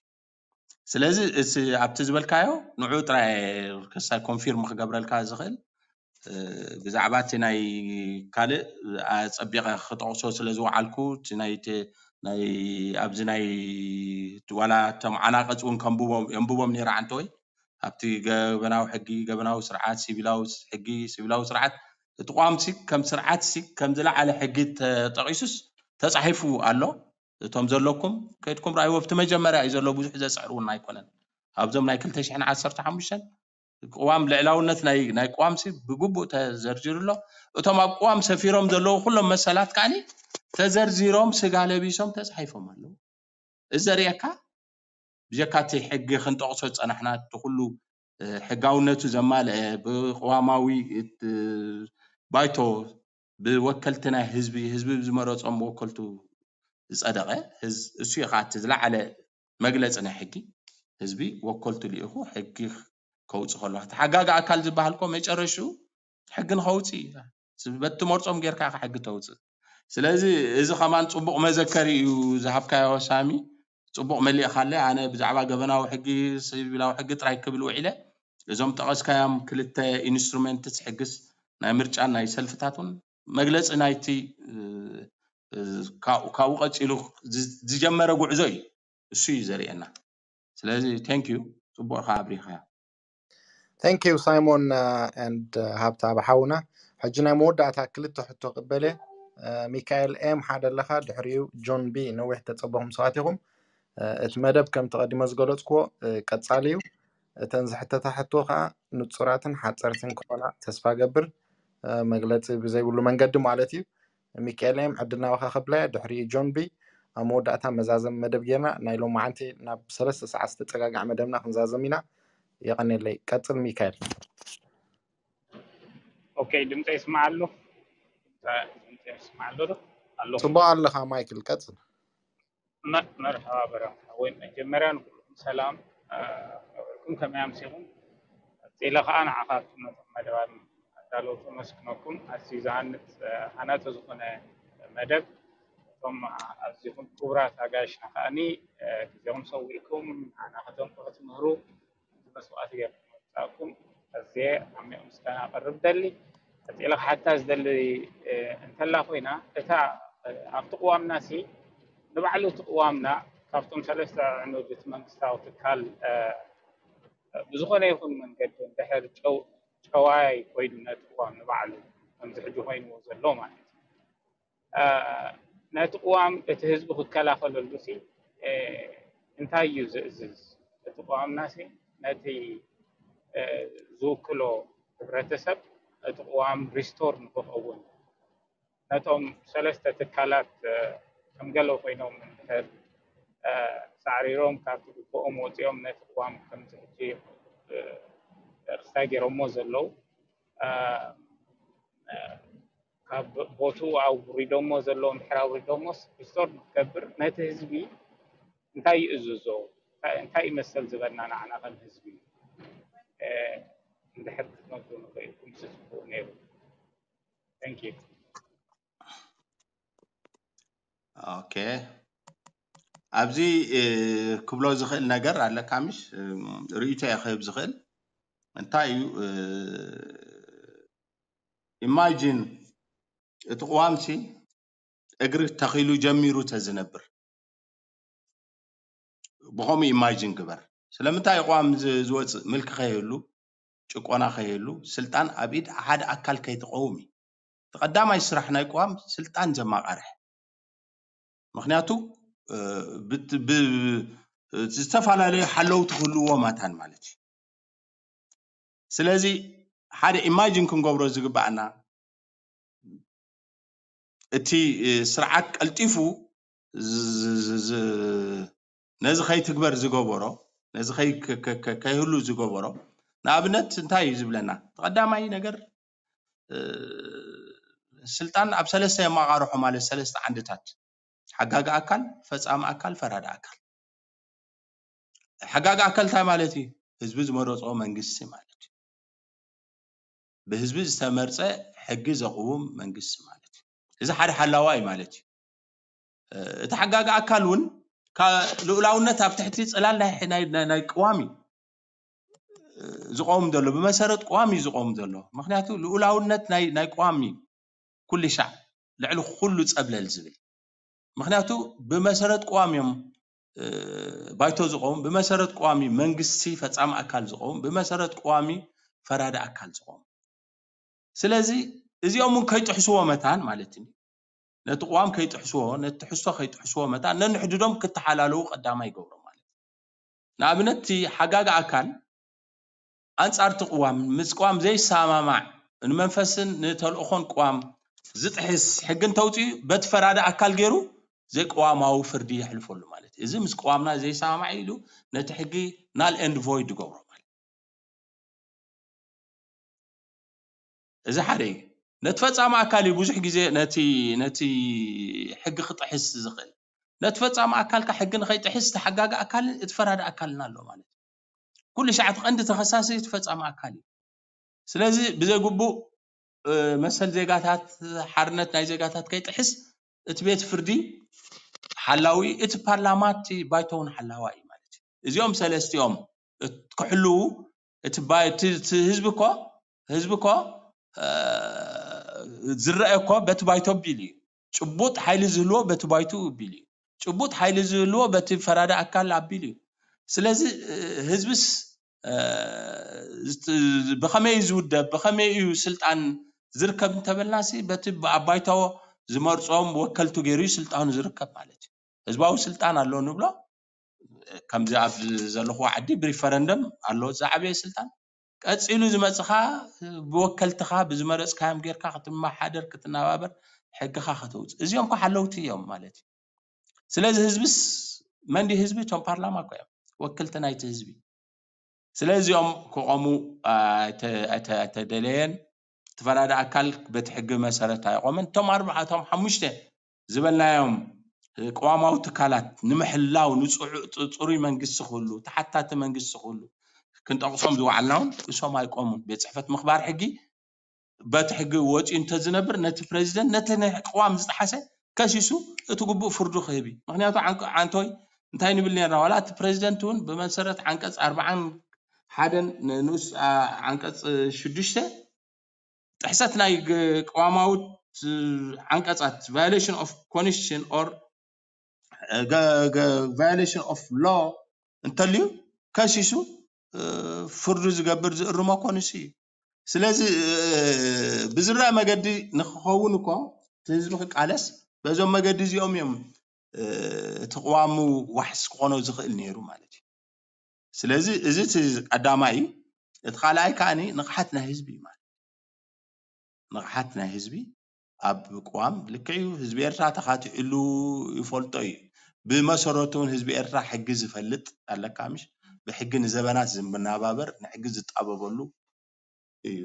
ስለዚ እቲ ኣብቲ ዝበልካዮ ንዑ ጥራይ ከሳይ ኮንፊርም ክገብረልካ ዝኽእል ብዛዕባ እቲ ናይ ካልእ ኣጸቢቐ ክጠቕሶ ስለ ዝወዓልኩ እቲ ናይ ናይ ኣብዚ ናይ ዋላ እቶም ዓናቐጽ እውን ከንብቦም የንብቦም ነይረ ዓንተወይ ኣብቲ ገበናዊ ሕጊ ገበናዊ ስርዓት ሲቪላዊ ሕጊ ሲቪላዊ ስርዓት እቲ ቋምሲ ከም ስርዓትሲ ከም ዝለዓለ ሕጊ ተጠቒሱስ ተጻሒፉ ኣሎ። እቶም ዘለኩም ከይድኩም ርኣይዎ ኣብቲ መጀመርያ እዩ ዘሎ ብዙሕ ዘፅዕር እውን ኣይኮነን ኣብዞም ናይ ክልተ ሽሕን ዓሰርተ ሓሙሽተን ቅዋም ልዕላውነት ናይ ናይ ቅዋምሲ ብግቡእ ተዘርዚሩ ኣሎ እቶም ኣብ ቅዋም ሰፊሮም ዘለዉ ኩሎም መሰላት ከዓኒ ተዘርዚሮም ስጋ ለቢሶም ተፃሒፎም ኣለዉ እዚ ዘርእየካ ብጀካ እቲ ሕጊ ክንጠቕሶ ዝፀናሕና እቲ ኩሉ ሕጋውነቱ ዘማልአ ብቅዋማዊ ባይቶ ብወከልቲ ናይ ህዝቢ ህዝቢ ዝመረፆም ወከልቱ ዝፀደቐ እሱ እዩ ከዓ እቲ ዝለዓለ መግለፂ ናይ ሕጊ ህዝቢ ወከልቱ ልኢኹ ሕጊ ከውፅእ ከሎ ተሓጋጊ ኣካል ዝበሃል ኮ መጨረሽኡ ሕጊ ንኸውፅእ እዩ በቲ መርፆም ጌርካ ኢኻ ሕጊ ተውፅእ ስለዚ እዚ ከማን ፅቡቕ መዘከሪ እዩ ዝሃብካዮ ሳሚ ፅቡቕ መሊእኻለ ኣነ ብዛዕባ ገበናዊ ሕጊ ሲቪላዊ ሕጊ ጥራይ ክብል ውዒለ እዞም ጠቐስካዮም ክልተ ኢንስትሩመንትስ ሕግስ ናይ ምርጫን ናይ ሰልፍታት እውን መግለፂ ናይቲ ካብኡ ቀፂሉ ዝጀመረ ጉዕዞ እዩ እሱ እዩ ዘርእየና ስለዚ thank you ፅቡቕ ኢኻ ኣብሪኻዮ thank you ሳይሞን and ሃብታ ብሓውና ሕጂ ናይ መወዳእታ ክልተ ሕቶ ቅበለ ሚካኤል ኤም ሓደ ኣለኻ ድሕሪኡ ጆን ቢ ነዊሕ ተፀበኹም ሰባት ኢኹም እቲ መደብ ከም ተቐዲሞ ዝገለፅክዎ ቀፃሊ እዩ እተን ዝሕተታ ሕቶ ከዓ ንፁራትን ሓፀርትን ክኾና ተስፋ ገብር መግለፂ ብዘይብሉ መንገዲ ማለት እዩ ሚካኤል ኤም ዕድል ናባኻ ከብለያ ድሕሪኡ ጆን ቢ ኣብ መወዳእታ መዛዘም መደብ ጌርና ናይ ሎማዓንቲ ናብ ሰለስተ ሰዓት ዝተፀጋግዐ መደብና ክንዛዘም ኢና የቐኔለይ ቀፅል ሚካኤል ኦኬ ድምፀ ይስማዓሉ ይስማዕ ኣሎ ዶ? ኣለኹ። ጽቡቕ ኣለኻ ማይክል፣ ቀጽል። መ- መርሓባ በረም ሓወይ፣ መጀመርያ ንኩልኩም ሰላም። እ፣ ውዕልኩም ከመይ ኣምሲኹም? ቀጺለ ከዓ ንዓኻትኩም ነቶም መደባት ኣዳለውቲ ኣመስግነኩም። ኣዝዩ ዝሃንጽ፣ እ፣ ሃናጺ ዝኾነ መደብ። እቶም ኣዚኹም ክቡራት ኣጋይሽና ከዓኒ፣ እ፣ ግዜኹም ሰዊእኩም ንዓና ከተንቁ ክትምህሩ መስዋእቲ ጌርኩም ምምጻእኩም ኣዝየ ዓሚቕ ምስጋና ኣቕርብ ደሊ። ቀጺለ ክሓታ ዝደሊ፣ እ፣ እንተላ ኮይና፣ እታ፣ እ፣ ኣብቲ ቅዋምና ሲ ንባዕሉ እቲ ቅዋምና ካብቶም ሰለስተ ዕኑድ እቲ መንግስታዊ ትካል፣ እ፣ ብዝኾነ ይኹን መንገዲ እንድሕር ጨው-፣ ጨዋይ ኮይኑ ነቲ ቅዋም ንባዕሉ ከምዚ ሕጂ ኮይንዎ ዘሎ ማለት እዩ። እ፣ ነቲ ቅዋም እቲ ህዝቢ ክከላኸለሉ ሲ፣ እ፣ እንታይ እዩ ዝእዝዝ? እቲ ቅዋምና ሲ ነቲ፣ እ፣ ዝውክሎ ሕብረተሰብ እቲ ቅዋም ሪስቶር ንክኸውን ነቶም ሰለስተ ትካላት፣ እ፣ ከም ገለ ኮይኖም እንድሕር፣ እ፣ ሳዕሪሮም ካብቲ ግብኦም ወፂኦም ነቲ ቅዋም ከምዚ ሕጂ፣ እ፣ ክስታይ ገይሮሞ ዘለዉ፣ እ፣ እ፣ ካብ ቦትኡ ኣውሪዶሞ ዘለዉ እንድሕር ኣውሪዶሞስ ሪስቶር ንክገብር ነቲ ህዝቢ እንታይ ይእዝዞ? እንታይ፣ እንታይ ይመሰል ዝበልና ንዓና ከም ህዝቢ፣ እ፣ እንድሕር ክትነግሩኒ ክኢልኩም ሲ ጽቡቕ ነይሩ። Thank you። ኦኬ፣ ኣብዚ፣ እ፣ ክብሎ ዝኽእል ነገር ኣለካ ምሽ? እ፣ ርእይቶ እየ ክህብ ዝኽእል። እንታይ እዩ? እ፣ ኢማጂን እቲ ቅዋምሲ እግሪ ተኺሉ ጀሚሩ ተዝነብር ብኸምኡ ኢማጂን ግበር። ስለምንታይ እዩ ቅዋም ዝ-፣ ዝወፅእ? ምልኪ ከይህሉ፣ ጭቆና ከይህሉ፣ ስልጣን ኣብ ኢድ ሓደ ኣካል ከይትቀውም እዩ። እቲ ቀዳማይ ስራሕ ናይ ቅዋም ስልጣን ዘማቃርሕ። ምክንያቱ፣ እ፣ ብት-፣ ብ-፣ ዝተፈላለዩ ሓለውቲ ክህልውዎ ማታን ማለት እዩ። ስለዚ ሓደ ኢማጂን ክንገብሮ ዝግባኣና፣ እቲ፣ እ፣ ስርዓት ቀልጢፉ ዝ-፣ ዝ-፣ ዝ-፣ ዝ-፣ ነዚ ከይትግበር ዝገበሮ፣ ነዚ ከይ-፣ ከ-፣ ከ-፣ ከ-፣ ከይህሉ ዝገበሮ፣ ንኣብነት እንታይ እዩ ዝብለና? እቲ ቀዳማይ ነገር፣ እ፣ ስልጣን ኣብ ሰለስተ የመቃርሖ ማለት ሰለስተ ዓንድታት፣ ሓጋጊ ኣካል፣ ፈጻሚ ኣካል፣ ፈራዲ ኣካል። ሓጋጊ ኣካል እንታይ ማለት እዩ? ህዝቢ ዝመረጾ መንግስቲ ማለት እዩ። ብህዝቢ ዝተመርጸ ሕጊ ዘቕውም መንግስቲ ማለት እዩ። እዚ ሓደ ሓላዋ እዩ ማለት እዩ። እ፣ እቲ ሓጋጊ ኣካል እውን ካ-፣ ልኡላውነት ኣብ ትሕቲ ጽላል ናይ፣ ናይ፣ ናይ፣ ናይ ቅዋም እዩ፣ እ፣ ዝቐውም ዘሎ፣ ብመሰረት ቅዋም እዩ ዝቐውም ዘሎ። ምክንያቱ ልኡላውነት ናይ፣ ናይ ቅዋም እዩ ኩሉ ሻዕ ልዕሊ ኩሉ ጸብለል ዝብል። ምክንያቱ ብመሰረት ቅዋም እዮም፣ እ፣ ባይቶ ዝቐውም፣ ብመሰረት ቅዋም እዩ መንግስቲ ፈጻሚ ኣካል ዝቐውም፣ ብመሰረት ቅዋም እዩ ፈራዲ ኣካል ዝቐውም። ስለዚ እዚኦም እውን ከይጥሕስዎ መታን ማለት እዩ። ነቲ ቅዋም ከይጥሕስዎ፣ ነቲ ትሕዝቶ ከይጥሕስዎ መታን ነንሕድዶም ክተሓላለዉ ቀዳማይ ይገብሮም ማለት እዩ። ንኣብነት እቲ ሓጋጊ ኣካል ኣንጻር እቲ ቅዋም፣ ምስ ቅዋም ዘይሰማማዕ፣ ንመንፈስን ንተልእኾን ቅዋም ዝጥሕስ ሕጊ እንተውፅኡ በቲ ፈራዲ ኣካል ገይሩ ዘይቅዋማዊ ፍርዲ የሕልፈሉ ማለት እዩ። እዚ ምስ ቅዋምና ዘይሰማማዕ ኢሉ ነቲ ሕጊ ናል ኤንድ ቮይድ ይገብሮ ማለት እዩ። እዚ ሓደ እዩ። ነቲ ፈጻሚ ኣካል እዩ ብዙሕ ግዜ ነቲ፣ ነቲ ሕጊ ክጥሕስ ዝኽእል። ነቲ ፈጻሚ ኣካል ከ ሕጊ ንኸይጥሕስ እቲ ሓጋጊ ኣካልን እቲ ፈራዲ ኣካልን ኣሎ ማለት እዩ። ኩሉ ሻዕ እቲ ቀንዲ ተኸሳሲ እቲ ፈጻሚ ኣካል እዩ። ስለዚ ብዘይ ግቡእ፣ እ፣ መሰል ዜጋታት፣ ሓርነት ናይ ዜጋታት ከይጥሕስ እቲ ቤት ፍርዲ ሓላዊ፣ እቲ ፓርላማ፣ እቲ ባይቶ እውን ሓላዋይ እዩ ማለት እዩ። እዚኦም ሰለስቲኦም እት-፣ ክሕልዉ እቲ ባይ-፣ እቲ፣ እቲ ህዝቢ እኮ፣ ህዝቢ እኮ፣ እ፣ ዝረአ እኮ በቲ ባይቶ ኣቢሉ እዩ። ጭቡጥ ሓይሊ ዝህልዎ በቲ ባይቶ ኣቢሉ እዩ። ጭቡጥ ሓይሊ ዝህልዎ በቲ ፈራዲ ኣካል ኣቢሉ እዩ። ስለዚ፣ እ፣ ህዝብስ፣ እ፣ ዝት-፣ ብኸመይ እዩ ዝውደብ? ብኸመይ እዩ ስልጣን ዝርከብ እንተበልናሲ በቲ ብ-፣ ኣብ ባይቶ ዝመርጾም ወከልቱ ገይሩ እዩ ስልጣኑ ዝርከብ ማለት እዩ። ህዝባዊ ስልጣን ኣሎ ንብሎ፣ ከምዚ ኣብ ዘለኹዎ ዓዲ ብሪፈረንደም ኣሎ ዝዓበየ ስልጣን። ቀጺሉ ዝመጽኻ ብወከልትኻ ብዝመረጽካዮም ጌርካ ክትመሓደር፣ ክትነባበር፣ ሕግኻ ከተውጽእ። እዚኦም እኮ ሓለውቲ እዮም ማለት እዩ። ስለዚ ህዝብስ መን ድዩ ህዝቢ? እቶም ፓርላማ እኮ እዮም ወከልቲ ናይቲ ህዝቢ። ስለዚኦም ክቖሙ ኣይተ-፣ ኣይተ-፣ ኣይተደለየን። እቲ ፈራዲ ኣካል በቲ ሕጊ መሰረት ኣይቆመን። እቶም ኣርባዕቶም ሓሙሽተ ዝበልናዮም ቅዋማዊ ትካላት ንምሕላው ንፅዑ- ፅሩይ መንግስቲ ክህሉ፣ ተሓታቲ መንግስቲ ክህሉ ክንጠቕሶም ዝወዓልና እውን እሶም ኣይቆሙን። ቤት ፅሕፈት ምኽባር ሕጊ በቲ ሕጊ ወፂኡ እንተዝነብር ነቲ ፕሬዚደንት ነቲ ናይ ቅዋም ዝጠሓሰ ከሲሱ እቲ ግቡእ ፍርዱ ክህብ እዩ። ምክንያቱ ዓንቀ- ዓንቶይ እንታይ ንብል ነርና ዋላ እቲ ፕሬዚደንት እውን ብመሰረት ዓንቀፅ ኣርባዓን ሓደን ንኡስ አ- ዓንቀፅ ሽዱሽተ ጥሕሰት ናይ ግ- ቅዋማዊ ዓንቀፃት violation of constitution or violation of law እንተልዩ ከሲሱ ፍርዱ ዝገብር ዝእርሞ እኮ ንሱ እዩ። ስለዚ ብዝረአ መገዲ ንክኸውን እኮ እቲ ህዝቢ ክቃለስ በዞም መገዲ እዚኦም እዮም እቲ ቅዋሙ ዋሕስ ክኾኖ ዝኽእል ነይሩ ማለት እዩ። ስለዚ እዚ እቲ ቀዳማይ እዩ። እቲ ካልኣይ ከዓኒ ንቕሓት ናይ ህዝቢ እዩ ማለት ንቕሓት ናይ ህዝቢ ኣብ ቅዋም ልክዕ እዩ። ህዝቢ ኤርትራ ተኻቲዕሉ ይፈልጦ እዩ። ብመሰረቱ እውን ህዝቢ ኤርትራ ሕጊ ዝፈልጥ ኣለካ ምሽ ብሕጊ ንዘበናት ዝመናባበር ንሕጊ ዝጣበበሉ እዩ።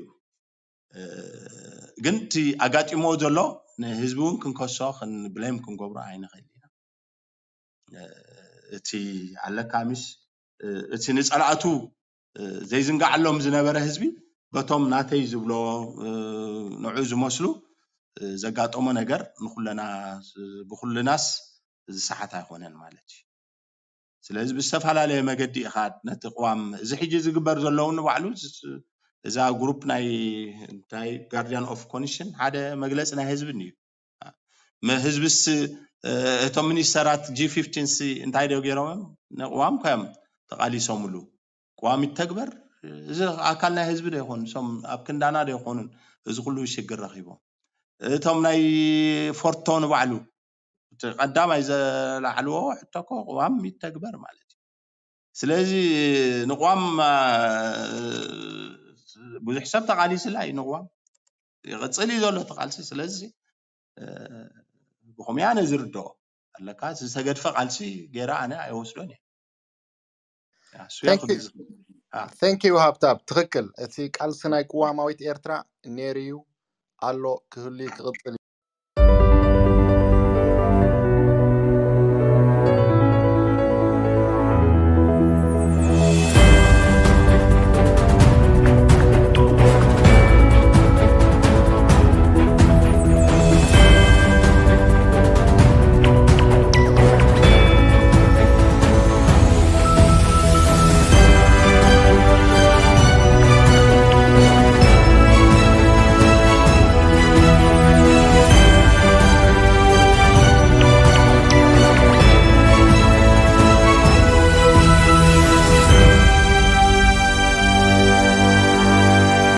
ግን እቲ ኣጋጢሞ ዘሎ ንህዝቢ እውን ክንከሶ ብሌም ክንገብሮ ኣይንኽእል ኢና። እቲ ኣለካ ምሽ እቲ ንፀላእቱ ዘይዝንጋዓሎም ዝነበረ ህዝቢ በቶም ናተይ ዝብሎ ንዑ ዝመስሉ ዘጋጠሞ ነገር ንኩለና ብኩልናስ ዝሰሓት ኣይኮነን ማለት እዩ። ስለዚ ብዝተፈላለየ መገዲ ኢኻ ነቲ ቅዋም እዚ ሕጂ ዝግበር ዘለውን ንባዕሉ እዛ ግሩፕ ናይ እንታይ ጋርዲያን ኦፍ ኮንሽን ሓደ መግለፂ ናይ ህዝቢ እዩ። ህዝብስ እቶም ሚኒስተራት ጂ ፊፍቲን ሲ እንታይ ዶ ገይሮም እዮም? ንቅዋም ኮዮም ተቃሊሶምሉ። ቅዋም ይተግበር እዚ ኣካል ናይ ህዝቢ ዶ ይኾኑ? እሶም ኣብ ክንዳና ዶ ይኾኑን እዚ ኩሉ ሽግር ረኺቦም? እቶም ናይ ፎርቶ ንባዕሉ እቲ ቀዳማይ ዘላዕልዎ ሕቶ እኮ ቅዋም ይተግበር ማለት እዩ። ስለዚ ንቅዋም ብዙሕ ሰብ ተቃሊስላ እዩ ንቅዋም ይቕፅል እዩ ዘሎ እቲ ቃልሲ። ስለዚ ብኸምኡ ኣነ ዝርድኦ ኣለካ ዝተገድፈ ቃልሲ ገይረ ኣነ ኣይወስዶን እየ። Thank you ሃብታብ። ትኽክል። እቲ ቃልሲ ናይ ቅዋማዊት ኤርትራ ነይሩ እዩ ኣሎ ክህሉ ክቕፅል